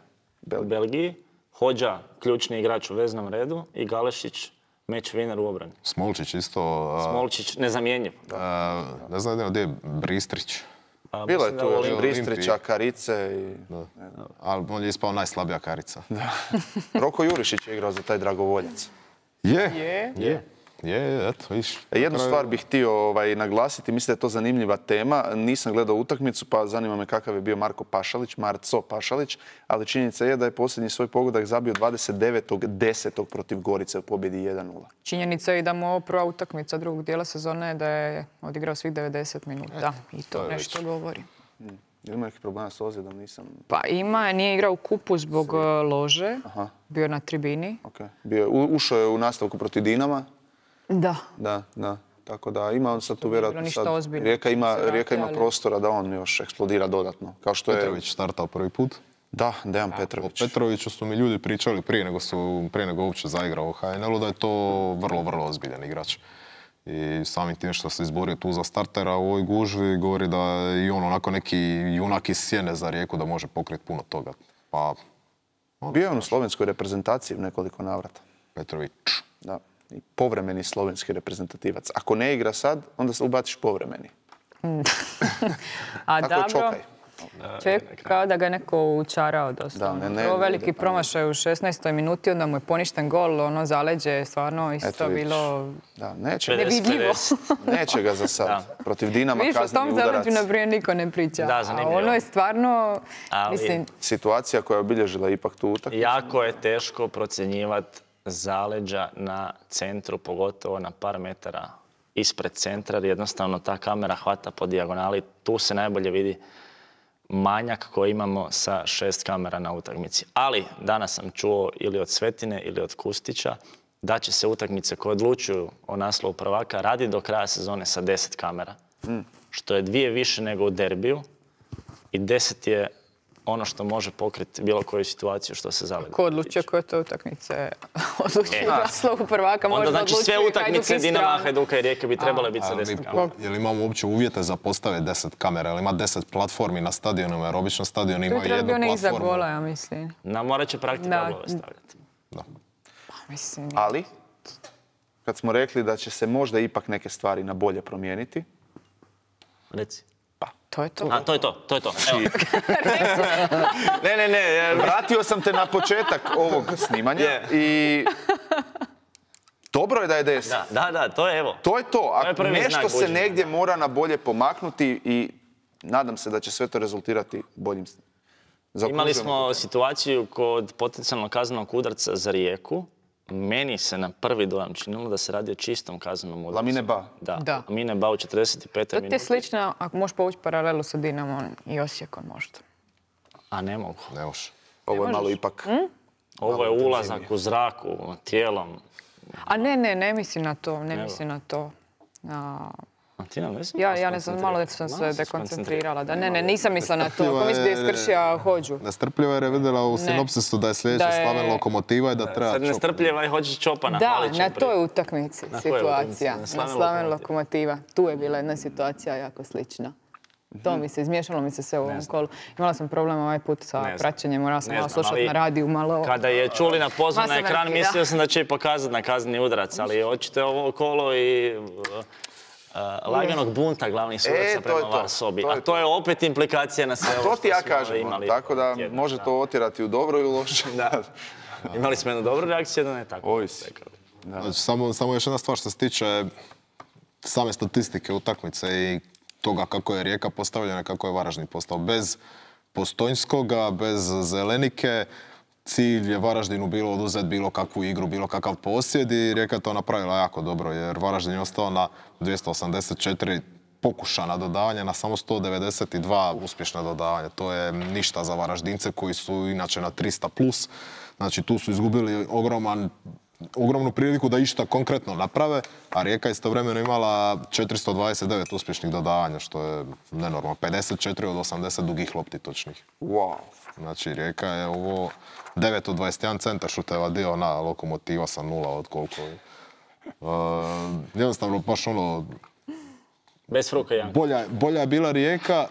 u Belgiji, Hođa, ključni igrač u veznom redu i Galešić, match winner u obrani. Smolčić isto... Smolčić, nezamjenjiv. A, ne znam gdje je Bristrić. A, bilo je tu još Bristrića, Karice i... Ali on je ispao najslabija Karica. Da. Roko Jurišić je igrao za taj dragovoljac. Je, je, je. Je, eto, viš. Jednu stvar bih htio ovaj, naglasiti, mislim da je to zanimljiva tema. Nisam gledao utakmicu, pa zanima me kakav je bio Marko Pašalić, Marco Pašalić, ali činjenica je da je posljednji svoj pogodak zabio dvadeset devetog desetog protiv Gorice u pobjedi jedan nula. Činjenica je i da mu ovo prva utakmica drugog dijela sezone da je odigrao svih devedeset minuta. I to, to nešto već govori. Hmm. Je li ima neki problema s ozljedom? Nisam... Pa ima, nije igrao u kupu zbog Svi. lože, Aha. bio je na tribini. Okay. Bio, ušao je u nastavku protiv Dinama. Da. Da, da. Tako da ima on sad tu vjerojatno sad... Ozbiljno. Rijeka ima, Rijeka ima ali... prostora da on još eksplodira dodatno. Kao što Petrović je... startao prvi put. Da, Dejan Petrović. O Petroviću su mi ljudi pričali prije nego su prije nego uopće zaigrao u H N L-u da je to vrlo, vrlo ozbiljan igrač. I samim tim što se izborio tu za startera u ovoj gužvi govori da je i on onako neki junak iz sjene za Rijeku da može pokriti puno toga. Pa... On, bio je on u slovenskoj reprezentaciji u nekoliko navrata. Petrović. Da. I povremeni slovenski reprezentativac. Ako ne igra sad, onda se ubaciš povremeni. A tako dobro, čovjek kao da ga je neko učarao dosta. Da, ne, ne, Prvo veliki ne, promašaj u šesnaestoj minuti, onda mu je poništen gol, ono zaleđe je stvarno isto Eto, bilo da, neće, nevidljivo. Neće ga za sad. Da. Protiv Dinama Viš, kazneni udarac. Viš, o tom zaleđu naprijed niko ne priča. Da, zanimljivo. A ono je stvarno, Ali, mislim... situacija koja je obilježila ipak tu utakmicu. Jako je teško procjenjivati zaleđa na centru, pogotovo na par metara ispred centra, jer jednostavno ta kamera hvata po dijagonali. Tu se najbolje vidi manjak koji imamo sa šest kamera na utakmici. Ali danas sam čuo ili od Svetine ili od Kustića da će se utakmice koje odlučuju o naslovu prvaka raditi do kraja sezone sa deset kamera. Mm. Što je dvije više nego u derbiju i deset je ono što može pokriti bilo koju situaciju što se zaledi. Ko odlučio koje to utakmice odlučuje naslovu prvaka? Onda znači sve utakmice Dinama, Hajduka i Rijeke bi trebale biti sa deset kamera. Je li imamo uopće uvjete za postave deset kamera? Je li ima deset platformi na stadionima? Jer obično stadion ima jednu platformu. To je bilo iza gola, ja mislim. Na morat će praktikablove stavljati. Da. Pa, mislim... Ali, kad smo rekli da će se možda ipak neke stvari na bolje promijeniti... Reci. To je to. A, to je to, to je to. Evo. ne, ne, ne. Vratio sam te na početak ovog snimanja yeah. i dobro je da je deset. Da, da, da, to je evo. To je to. A nešto se negdje mora na bolje pomaknuti i nadam se da će sve to rezultirati boljim. Imali smo situaciju kod potencijalnog kaznenog udarca za Rijeku. Meni se na prvi dojam činilo da se radi o čistom kaznenom udarcu. Lamine Ba. Da, da. Lamine Ba u četrdeset petoj minuti. To ti je slično, ako možeš povući paralelu sa Dinamom i Osijekom možda. A ne mogu. Ne možeš. Ovo je malo ipak... Hmm? Ovo je ulazak u zraku, tijelom. A ne, ne, ne mislim na to, ne mislim na to. A, Ja, ja ne znam, malo sam se dekoncentrirala. Da, ne, ne, nisam mislila na to. Ako misli da je iskršio hođu. Nestrpljiva jer je vidjela u sinopsisu da je sljedeća Slaven Lokomotiva i da treba Sad nestrpljiva i hoće Čopana. Da, na toj utakmici situacija. Na Slaven Lokomotiva. Tu je bila jedna situacija jako slična. To mi se, izmiješalo mi se sve u ovom kolu. Imala sam problem ovaj put sa praćenjem, morala sam malo slušati na radiju, malo... Kada je Čulina pozvan na ekran, mislio sam da će i pokazati na kazneni udarac, ali očito je ovo kolo i laganog bunta glavnih sudaca prema Varsobi. A to je opet implikacija na sve ovo što smo imali. Tako da može to otjerati u dobro i u loše. Imali smo jednu dobru reakciju, jedno ne tako. Ovisi. Samo još jedna stvar što se tiče same statistike utakmice i toga kako je Rijeka postavljena, kako je Varaždin postao. Bez Postojnskoga, bez Zelenike, cilj je Varaždinu bilo oduzeti bilo kakvu igru, bilo kakav posjed i Rijeka je to napravila jako dobro jer Varaždin je ostao na dvjesto osamdeset četiri pokušana dodavanja, na samo sto devedeset dva uspješna dodavanja. To je ništa za Varaždince koji su inače na tristo plus. Znači tu su izgubili ogroman ogromnu priliku da išta konkretno naprave, a Rijeka je istovremeno imala četiristo dvadeset devet uspješnih dodavanja, što je nenormalno. pedeset četiri od osamdeset dugih lopti točnih. Wow. Znači, Rijeka je ovo devet od dvadeset jedan centar šuteva dio na Lokomotiva sa nula od koliko. Uh, jednostavno, baš ono... Bez fruka, Janka. Bolja, bolja je bila Rijeka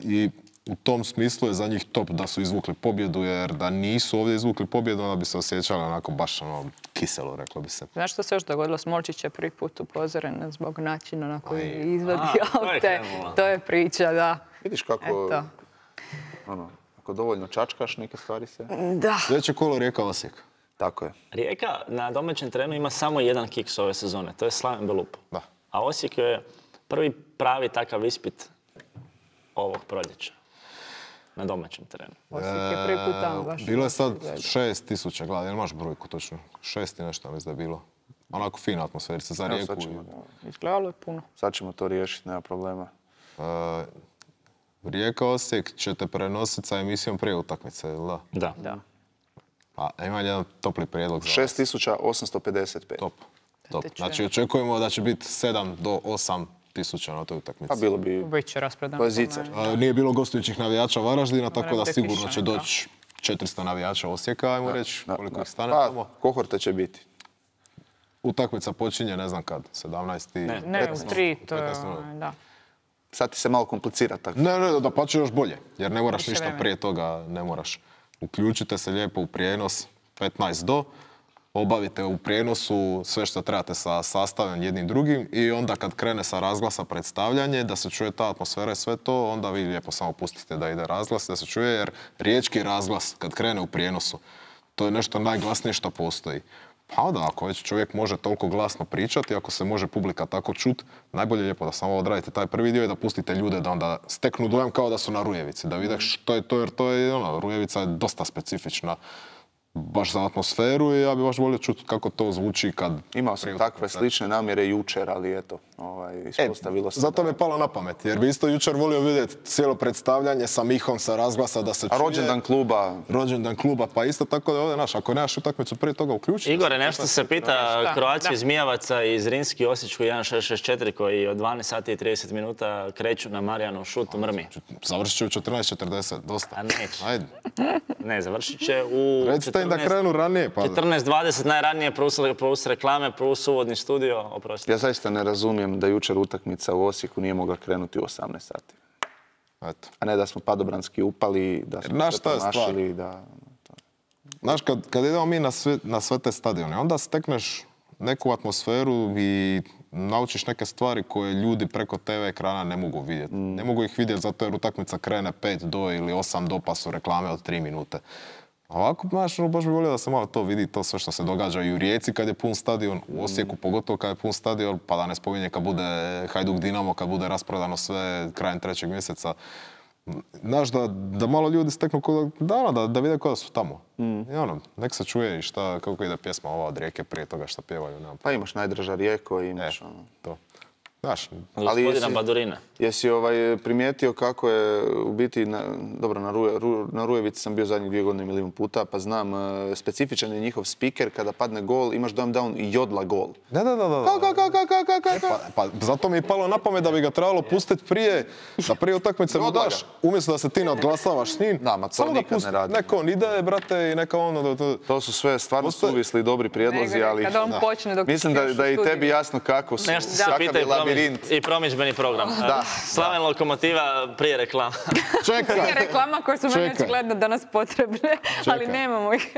i u tom smislu je za njih top da su izvukli pobjedu, jer da nisu ovdje izvukli pobjedu, onda bi se osjećali onako baš ono kiselo, reklo bi se. Znaš što se još dogodilo? Smolčić je prvi put upozoren zbog načina na koji je izvadio aute. To je priča, da. Vidiš kako, ono, ako dovoljno čačkaš, neke stvari se... Da. Sljedeće kolo Rijeka Osijek. Tako je. Rijeka na domaćem terenu ima samo jedan kiks ove sezone, to je Slaven Belupo. Da. A Osijek je prvi pravi takav ispit ovog proljeća. Na domaćem terenu. Osijek je prvi put tamo baš. Bilo je sad šest tisuća, gledaj, jel imaš brojku točno? Šest i nešto, mislim da je bilo. Onako fina atmosferica za Rijeku. Izgledalo je puno. Sad ćemo to riješiti, nema problema. Rijeka Osijek ćete prenositi sa emisijom prije utakmice, jel da? Da. Da. Pa imam jedan topli prijedlog za vas. šest tisuća osamsto pedeset pet. Top. Top. Znači očekujemo da će biti sedam do osam tisuća na toj utakmici. Pa bilo bi... Biće raspredano. To je zicer. Nije bilo gostujućih navijača Varaždina, tako da sigurno će doći četiristo navijača Osijeka, ajmo reći, koliko ih stane tamo. Pa, kohorte će biti. Utakmica počinje, ne znam kad, sedamnaest. Ne, ne, u tri, to je, da. Sad ti se malo komplicira tako. Ne, ne, da pa će još bolje, jer ne moraš ništa prije toga, ne moraš. Uključite se lijepo u prijenos petnaest do, obavite u prijenosu sve što trebate sa sastavljanjem jednim drugim i onda kad krene sa razglasa predstavljanje, da se čuje ta atmosfera i sve to, onda vi lijepo samo pustite da ide razglas, da se čuje, jer riječki razglas kad krene u prijenosu, to je nešto najglasnije što postoji. Pa onda, ako već čovjek može toliko glasno pričati, ako se može publika tako čut, najbolje je lijepo da samo odradite taj prvi dio i da pustite ljude da onda steknu dojam kao da su na Rujevici, da vide što je to, jer to je, ono, Rujevica je dosta specifična baš za atmosferu i ja bih baš volio čuti kako to zvuči kad... Imao sam takve slične namjere jučer, ali eto, ovaj, ispostavilo se... E, zato mi je palo na pamet, jer bi isto jučer volio vidjeti cijelo predstavljanje sa Mihom, sa razglasa, da se čuje... A rođendan kluba... Rođendan kluba, pa isto tako da ovdje, znaš, ako nemaš utakmicu prije toga uključiti... Igore, nešto se pita Croatia Zmijavaca iz Rinski Osječku jedan šest šest četiri koji od dvanaest sati i trideset minuta kreću na Marijanov šut u Mrmi. Završit će u četrnaest četrdeset, dosta. A neće. Ajde. Ne, završit će u... Recite im da krenu ranije, pa... četrnaest dvadeset najranije plus reklame, plus uvodni studio, oprosti. Ja zaista ne razumijem da jučer utakmica u Osijeku nije mogla krenuti u osamnaest sati. Eto. A ne da smo padobranski upali, da smo sve promašili, da... Znaš, kad, kad idemo mi na sve, na sve te stadione, onda stekneš neku atmosferu i naučiš neke stvari koje ljudi preko te ve ekrana ne mogu vidjeti. Mm. Ne mogu ih vidjeti zato jer utakmica krene pet do ili osam do pa su reklame od tri minute. Ovako, znaš, baš bi volio da se malo to vidi, to sve što se događa i u Rijeci kad je pun stadion, u Osijeku pogotovo kad je pun stadion, pa da ne spominje kad bude Hajduk Dinamo, kad bude rasprodano sve krajem trećeg mjeseca. Znaš, da, da malo ljudi steknu kod, da, da, da vide kada su tamo. Mm. I ono, nek se čuje i šta, kako ide pjesma ova od Rijeke prije toga što pjevaju. Nema. Pa imaš najdraža Rijeko i imaš e, ono... To. Znaš, ali gospodina Badurina. Jesi ovaj, primijetio kako je u biti, na, dobro, na, Ruje, Ru, na Rujevici sam bio zadnjih dvije godine milijun puta, pa znam, uh, specifičan je njihov speaker, kada padne gol, imaš dojam da on jodla gol. Da, da, da, da. Ka, ka, ka, ka, ka, ka, ka. Pa, pa zato mi je palo na pamet da bi ga trebalo pustiti prije, da prije utakmice mu daš, umjesto da se ti nadglasavaš s njim. Da, ma to nikad ne radi. Neko on ide, brate, i neka ono... To, to su sve stvarno Postoje... suvisli dobri prijedlozi, ali... Kada on počne dok mislim da, da je i tebi jasno kako su, kakav je labirint. I promidžbeni program. Da. Slaven Lokomotiva prije reklama. Čekaj. Prije reklama koje su meni očigledno danas potrebne, ali nemamo ih.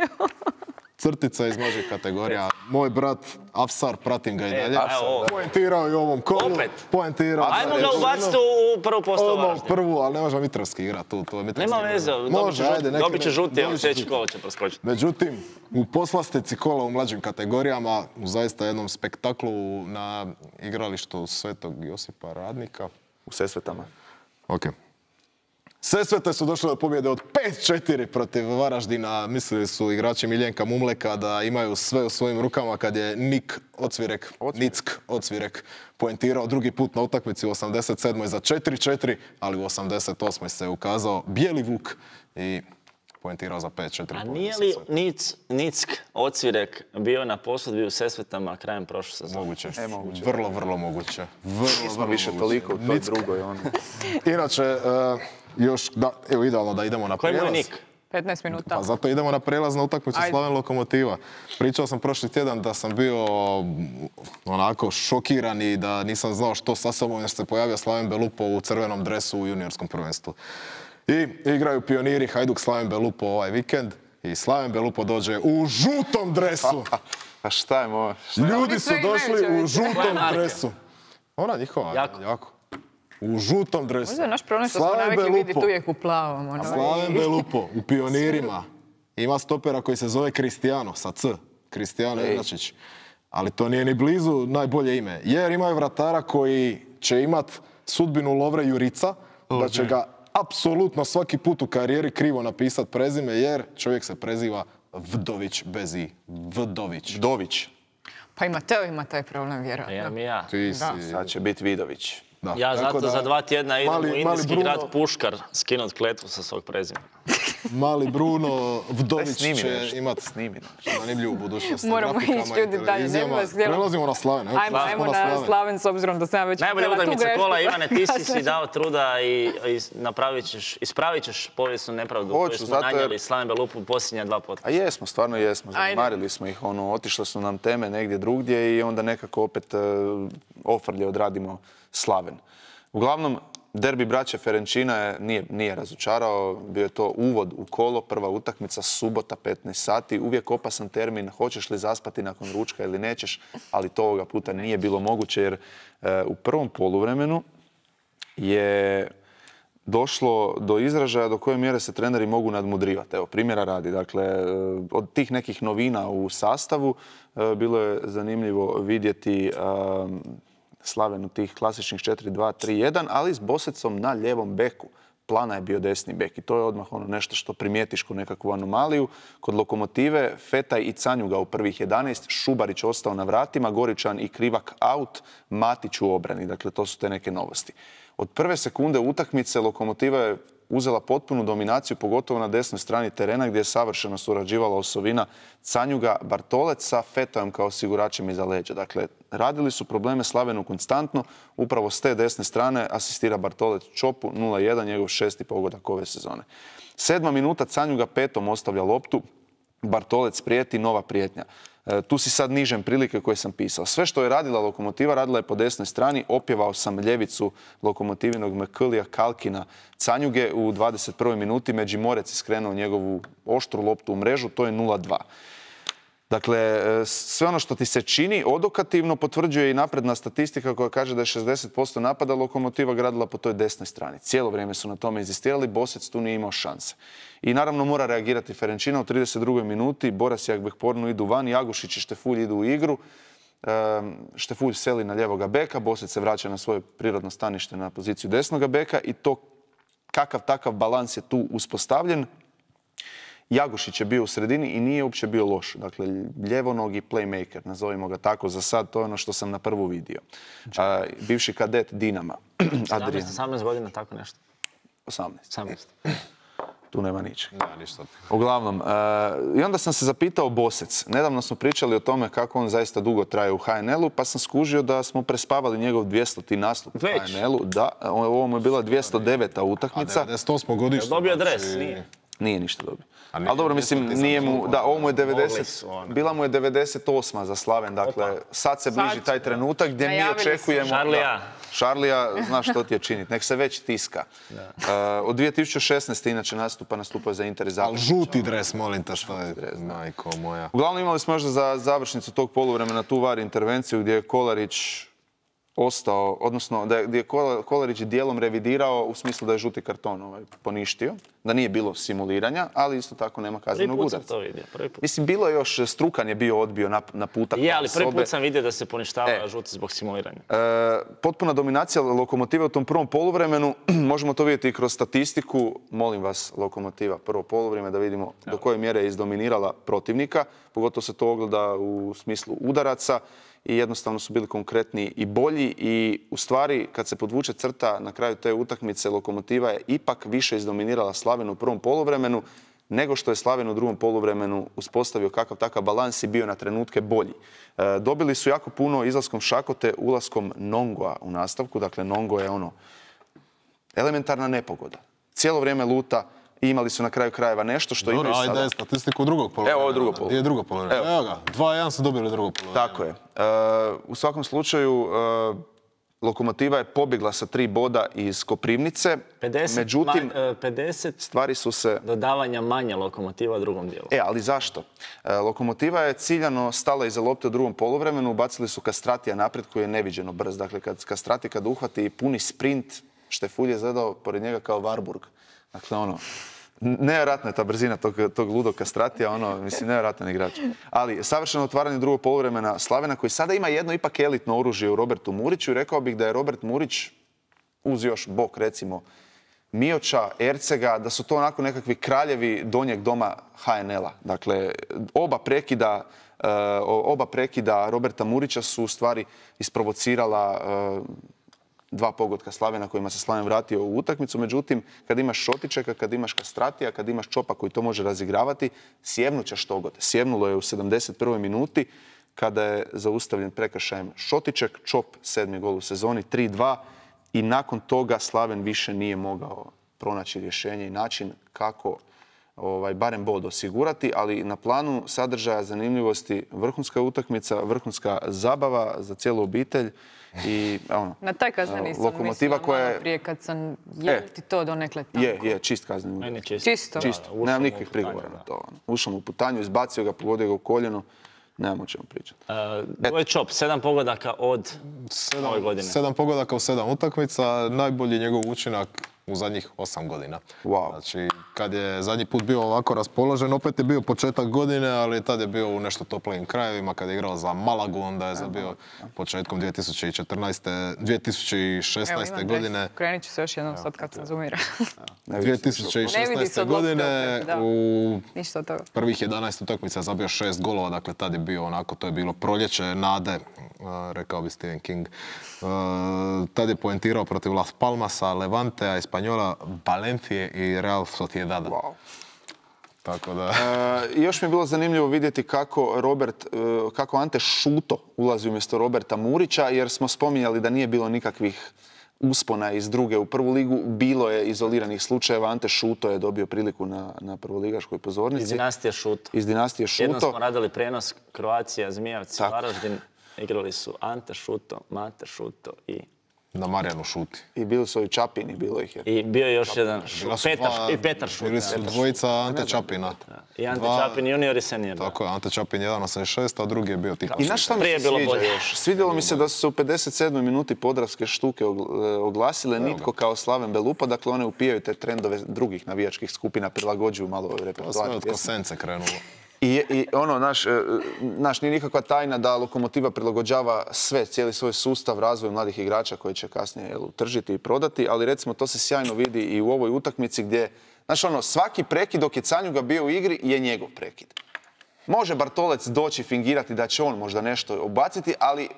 Crtica iz mlađih kategorija. Moj brat Afsar, pratim ga i dalje. E, poentirao i u ovom kolu. Opet? Poentirao. Ajmo ga ubaciti u prvu postavu važnje. Prvu, ali ne može Mitrovski igrati tu. To je Mitrovski. Nema veze, dobit će žuti, evo sljedeći kolo će preskočiti. Međutim, u poslastici kola u mlađim kategorijama, u zaista jednom spektaklu na igralištu Svetog Josipa Radnika. U Sesvetama. Ok. Sesvete su došle do pobjede od pet četiri protiv Varaždina. Mislili su igrači Miljenka Mumleka da imaju sve u svojim rukama kad je Nik Ocvirek, Nick Ocvirek poentirao drugi put na utakmici u osamdeset sedmoj za četiri četiri, ali u osamdeset osmoj se ukazao Bijeli Vuk i poentirao za pet četiri. A nije li Nick Ocvirek bio na posudbi u Sesvetama krajem prošle sezone? Moguće. E, moguće. Vrlo, vrlo moguće. Vrlo, vrlo više toliko u toj drugoj. Ono. Inače, uh, još, da, evo idealno da idemo na prijelaz. Koji mu je Nik? petnaest minuta. Pa zato idemo na prijelaz na utakmicu Slaven Lokomotiva. Pričao sam prošli tjedan da sam bio onako šokiran i da nisam znao što sa sobom jer se pojavio Slaven Belupo u crvenom dresu u juniorskom prvenstvu. I igraju pioniri Hajduk Slaven Belupo ovaj vikend i Slaven Belupo dođe u žutom dresu. A šta je moja? Ljudi su došli u žutom dresu. Ona njihova, jako. jako. U žutom dresu. Možda je naš problem što smo navikli vidjeti uvijek u plavom. Ono. Slaven Belupo u pionirima ima stopera koji se zove Kristijano, sa C. Kristijano Inačić. Ali to nije ni blizu najbolje ime. Jer imaju vratara koji će imat sudbinu Lovre Jurica, da će ga apsolutno svaki put u karijeri krivo napisat prezime, jer čovjek se preziva Vdović bez i. Vdović. Vdović. Pa i Mateo ima taj problem, vjerojatno. Ja mi ja. Ti si... Sad će biti Vidović. Da. Ja zato da, za dva tjedna idem mali, u indijski Bruno, grad Puškar skinut kletvu sa svog prezimena. Mali Bruno Vdović će imati snimino. zanimljivu budućnost. Moramo ići ljudi dalje. Prelazimo na Slaven. Ajmo, ajmo na Slaven. Slaven s obzirom da sam već... Najbolja utakmica kola, Ivane, ti si si dao truda i, i napravit ćeš, ispravit ćeš povijesnu nepravdu koju smo nanijeli Slaven Belupu u posljednja dva podcasta. A jesmo, stvarno jesmo. Zamarili smo ih, ono, otišle su nam teme negdje drugdje i onda nekako opet uh, ofrlje odradimo Slaven. Uglavnom, derbi braće Ferenčina je, nije, nije razočarao, bio je to uvod u kolo, prva utakmica, subota, petnaest sati, uvijek opasan termin, hoćeš li zaspati nakon ručka ili nećeš, ali to ovoga puta nije bilo moguće jer e, u prvom poluvremenu je došlo do izražaja do koje mjere se treneri mogu nadmudrivati. Evo, primjera radi. Dakle, od tih nekih novina u sastavu e, bilo je zanimljivo vidjeti e, Slaven u tih klasičnih četiri dva tri jedan, ali s Bosecom na ljevom beku. Plana je bio desni bek i to je odmah ono nešto što primijetiš kao nekakvu anomaliju. Kod Lokomotive Fetaj i Canjuga u prvih jedanaest, Šubarić ostao na vratima, Goričan i Krivak out, Matić u obrani. Dakle, to su te neke novosti. Od prve sekunde utakmice Lokomotiva je uzela potpunu dominaciju, pogotovo na desnoj strani terena gdje je savršeno surađivala osovina Canjuga Bartolec sa Fetajem kao osiguračem iza leđa. Dakle, radili su probleme Slavenu konstantno, upravo s te desne strane asistira Bartolec Čopu, nula jedan, njegov šesti pogodak ove sezone. Sedma minuta, Canjuga petom ostavlja loptu, Bartolec prijeti, nova prijetnja. E, tu si sad nižem prilike koje sam pisao. Sve što je radila Lokomotiva, radila je po desnoj strani. Opjevao sam ljevicu Lokomotivinog Meklija Kalkina Canjuge u dvadeset prvoj minuti. Međimorec je skrenuo njegovu oštru loptu u mrežu, to je nula dva. Dakle, sve ono što ti se čini odokativno potvrđuje i napredna statistika koja kaže da je šezdeset posto napada Lokomotiva gradila po toj desnoj strani. Cijelo vrijeme su na tome inzistirali, Bosec tu nije imao šanse. I naravno mora reagirati Ferenčina u trideset drugoj minuti. Boras i Akbehpornu idu van, Jagušić i Štefulj idu u igru. Štefulj seli na ljevoga beka, Bosec se vraća na svoje prirodno stanište na poziciju desnoga beka i to kakav takav balans je tu uspostavljen. Jagušić je bio u sredini i nije uopće bio loš. Dakle, ljevonogi playmaker, nazovimo ga tako za sad, to je ono što sam na prvu vidio. A, bivši kadet Dinama. sedamnaest osamnaest godina, tako nešto. osamnaest. osamnaest. Tu nema ničeg. Da, ništa. Uglavnom, uh, i onda sam se zapitao Bosec. Nedavno smo pričali o tome kako on zaista dugo traje u ha en el-u, pa sam skužio da smo prespavali njegov dvijestoti nastup u ha en el-u. Da, ovo mu je bila dvjesto deveta utakmica. A devedeset osmo godište. Dobio dres, nije. Nije ništa dobio. Ali dobro, mislim, nije mu, da, ovo mu je devedeset, bila mu je devedeset osma za Slaven, dakle, sad se bliži taj trenutak gdje mi očekujemo... Šarlija. Šarlija, znaš što ti je činiti, nek se već tiska. Uh, od dvije tisuće šesnaeste inače nastupa, nastupao za Inter i Zagreb. Ali žuti dres, molim te, što je, majko moja. Uglavnom imali smo možda za završnicu tog poluvremena tu var intervenciju gdje je Kolarić ostao, odnosno da je, gdje je Kolarić dijelom revidirao u smislu da je žuti karton ovaj, poništio, da nije bilo simuliranja, ali isto tako nema kaznenog udarca. Prvi put sam to vidio, prvi put. Mislim, bilo je još, Strukan je bio odbio na, na putak. Je, ali prvi put sam vidio da se poništava e, žuti zbog simuliranja. E, potpuna dominacija Lokomotive u tom prvom poluvremenu, možemo to vidjeti i kroz statistiku. Molim vas, Lokomotiva, prvo poluvrijeme, da vidimo do koje mjere je izdominirala protivnika. Pogotovo se to ogleda u smislu udaraca. I jednostavno su bili konkretni i bolji i u stvari kad se podvuče crta na kraju te utakmice Lokomotiva je ipak više izdominirala Slaven u prvom poluvremenu nego što je Slaven u drugom poluvremenu uspostavio kakav takav balans i bio na trenutke bolji. E, dobili su jako puno izlaskom Šakote, ulaskom Nongoa u nastavku, dakle Nongo je ono elementarna nepogoda. Cijelo vrijeme luta. I imali su na kraju krajeva nešto što imaju sada. Dobro, ajde statistiku drugog poluvremena. Evo ovo je drugo poluvremena. Je drugo poluvremena. Evo ga, dva jedan su dobili drugo poluvremena. Tako je. E, u svakom slučaju, e, Lokomotiva je pobjegla sa tri boda iz Koprivnice. pedeset, Međutim, ma, pedeset stvari su se... dodavanja manje Lokomotiva u drugom dijelu. E, ali zašto? E, Lokomotiva je ciljano stala iza lopte u drugom poluvremenu, ubacili su Kastratija naprijed koji je neviđeno brz. Dakle, kad Kastrati kad uhvati puni sprint, Štefulj je izgledao pored njega kao Warburg. Dakle, ono, nevjerojatna je ta brzina tog, tog ludog Kastratija, ono, mislim, nevjerojatan igrač. Ali, savršeno otvaranje drugog poluvremena Slavena, koji sada ima jedno ipak elitno oružje u Robertu Muriću. Rekao bih da je Robert Murić, uz još bok, recimo, Mioća, Ercega, da su to onako nekakvi kraljevi donjeg doma ha en el-a. Dakle, oba prekida, uh, oba prekida Roberta Murića su u stvari isprovocirala uh, dva pogotka Slavena kojima se Slaven vratio u utakmicu. Međutim, kad imaš Šotičeka, kad imaš Kastratija, kad imaš Čopa koji to može razigravati, sjevnut će štogod. Sjevnulo je u sedamdeset prvoj minuti kada je zaustavljen prekršajem Šotiček, Čop, sedmi gol u sezoni, tri dva i nakon toga Slaven više nije mogao pronaći rješenje i način kako ovaj, barem bod osigurati, ali na planu sadržaja zanimljivosti vrhunska utakmica, vrhunska zabava za cijelu obitelj. I, ono, na taj kazneni sam mislila koja je... prije kad sam... Je li ti to donekle tako? Je, je, čist kazneni. Meni čisto. Čisto? Čisto. Nemam nikakvih prigovora na to. Ušao mu u putanju, izbacio ga, pogodio ga u koljeno. Nemamo o čemu pričati. To je Čop, sedam pogodaka od ove godine. Sedam pogodaka u sedam utakmica. Najbolji njegov učinak u zadnjih osam godina. Wow. Znači, kad je zadnji put bio ovako raspoložen, opet je bio početak godine, ali tad je bio u nešto toplijim krajevima. Kad je igrao za Malagu, onda je bio početkom dvije tisuće četrnaeste. dvije tisuće šesnaeste. Evo, godine. Krenit ću se još jednom sad kad sam zumira. dvije tisuće šesnaeste. godine u prvih jedanaest utakmica zabio šest golova, dakle tad je bio onako, to je bilo proljeće nade, rekao bi Stephen King. Tad je poentirao protiv Las Palmasa, Levantea, Espanjola, Valencije i Real Sociedada. Wow. Tako da... E, još mi je bilo zanimljivo vidjeti kako, Robert, kako Ante Šuto ulazi umjesto Roberta Murića, jer smo spominjali da nije bilo nikakvih uspona iz druge u prvu ligu. Bilo je izoliranih slučajeva. Ante Šuto je dobio priliku na, na prvoligaškoj pozornici. Iz dinastije Šuto. Iz dinastije Šuto. Jednom smo radili prenos Kroacija, Zmijavci, Varaždin. Igrali su Ante Šuto, Mate Šuto i... Na Marijanu Šuti. I bili su i Čapini, bilo ih je. I bio je još jedan Petar, i Petar Šuti. Bili su dvojica Ante Čapina. I Ante Čapin junior i senior. Tako je, Ante Čapin jedan osamdeset šest, a drugi je bio Tito. I znaš šta mi se sviđa još? Svidjelo mi se da su se u pedeset sedmoj minuti Podravske štuke oglasile, nitko kao Slaven Belupa, dakle one upijaju te trendove drugih navijačkih skupina, prilagođuju malo repertoar. Sve od Kosence krenulo. I, i ono, naš, naš, nije nikakva tajna da Lokomotiva prilagođava sve, cijeli svoj sustav razvoju mladih igrača koji će kasnije jel, utržiti i prodati, ali recimo to se sjajno vidi i u ovoj utakmici gdje, znaš ono, svaki prekid dok je Canjuga bio u igri je njegov prekid. Može Bartolec doći fingirati da će on možda nešto obaciti, ali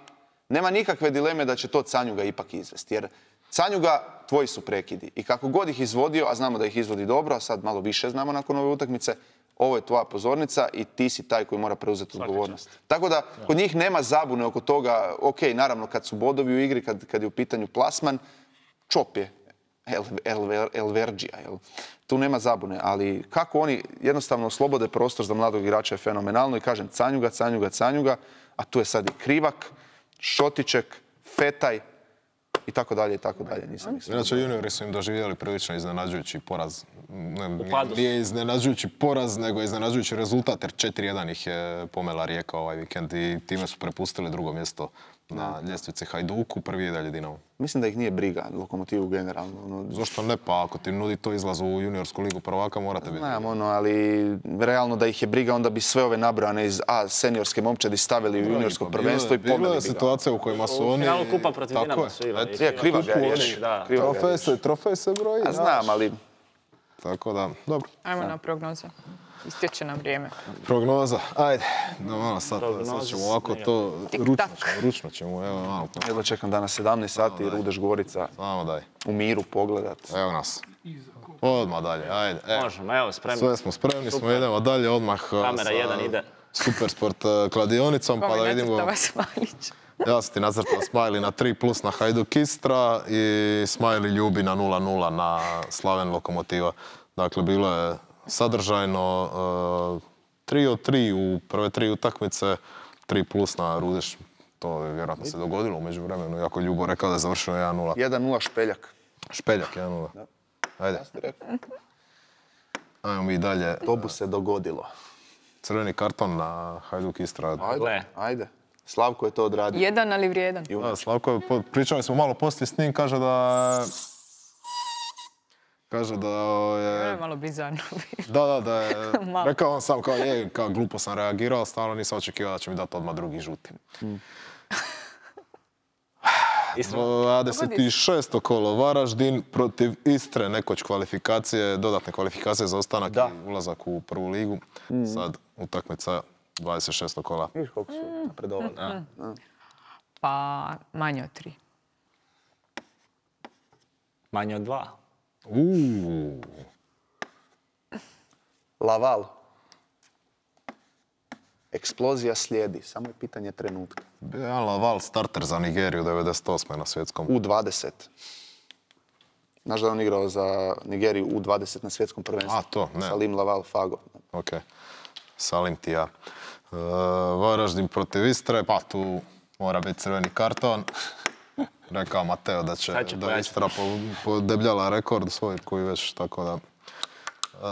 nema nikakve dileme da će to Canjuga ipak izvesti. Jer Canjuga, tvoji su prekidi. I kako god ih izvodio, a znamo da ih izvodi dobro, a sad malo više znamo nakon ove utakmice, ovo je tvoja pozornica i ti si taj koji mora preuzeti odgovornost. Tako da kod njih nema zabune oko toga, ok, naravno kad su bodovi u igri, kad, kad je u pitanju plasman, čop je El, El, Elverđija. Jel? Tu nema zabune, ali kako oni jednostavno oslobode prostor za mladog igrača je fenomenalno i kažem Canjuga, Canjuga, Canjuga, a tu je sad i Krivak, Šotiček, Fetaj i tako dalje i tako dalje. Nisam mislio. Inače, juniori su im doživjeli prilično iznenađujući poraz. Ne, nije iznenađujući poraz, nego iznenađujući rezultat, jer četiri jedan ih je pomela Rijeka ovaj vikend i time su prepustili drugo mjesto na ljestvici Hajduku, prvi je dalje Dinamo. Mislim da ih nije briga Lokomotivu generalno. Ono... Zašto ne? Pa ako ti nudi to izlaz u juniorsku ligu prvaka, morate biti. Znam, ono, ali realno da ih je briga, onda bi sve ove nabrane iz A seniorske momčadi stavili u juniorsko prvenstvo i pomeli bi ga. Bilo je situacija u kojima su oni... U finalu kupa protiv Dinama su igrali. Kriva ga je riječ. Trofej se broji. Znam, ali... Tako da, dobro. Ajmo na prognoze. Istječe nam vrijeme. Prognoza, ajde. No, malo sad, sad ćemo ovako to ručno, ručno ćemo, evo malo. Jedva čekam danas sedamnaest sati, Rudeš Gorica. Samo daj. U miru pogledat. Evo nas. Odmah dalje, ajde. Možemo, evo, spremni. Sve smo spremni, smo idemo dalje odmah. Kamera jedan ide. Supersport kladionicom, pa da vidimo... Kome nacrtava Smajlić? Ja sam ti nacrtao Smajli na tri plus na Hajduk Istra i Smajli ljubi na nula nula na Slaven Lokomotiva. Dakle, bilo je sadržajno tri od tri u prve tri utakmice, tri plus na Rudeš. To je vjerojatno se dogodilo umeđu vremenu, iako Ljubo rekao da je završeno jedan nula. jedan nula Špeljak. Špeljak, jedan nula. Ajde. Ajmo mi dalje. To bi se dogodilo. Crveni karton na Hajduk Istra. Ajde, ajde. Slavko je to odradio. Jedan, ali vrijedan. Da, Slavko, pričali smo malo poslije s njim, kaže da... Kaže da je... je malo bizarno. Da, da, da je... Rekao on sam kao je, kao glupo sam reagirao, stalno nisam očekivao da će mi dati odmah drugi žuti. Hmm. dvadeset šesto kolo Varaždin protiv Istre, nekoć kvalifikacije, dodatne kvalifikacije za ostanak da. I ulazak u prvu ligu. Mm. Sad utakmica dvadeset šesto kola. Viš koliko su napredovali. Mm. Mm. Pa manje od tri. Manje od dva. Uuu. Laval. Eksplozija slijedi, samo je pitanje trenutka. Bija Laval starter za Nigeriju devedeset osme na svjetskom. U dvadeset. Znaš da je on igrao za Nigeriju u dvadeset na svjetskom prvenstvu? A, to, ne. Salim Laval Fago. Ok. Salim ti ja. Uh, Varaždin protiv Istre, pa tu mora biti crveni karton. Rekao Mateo da će, će da Istra podebljala rekord svoj koji već, tako da... Uh,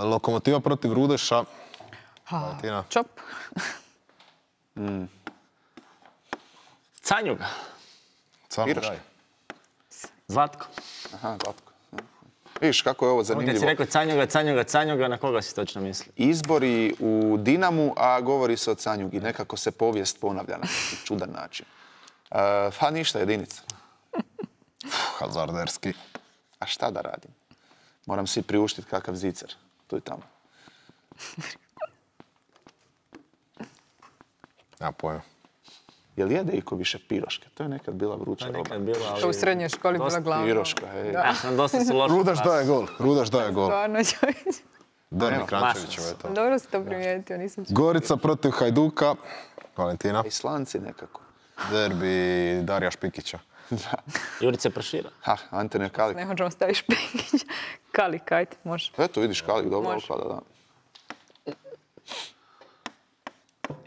Lokomotiva protiv Rudeša. Ha, čop. mm. Canjuga. Canjuga. Zlatko. Aha, Zlatko. Vidiš kako je ovo zanimljivo. Kad si rekao Canjuga, Canjuga, Canjuga, na koga si točno misli? Izbori u Dinamu, a govori se o Canjugi. Nekako se povijest ponavlja na čudan način. Uh, pa ništa, jedinica. Hazarderski. A šta da radim? Moram si priuštiti kakav zicer. Tu i tamo. Ja pojma. Je li jede iko više piroške? To je nekad bila vruća roba. Nekad bila, ali... To u srednjoj školi bila glavna. Piroška, hej. Ja sam dosta su loša. Rudaš daje gol. Rudaš daje gol. Stvarno, čovječ. Derbi Krančevićeva je to. Dobro si to primijetio, nisam čuo. Gorica protiv Hajduka. Valentina. Islanci nekako. Derbi Darija Špikića. Da. Jurice Prošira. Ha, Antonio Kalik. Ne možemo staviti Špikić. Kalik, ajde, može. Eto, vidiš Kalik, dobro uklada, da.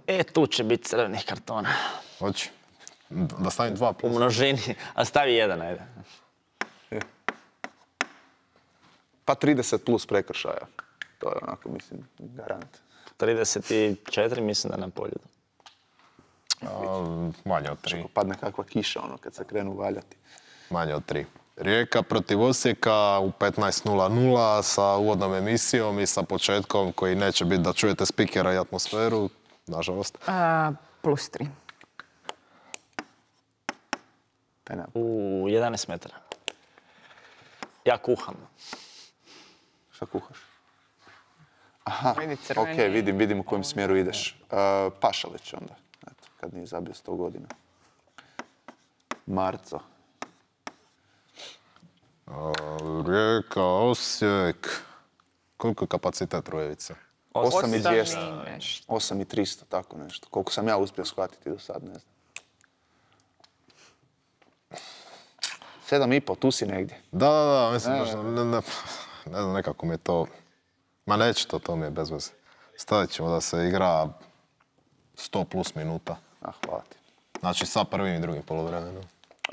E, tu će biti crvenih kartona. Hoći. Da stavim dva plus. U množini, a stavi jedan, ajde. Pa trideset plus prekršaja. To je onako, mislim, garant. trideset četiri mislim da na polju. A, manje od tri. Padne kakva kiša, ono, kad se krenu valjati. Manje od tri. Rijeka protiv Osijeka u petnaest nula nula sa uvodnom emisijom i sa početkom koji neće biti da čujete spikera i atmosferu, nažalost. A, plus tri. U jedanaest metara. Ja kuham. Šta kuhaš? Aha, ok, vidim, vidim u kojem smjeru ideš. Uh, Pašalić onda, eto, kad nije zabio sto godina. Marco. Rijeka, Osijek. Koliko je kapacitet Rujevice? osam i dvjesto. osam i tristo, tako nešto. Koliko sam ja uspio shvatiti do sad, ne znam. sedam i pol, tu si negdje. Da, da, da, mislim, baš, ne, ne, ne znam, nekako mi je to... Ma neće to, to mi je bez veze. Stavit ćemo da se igra sto plus minuta. Ah, hvala ti. Znači sa prvim i drugim poluvremenom.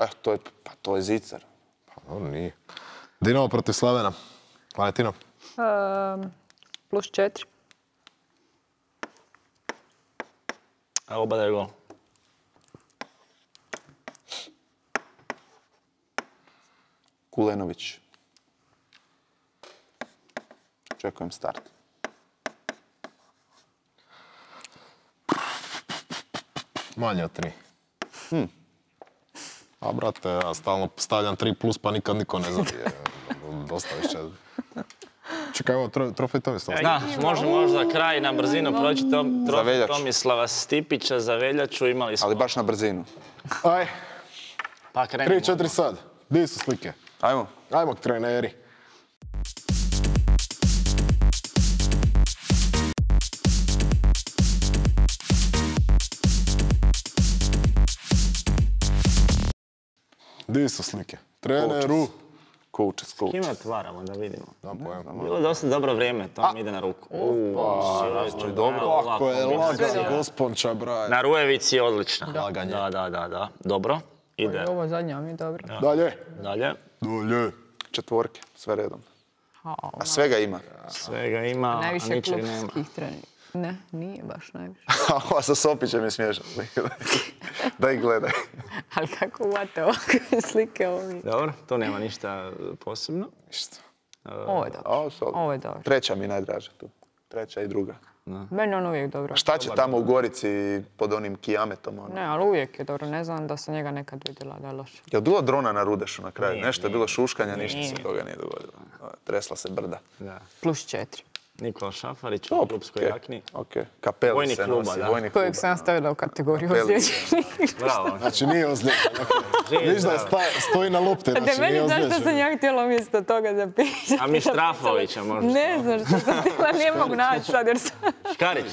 Eh, to je, pa to je zicar. Pa dobro, nije. Dinamo protiv Slavena. Valentina? Um, plus četiri. A oba da je gol. Kulenović. Čekujem start. Manje od tri. Hm. A brate, ja stalno stavljam tri plus pa nikad niko ne zabije. Dosta više. Čekaj, evo, tro, trofej Tomislava. Da, može možda kraj na brzinu proći tom, trofej Tomislava Stipića za veljaču, imali smo. Ali baš na brzinu. Aj, pa krenimo. tri četiri sad. Di su slike? Ajmo. Ajmo, treneri. Di su slike? Treneru. Kučec, kučec. Kime otvaramo da vidimo? Da, pojma. Bilo je dosta dobro vrijeme, to mi ide na ruku. Upa, dobro. Kako je laga gosponča, braj. Na Rujevici je odlična. Laganje. Da, da, da, da. Dobro. Ide. Ovo zadnja mi je dobro. Dalje. Dalje. Dalje. Četvorke, sve redom. A svega ima. Svega ima, a najviše ničeg nema. klubskih treninga. Ne, nije baš najviše. Ova sa Sopićem je smiješan. Da ih gledaj. Ali kako uvate ovakve slike ovi? Dobro, to nema ništa posebno. Ništa. Ovo je dobro. Ovo je dobro. Treća mi je najdraža tu. Treća i druga. Meni on uvijek dobro. A šta će tamo u Gorici pod onim kijametom? Ono? Ne, ali uvijek je dobro. Ne znam da sam njega nekad vidjela da je loše. Je li bilo drona na Rudešu na kraju? Nije, Nešto je nije. bilo šuškanja, ništa Nije. se toga nije dogodilo. Tresla se brda. Da. Plus četiri. Nikola Šafarić u Top, klubskoj okej, jakni. okej. Kapeli Vojnik se kluba, nosi, da. vojnik Kojeg kluba. sam stavila u kategoriju Kapeli. ozlijeđenih. Bravo. Znači nije ozlijeđen. Viš da sta, stoji na lopti, Da znači nije meni zašto ozlijeđen. sam ja htjela umjesto toga zapisati. A Mištrafovića možda. Ne znam što sam htjela, ne mogu naći sad jer sam... Škarić.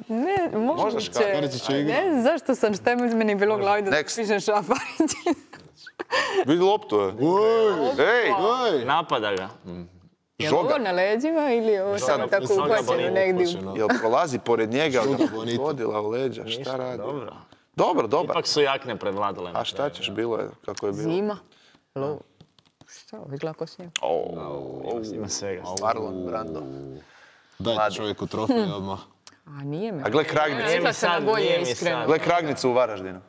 Ne, moguće. Škarić će igrati. Ne znam zašto sam, šta je meni bilo u glavi da Next. pišem Šafarić. Vidi loptu, je. Ej, Oj! Napada ga. Je li ovo na leđima ili je ovo samo tako Žoga uhvaćeno Bonito negdje? jel prolazi pored njega, Žoga ali Bonito. godila u leđa, šta radi? Dobro. Dobro, dobar. Ipak su jakne prevladale. A šta ćeš, bilo je kako je bilo. Zima. Lov. Šta, ovo izgleda ko snijeg. Ima svega. Marlon Brando. Dajte čovjeku trofej odmah. A nije me. A gle Kragnicu. Rekla sam na sad, bolje nije mi iskreno. sad. Gle Kragnicu u Varaždinu.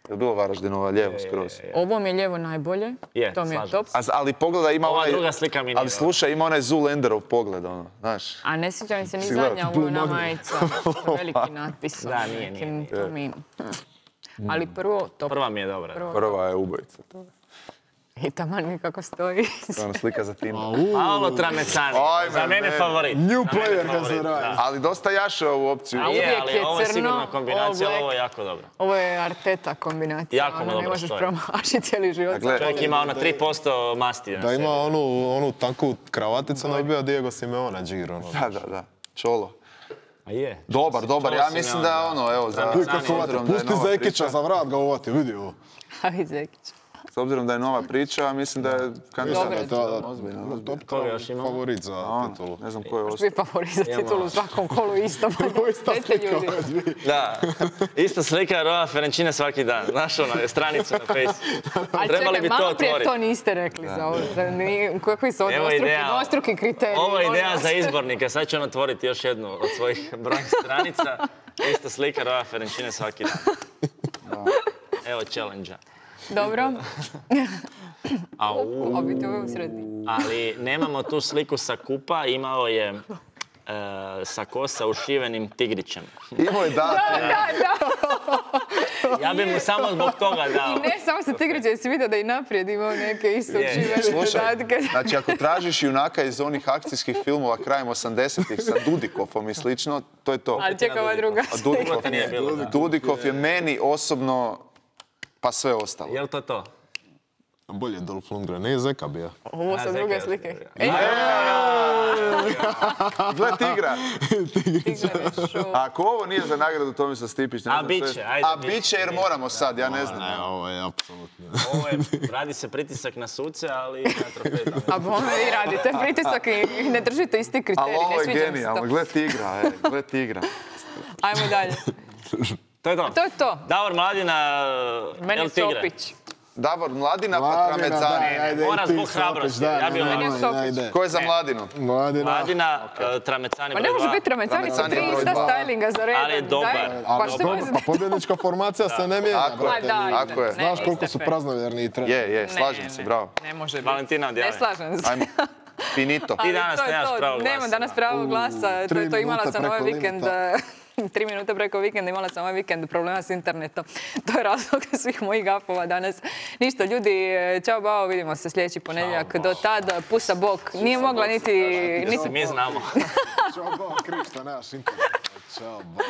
Je li bilo Varaždinova lijevo skroz? Ovo mi je lijevo najbolje. Je, To mi je slažem top. A, ali pogledaj, ima Ova onaj... druga slika mi nije Ali slušaj, ima onaj Zulenderov pogled, ono, znaš. A ne sjećam se ni Si gledao? zadnja ovo na majica. Veliki natpis. Da, nije, nije, nekim, to mi- Ali prvo, top. Prva mi je dobra. Prvo. Prva je ubojica. To I taman mi kako stoji. je ona slika za Tinder. Paolo Tramecani. Ajme, Za mene ne. favorit. New Za mene player kad se favorit, radi. da. Ali dosta jaše ovu opciju. A uvijek je, ali je ovo je crno, sigurno all kombinacija, black. ovo je jako dobro. Ovo je Arteta kombinacija. Jako mu ono, dobro ne možeš stoji. promašiti cijeli život. A gle, Čovjek ima ono tri posto masti na Da sebi. ima onu, onu tanku kravaticu, ne bi bio Diego Simeone džir, ono. Da, da, da. Čolo. A je. Dobar, dobar. Ja Čolo mislim Simeone, da ono, evo, za Tramecani. Uvijek kako s obzirom uvati, da je pusti nova Zekića priča, za vrat ga uvati, vidi ovo. A i Zekić. s obzirom da je nova priča, mislim da je kandidat. Dobro. Da, da, Ozbiljno, da, ozbiljno. Koga još ima? favorit za Ono, titulu. ne znam ko je ostao. Svi favorit za titulu u svakom kolu isto. Ista Dajte slika ljudi. ove dvije. Da, ista slika Roa Ferenčine svaki dan. Znaš ono, stranicu na Face. Ali Trebali čekaj, bi to malo prije otvoriti. to niste rekli za ovo. Za ni- Kakvi su ovo Evo dvostruki, ideja. dvostruki kriteriji? Ovo je molim ideja vas. za izbornike. Sad će on otvoriti još jednu od svojih brojnih stranica. Ista slika Roa Ferenčine svaki dan. Evo challenge-a. Dobro. Au. A biti ovo u sredini. Ali nemamo tu sliku sa kupa, imao je e, sa kosa ušivenim tigrićem. Imao je da. Da, da, da. Ja bi mu samo zbog toga dao. I ne samo sa tigrićem, jesi vidio da i naprijed imao neke isto učivene dodatke. Znači, ako tražiš junaka iz onih akcijskih filmova krajem osamdesetih sa Dudikovom i slično, to je to. Ali čeka ova druga Dudikov, Dudikov je meni osobno, pa sve ostalo. Je li to to? Bolje Dolph Lundgren, ne Zeka bio. Ovo su druge slike. Gle tigra. Ako ovo nije za nagradu Tomislav Stipić, ne znam. A bit će, ajde. A bit će jer moramo sad, ja ne znam. Ne, ovo je apsolutno. Ovo je, radi se pritisak na suce, ali na trofej. A bome vi radite pritisak i ne držite isti kriterij, ali ovo ne je sviđa mi se genijalno, to. gle tigra, e, gle tigra. Ajmo dalje. To je to. To je to. Davor Mladina, Meni El je Tigre. Sopić. Davor Mladina pa Tramezani. Mora zbog hrabrosti. Ja bi Meni je ovaj... Sopić. Ko je za Mladinu? Mladina. Mladina, eh, Tramecani Pa broj ne može dva. biti Tramecani sa Tramecani tri broj ista dva. stylinga za redom. Ali je dobar. Daj, A, Pa što dobro, mislim? a pobjednička formacija se ne mijenja, Tako je, brate. Ma daj, tako je. ne, Znaš koliko niste su fer. praznovjerni i treneri. Je, je, Ne, slažem se, ne, bravo. Ne može biti. Valentina Ne odjavi. slažem se. Ajmo, finito. Ali danas to je nemaš to. pravo glasa. Nemam danas pravo glasa. To, je tri to imala minuta sam ovaj preko vikend. limita. Tri minute preko vikenda imala sam ovaj vikend problema s internetom. To je razlog svih mojih gafova danas. Ništa, ljudi, čao bao, vidimo se sljedeći ponedjeljak. Do tad, pusa bok. Nije mogla niti... Mislim, mi znamo. Ćao, bo, kriv što nemaš internet. Ćao, bo.